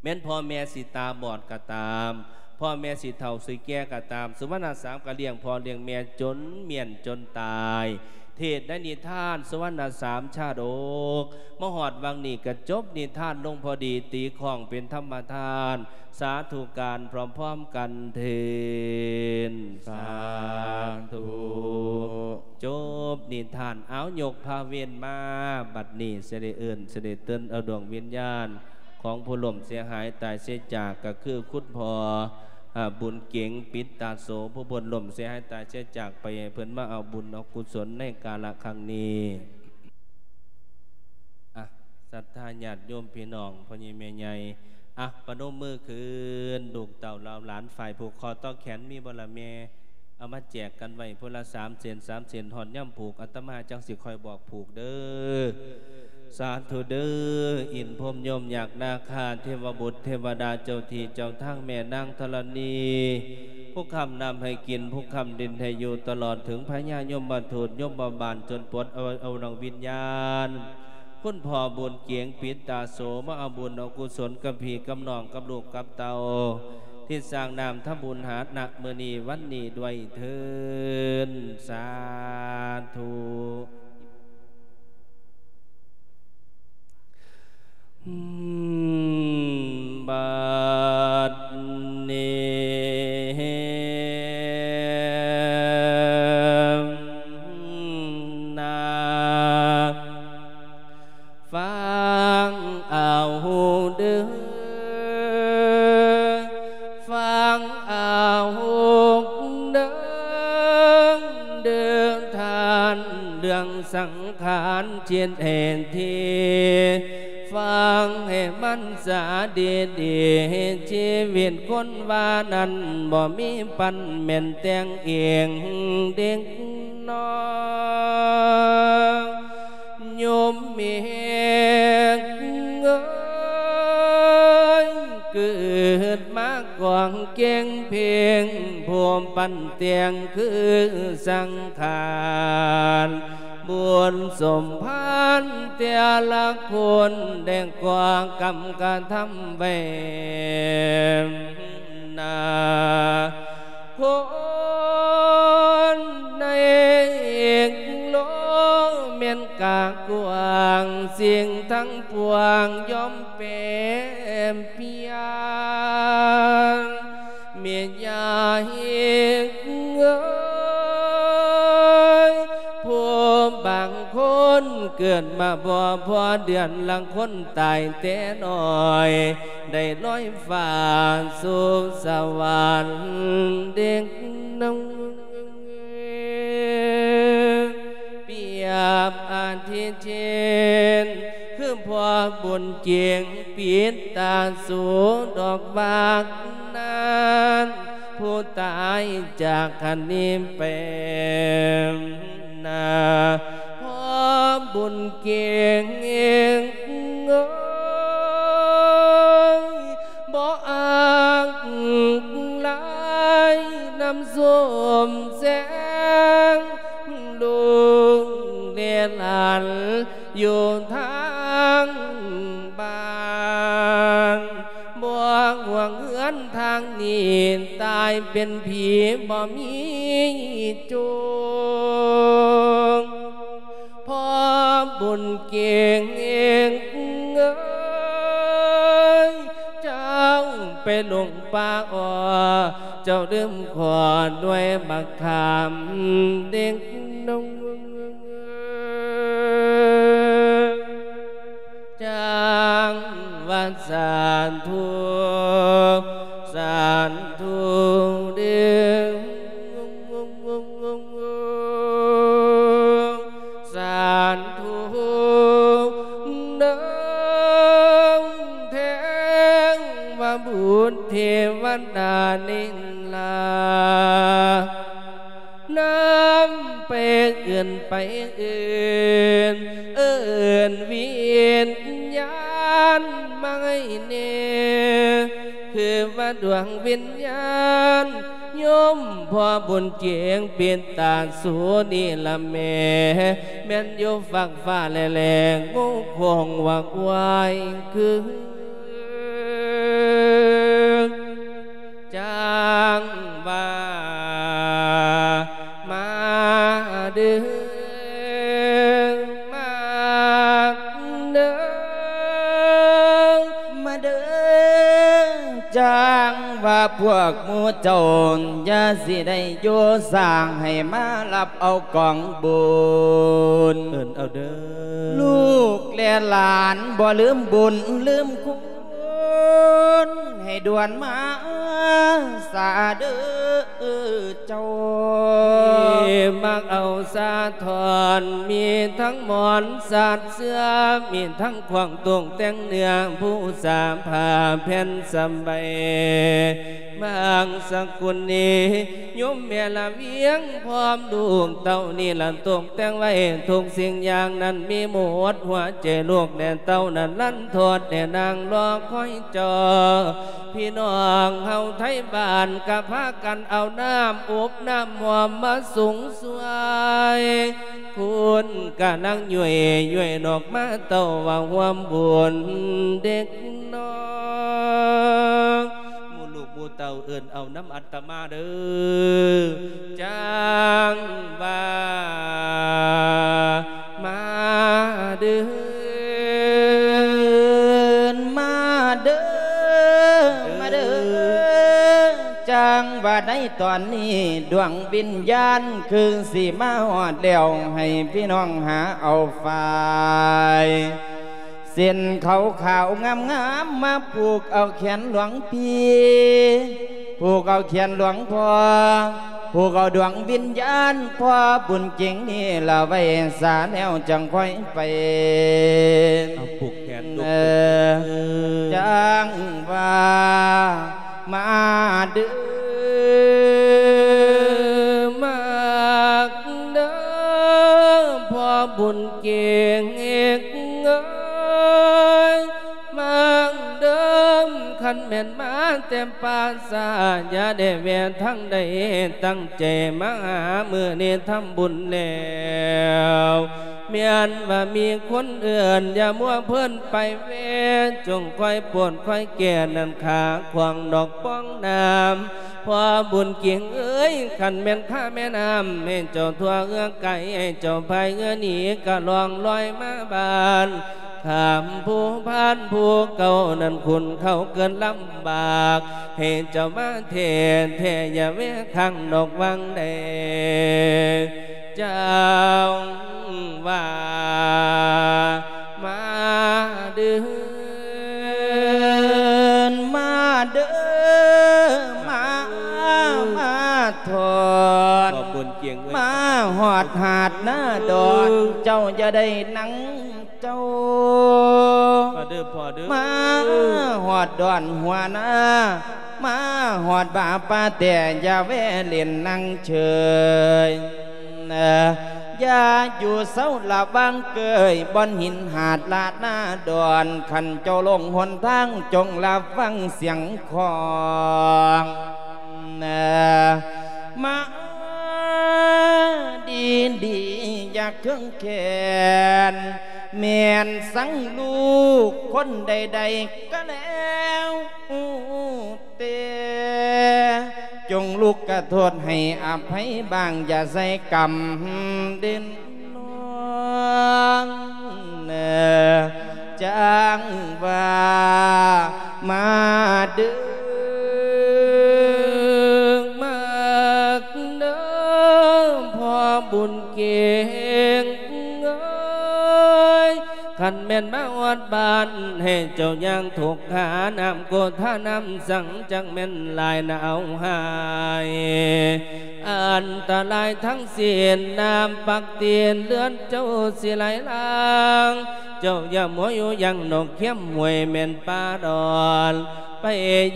ແມ່ນພໍ່ແມ່ຊິຕາບອດກໍຕາມ ພໍ່ແມ່ຊິເຖົ້າຊິແກ່ກໍຕາມ ສຸວັນນະສາມກໍລ້ຽງພໍ່ລ້ຽງແມ່ຈົນມ້ຽນຈົນຕາຍ ເທດໃນນິທານສຸວັນນະສາມຊາດົກ ມາຮອດຫວ່າງນີ້ກະຈົບນິທານລົງພໍດີ ຕີຄ້ອງເປັນທຳມະທານ ສາທຸການພ້ອມໆກັນເທີນ ສາທຸ. ຈົບນິທານ ເອົາ ຍົກພາເວັນມາ ບັດນີ້ຊິໄດ້ເອີ້ນ ຊິໄດ້ເຕີນເອົາດວງວິນຍານຂອງຜູ້ລົ້ມເສຍຫາຍຕາຍເສຍຈາກ ກະຄືຄຸນພໍ່ ອາ ບຸນເກັງ ປິດຕາໂສ ຜູ້ເພິ່ນລົ້ມເສຍຫາຍຕາຍເສຍຈາກໄປ ໃຫ້ເພິ່ນມາເອົາບຸນເອົາກຸສົນໃນກາລະຄັ້ງນີ້. ອະ ສັດທາຍາດໂຍມພີ່ນ້ອງ ພໍ່ໃຫຍ່ແມ່ໃຫຍ່ ອະ ປະນົມມືຂຶ້ນ ລູກເຕົ້າເຫຼົ່າຫຼານຝ່າຍຜູກຄໍຕໍ່ແຂນມີບໍ່ລະແມ່? ເອົາມາແຈກກັນໄວ້ຜູ້ລະສາມເສັ້ນ ສາມເສັ້ນ ຮອດຍາມຜູກ ອາດຕະມາຈັ່ງຊິຄ່ອຍບອກຜູກເດີ. ສາທຸເດີ ອິນພົມ ຍົມ ຍັກ ນາຄາ ເທວະບຸດ ເທວະດາ ເຈົ້າທີ່ເຈົ້າທາງ ແມ່ນາງທໍລະນີ ຜູ້ຄ້ຳນ້ຳໃຫ້ກິນ ຜູ້ຄ້ຳດິນໃຫ້ຢູ່ ຕະຫຼອດເຖິງພະຍາຍົມມະທູດ ຍົມມະບານ ຈົນປວດເອົາ ເອົາດວງວິນຍານ ຄຸນພໍ່ບຸນເກງ ປິດຕາໂສ ມາເອົາບຸນເອົາກຸສົນກັບພີ່ກັບນ້ອງ ກັບລູກກັບເຕົ້າ ທີ່ສ້າງນ້ຳທຳບຸນຫານະມື້ນີ້ວັນນີ້ດ້ວຍເທີນ ສາທຸ. ບັດນີ້ນາ ຟັງເອົາເດີ ຟັງເອົາເດີ ເດີທ່ານ ເລື່ອງສັງຂານຈິດເອນທີ ຟັງໃຫ້ມັນສາດີໆ ຊີວິດຄົນວ່ານັ້ນ ບໍ່ມີປັນແມ່ນແຕ່ງເອງເດັກນ້ອຍ ໂຍມເມກເອີຍ ເກີດມາກອງເກງເພງ ຜູ້ປັນແຕ່ງຄືສັງຂານ ບຸນສົມພານແຕ່ລະຄົນ ໄດ້ກໍ່ກຳກະທຳໄວ້ ນາຄົນໃນໂລກແມ່ນກະກວ້າງ ສິ່ງທັງປວງຍອມແປປ່ຽນ ແມ່ຍາຍເອີຍ ຜູ້ບາງຄົນເກີດມາບໍ່ພໍເດືອນ ລາງຄົນຕາຍແຕ່ນ້ອຍ ໄດ້ລອຍຟ້າສູ່ສະຫວັນເດັກນ້ອຍ ປຽບອາທິເຊັ່ນ ຄືພໍ່ບຸນເກງ ປິດຕາສູດອກວາກນັ້ນ ຜູ້ຕາຍຈາກຄັນນີ້ໄປ ນາພໍ່ບຸນເກງເອີຍ ບໍ່ອາກຫຼາຍນຳຊົມແສງ ລູກເລດລອນຢູ່ທາງບ້ານ ບໍ່ຫວງເຮືອນທາງນີ້ ຕາຍເປັນຜີບໍ່ມີໂຈງ ພໍ່ບຸນເກງເອີຍ ເຈົ້າໄປຫຼົງປ່າອໍ ເຈົ້າລືມຂໍໜ່ວຍບັກຂາມເດັກນ້ອຍ ຈັ່ງວ່າສາທຸ ສາທຸເດີ ສາທຸເດີ ເທວະບຸດເທວະດານີ້ລະ ນຳໄປເອີ້ນໄປເອີ້ນ ເອີ້ນວິນຍານມາໃຫ້ແດ່ ຄືວ່າດວງວິນຍານໂຍມພໍ່ບຸນເກງ ປິດຕາສູນີ້ລະແມ່ ແມ່ນຢູ່ຟາກຟ້າແລໆ ງູຄົງວັກວາຍຄື ຈັ່ງວ່າມາເດີ ພວກໝູ່ເຈົ້າຢ່າຊິໄດ້ຢູ່ຊ້າ ໃຫ້ມາຮັບເອົາກອງບຸນ ເອີ້ນເອົາເດີ ລູກແລະຫຼານບໍ່ລືມບຸນລືມຄຸນ ໃຫ້ດ່ວນມາສາເດີເຈົ້າ ທີ່ມັກເອົາສາທອນ ມີທັງໝອນສາດເສື່ອ ມີທັງ ຂວາງຕົກແຕ່ງເນື້ອ ພູສາຜ້າແຜ່ນສະໄບ ບາງສະກຸນນີ້ ໂຍມແມ່ລະວຽງ ພ້ອມລູກເຕົ້ານີ້ລະຕົກແຕ່ງໄວ້ ທຸກສິ່ງຢ່າງນັ້ນມີໝົດ ຫົວໃຈລູກແລະເຕົ້ານັ້ນລັນທອດແດ່ນາງ ລໍຄອຍເຈົ້າ ພີ່ນ້ອງເຮົາໄທບ້ານ ກະພາກັນເອົານ້ຳອົບນ້ຳຫອມມາສຸງ ຊ່ວຍ ຄຸນກະນັ່ງຍ້ວຍໆ ນອກມາເຕົ້າວ່າຮ່ວມບຸນເດັກນ້ອຍ ໝູ່ລູກໝູ່ເຕົ້າເອີ້ນເອົານຳອັດຕະມາເດີ ຈັ່ງວ່າ ມາເດີ ມາເດີ ມາເດີ ຈັ່ງວ່າໃນຕອນນີ້ ດວງວິນຍານຄືຊິມາຮອດແລ້ວ ໃຫ້ພີ່ນ້ອງຫາເອົາຝ້າຍ ເສັ້ນຂາວໆງາມໆ ມາຜູກເອົາແຂນຫຼວງພີ່ ຜູກເອົາແຂນຫຼວງພໍ່ ຜູກເອົາດວງວິນຍານພໍ່ບຸນເກັ່ງນີ້ລະໄວ້ສາແລ້ວຈັ່ງຄ່ອຍໄປ ເອົາຜູກແຂນລູກ ຈັ່ງວ່າ ມາເດີ ມາເດີ ພໍ່ບຸນເກັ່ງເອີຍ ມາເດີ ຄັນແມ່ນມາແຕ່ປ່າຊ້າ ຢ່າໄດ້ແວ່ທາງໃດ ຕັ້ງໃຈມາຫາ ມື້ນີ້ທຳບຸນແລ້ວ ແມ່ນວ່າມີຄົນເອີ້ນ ຢ່າມົວເພີນໄປແວ່ ຈົ່ງຄອຍໂປດຄອຍແກ່ ນັ້ນຂ້າຂວາງດອກປ່ອງນ້ຳ ພໍ່ບຸນເກັ່ງເອີຍ ຄັນແມ່ນຂ້າແມ່ນ້ຳ ໃຫ້ເຈົ້າທົ່ວເຮືອໄກ ໃຫ້ເຈົ້າພາຍເຮືອໜີ ກະລ່ອງລອຍມາບ້ານ ຂ້າມພູພານພູເກົ່າ ນັ້ນຂຸ້ນເຂົ້າເກີດລຳບາກ ໃຫ້ເຈົ້າມາແທ້ແທ້ ຢ່າແວ່ຂ້າງດອກຫວ່າງໃດ ຈັ່ງວ່າ ມາເດີ ມາເດີ ມາ ມາທອດ ຂອບຄຸນຈຽງເອີຍ ມາຮອດຫາດນາດອນ ເຈົ້າຢ່າໄດ້ນັ່ງເຈົ້າ ມາເດີພໍ່ເດີ ມາຮອດດອນຫົວນາ ມາຮອດບາປ່າແຕ່ ຢ່າແວ່ຫຼິ້ນນັ່ງເຊີຍ ຢ່າຢູ່ເຊົາລະວັງເກີຍ ບ່ອນຫີນຫາດລາດນາດອນ ຄັນເຈົ້າຫຼົງຫົນທາງ ຈົ່ງລະວັງສຽງຂອງ ມາດີໆ ຢ່າເຄືອງແຄ້ນ ແມ່ນສັງລູກຄົນໃດໆກະແລ້ວ ແຕ່ຈົ່ງລຸກກະໂທດໃຫ້ອະໄພບ້າງ ຢ່າໃສ່ກຳເດັ່ນນອນ ຈັ່ງວ່າ ມາເດີ ມາເດີ ພໍ່ບຸນເກັ່ງເອີຍ ຄັນແມ່ນມາຮອດບ້ານ ໃຫ້ເຈົ້າຍ່າງທຸກຂາ ນ້ຳໂກທານ້ຳສັງ ຈັກແມ່ນຫຼາຍໜາວຫາຍ ອັນຕະລາຍທັງສິ້ນ ນ້ຳປັກຕີນເລືອດເຈົ້າຊິໄຫຼຫຼາງ ເຈົ້າຢ່າມົວຢູ່ຢ່າງນອກຄຽມຫ້ວຍແມ່ນປ່າດອນ ໄປ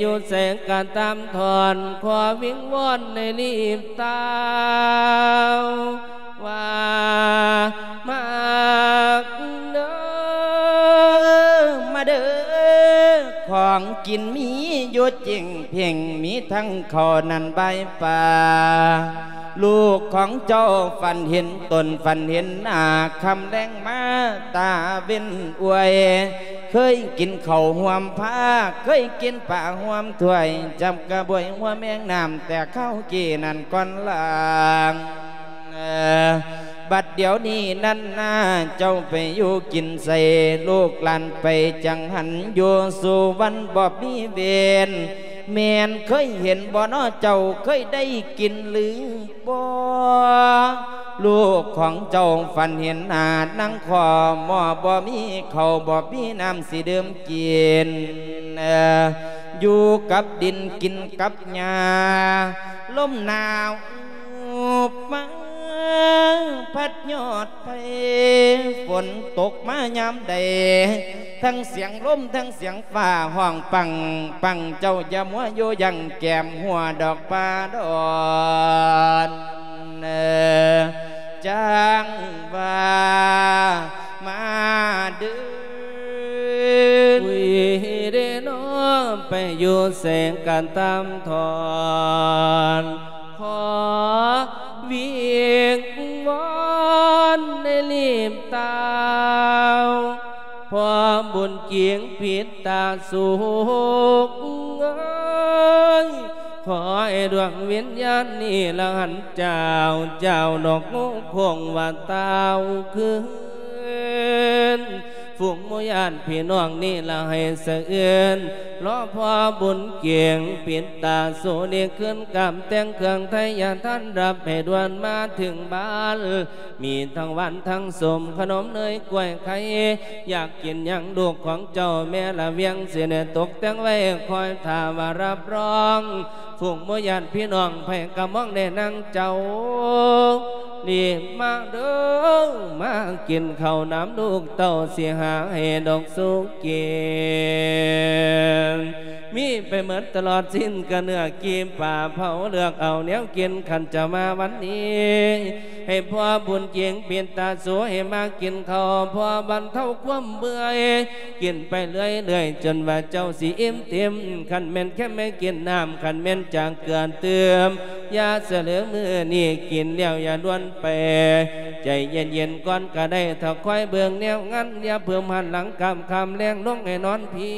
ຢູ່ໃສກະຕາມທອນ ຂໍວິງວອນໃຫ້ລີບຕາວ ວ່າ ມາເດີ ມາເດີ ຂອງກິນມີຢູ່ຈິງເພັງ ມີທັງເຂົ້ານັ້ນໃບປາ ລູກຂອງເຈົ້າຝັນເຫັນຕົນ ຝັນເຫັນໜ້າ ຄ່ຳແລງມາຕາເວັນອວຍ ເຄີຍກິນເຂົ້າຮ່ວມພາ ເຄີຍກິນປາຮ່ວມຖ້ວຍ ຈັບກະບວຍຫົວແມງນ້ຳ ແຕ່ຄາວກີ້ນັ້ນກ່ອນລາງ ບັດດຽວນີ້ນັ້ນນາ ເຈົ້າໄປຢູ່ກິນໃສ ລູກຫຼານໄປຈັງຫັນ ຢູ່ສູ່ວັນບໍ່ມີເວນ ແມ່ນເຄີຍເຫັນບໍ່ນໍເຈົ້າ ເຄີຍໄດ້ກິນຫຼືບໍ່? ລູກຂອງເຈົ້າຝັນເຫັນໜ້ານາງຄໍ່ໝໍ້ ບໍ່ມີເຂົ້າບໍ່ມີນ້ຳຊິດື່ມກິນ ເອີ ຢູ່ກັບດິນກິນກັບຫຍ້າ ລົມໜາວ ມາພັດຍອດໄພ ຝົນຕົກມາຍາມໃດ ທັງສຽງລົມທັງສຽງຟ້າຮ້ອງປັງປັງ ເຈົ້າຢ່າມົວຢູ່ຢັ້ງແກ້ມຫົວດອກປ່າດອນ ຈັ່ງວ່າມາເດີ ອຸຍເດນໍ ໄປຢູ່ໃສກະຕາມທອນ ຂໍວິງວອນໃຫ້ຮີບຕາວ ພໍ່ບຸນເກງປິດຕາສຸກເອີຍ ຂໍໃຫ້ດວງວິນຍານນີ້ລະຫັນຈາວ ຈາວດອກງູຄົງວ່າຕາວຄືນ ຝູງໝູ່ຍາດພີ່ນ້ອງນີ້ລະໃຫ້ສະເອືອນ ລໍພໍ່ບຸນເກງປິດຕາສຸນີ້ຄືນ ກາມແຕ່ງເຄື່ອງໄທຍະທານ ຮັບໃຫ້ດ່ວນມາເຖິງບ້ານ ມີທັງຫວານທັງສົ້ມ ຂະໜົມເນີຍກ້ວຍໄຂ່ ຢາກກິນຫຍັງລູກຂອງເຈົ້າ ແມ່ລະວຽງຊິໄດ້ຕົກແຕ່ງໄວ້ ຄອຍຖ້າວ່າຮັບຮອງ ຝູງໝູ່ຍາດພີ່ນ້ອງໃຜກະມອງແດ່ນາງເຈົ້າ ນີ້ມາເດີ ມາກິນເຂົ້ານຳລູກເຕົ້າ ຊິຫາໃຫ້ດອກສຸກກິນ ມີໄປເໝິດຕະຫຼອດ ຊີ້ນກະເນື້ອ ກີ່ປາເຜົາ ເລືອກເອົາແນວກິນ ຄັນຈະມາວັນນີ້ ໃຫ້ພໍ່ບຸນເກງປິດຕາສຸ ໃຫ້ມາກິນເຂົ້າ ພໍບັນເທົາຄວາມເມື່ອຍ ກິນໄປເລື້ອຍໆ ຈົນວ່າເຈົ້າຊິອີ່ມເຕັມ ຄັນແມ່ນແຄມໃຫ້ກິນນ້ຳ ຄັນແມ່ນຈາກເກືອຕື່ມ ຢ່າສະເຫຼີ ມື້ນີ້ກິນແລ້ວຢ່າດ່ວນໄປ ໃຈເຢັນໆກ່ອນກະໄດ້ ຖ້າຄອຍເບິ່ງແນວງານ ຢ່າເພີ່ມຫັນຫຼັງກາມຄຳແລງລົງໃຫ້ນອນພີ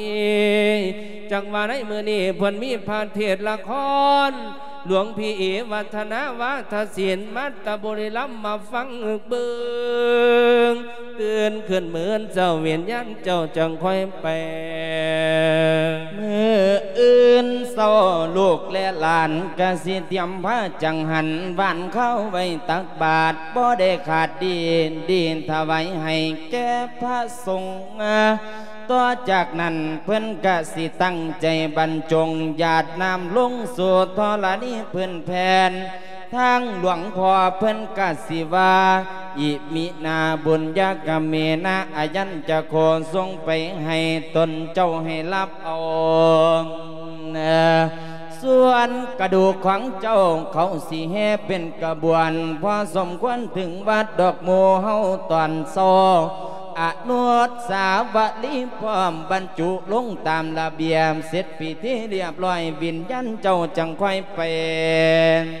ຈັກວ່າໃນມື້ນີ້ເພິ່ນມີພະເທດລະຄອນ ຫຼວງພີ່ເອ ວັດທະນາ ວາທະສິນ ມັດຕະບຸລີລຳ ມາຟັງເບິ່ງ ຕື່ນຂຶ້ນມື້ອື່ນເຊົ້າ ວິນຍານເຈົ້າຈັ່ງຄ່ອຍໄປ ມື້ອື່ນເຊົ້າ ລູກແລະຫຼານກະຊິຕຽມພາຈັງຫັນ ຫວ່ານເຂົ້າໄວ້ຕັກບາດ ບໍ່ໄດ້ຂາດດີ ດີຖວາຍໃຫ້ແກ່ພະສົງ ຕໍ່ຈາກນັ້ນເພິ່ນກະຊິຕັ້ງໃຈບັນຈົງ ຢາດນ້ຳລົງສູ່ທໍລະນີພື້ນແຜ່ນ ທາງຫຼວງພໍ່ເພິ່ນກະຊິວ່າ ອິມິນາບຸນຍະກະເມນະ ອາຍັນຈະໂຄ ສົ່ງໄປໃຫ້ຕົນເຈົ້າໃຫ້ຮັບເອົາ ສ່ວນກະດູກຂອງເຈົ້າ ເຂົາຊິແຫ່ເປັນຂະບວນ ພໍສົມຄວນເຖິງວັດດອກໝູ່ເຮົາຕອນເຊົ້າ ອະນຸສາວະລີພ້ອມບັນຈຸລົງຕາມລະບຽບ ເສັດພິທີລຽບລ້ອຍ ວິນຍານເຈົ້າຈັ່ງຄ່ອຍໄປ.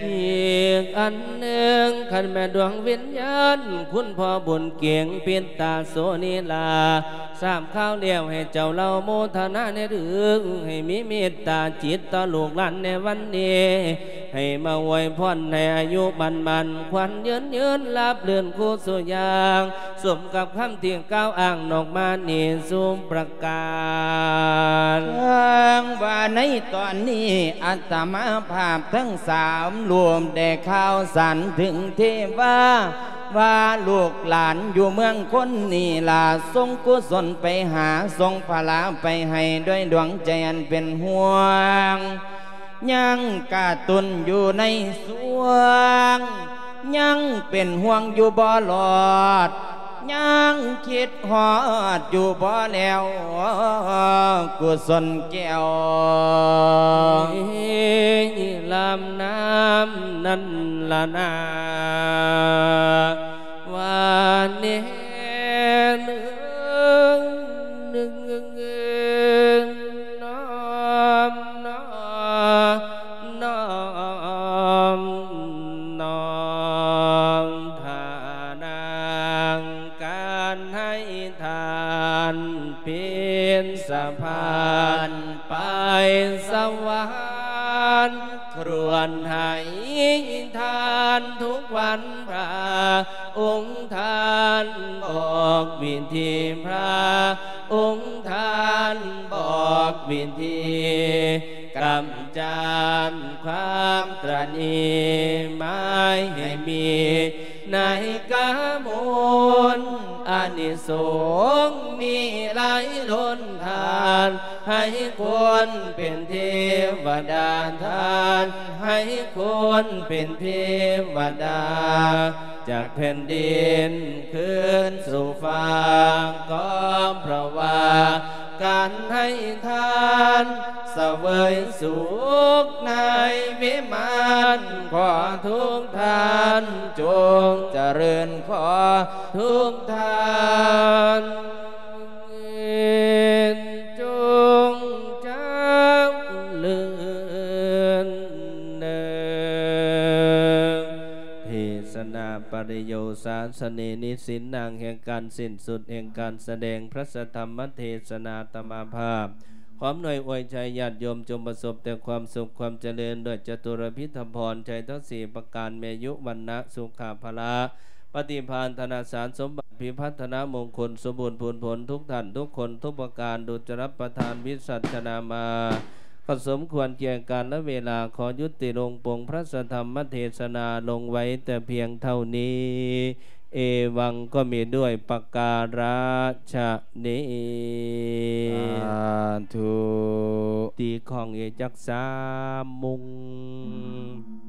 ອີກອັນໜຶ່ງ ຄັນແມ່ນດວງວິນຍານ ຄຸນພໍ່ບຸນເກງປິດຕາໂສນີລາ ຊາບຂ່າວແລ້ວໃຫ້ເຈົ້າເລົ່າໂມທະນາແດ່ເດີ ໃຫ້ມີເມດຕາຈິດຕໍ່ລູກຫຼານໃນວັນນີ້ ໃຫ້ມາອວຍພອນໃຫ້ອາຍຸໝັ້ນໝັ້ນຂວັນຍືນຍືນ ລາບລື່ນຄູ່ສູ່ຢ່າງ ສົມກັບຄຳທີ່ກ່າວອ້າງນອກມານີ້ສູ່ປະການ. ເຖິງວ່າໃນຕອນນີ້ ອາດຕະມາພາບທັງສາມຮູບໄດ້ຂ່າວສານເຖິງເທວາ ວ່າລູກຫຼານຢູ່ເມືອງຄົນນີ້ລະ ສົ່ງກຸສົນໄປຫາ ສົ່ງພະລາໄປໃຫ້ ດ້ວຍດວງໃຈອັນເປັນຫ່ວງ ຍັງກະຕຸນຢູ່ໃນສວງ ຍັງເປັນຫ່ວງຢູ່ບໍ່ລອດ ຍັງຄິດຮອດຢູ່ບໍ່ແລ້ວ ກຸສົນແກ້ວ ລຳນ້ຳນັ້ນລະນາ ວ່າແນ່ເອີຍ ນອມ ນອມ ນອມ ນອມ ທ່ານາງ ການໃຫ້ທານເປັນສະພານໄປສະຫວັນ ຄວນໃຫ້ທານທຸກວັນ ພະອົງທ່ານບອກວິທີ ພະອົງທ່ານບອກວິທີ ກ ກຳຈັດຄວາມຕຣະໜີ ໝາຍໃຫ້ມີໃນກາມຸນ ອານິສົງມີຫຼາຍລົ້ນທານ ໃຫ້ຄົນເປັນເທວະດາທານ ໃຫ້ຄົນເປັນເທວະດາ ຈາກແຜ່ນດິນຄືນສູ່ຟາກ ກໍເພາະວ່າການໃຫ້ທານ ສະເຫວີຍສຸກໃນວິມານ ຂໍທຸກທ່ານຈົ່ງຈະເລີນ ຂໍທຸກທ່ານຈົ່ງຈະເລີນເດີ. ເທສະນາປະລິໂຍສາສະເນນິສິນນາງ ແຫ່ງການສິ້ນສຸດແຫ່ງການສະແດງພະສະທຳມະເທສະນາຕະມະພາບ ຄວາມໜ້ອຍອວຍໄຊຍາດໂຍມຈົ່ງປະສົບແຕ່ຄວາມສຸກຄວາມຈະເລີນ ດ້ວຍຈະຕຸລະພິທະພອນໄຊທັງສີ່ປະການ ແມ່ຍຸວັນນະສຸຂະພະລະ ປະຕິພານທະນະສານສົມບັດ ພິພັດທະນະມົງຄຸນ ສົມບູນພູນຜົນທຸກທ່ານທຸກຄົນທຸກປະການ ດຸດຈະລະປະທານວິສັດຊະນາມາ ກໍສົມຄວນແກ່ການລະເວລາ ຂໍຍຸຕິລົງປົງພະສະທຳມະເທສະນາລົງໄວ້ແຕ່ພຽງເທົ່ານີ້ ເອວັງກໍມີດ້ວຍປະກາລະຊະນີ ສາທຸ ຕີຂອງເອຈັກສາມມຸງ.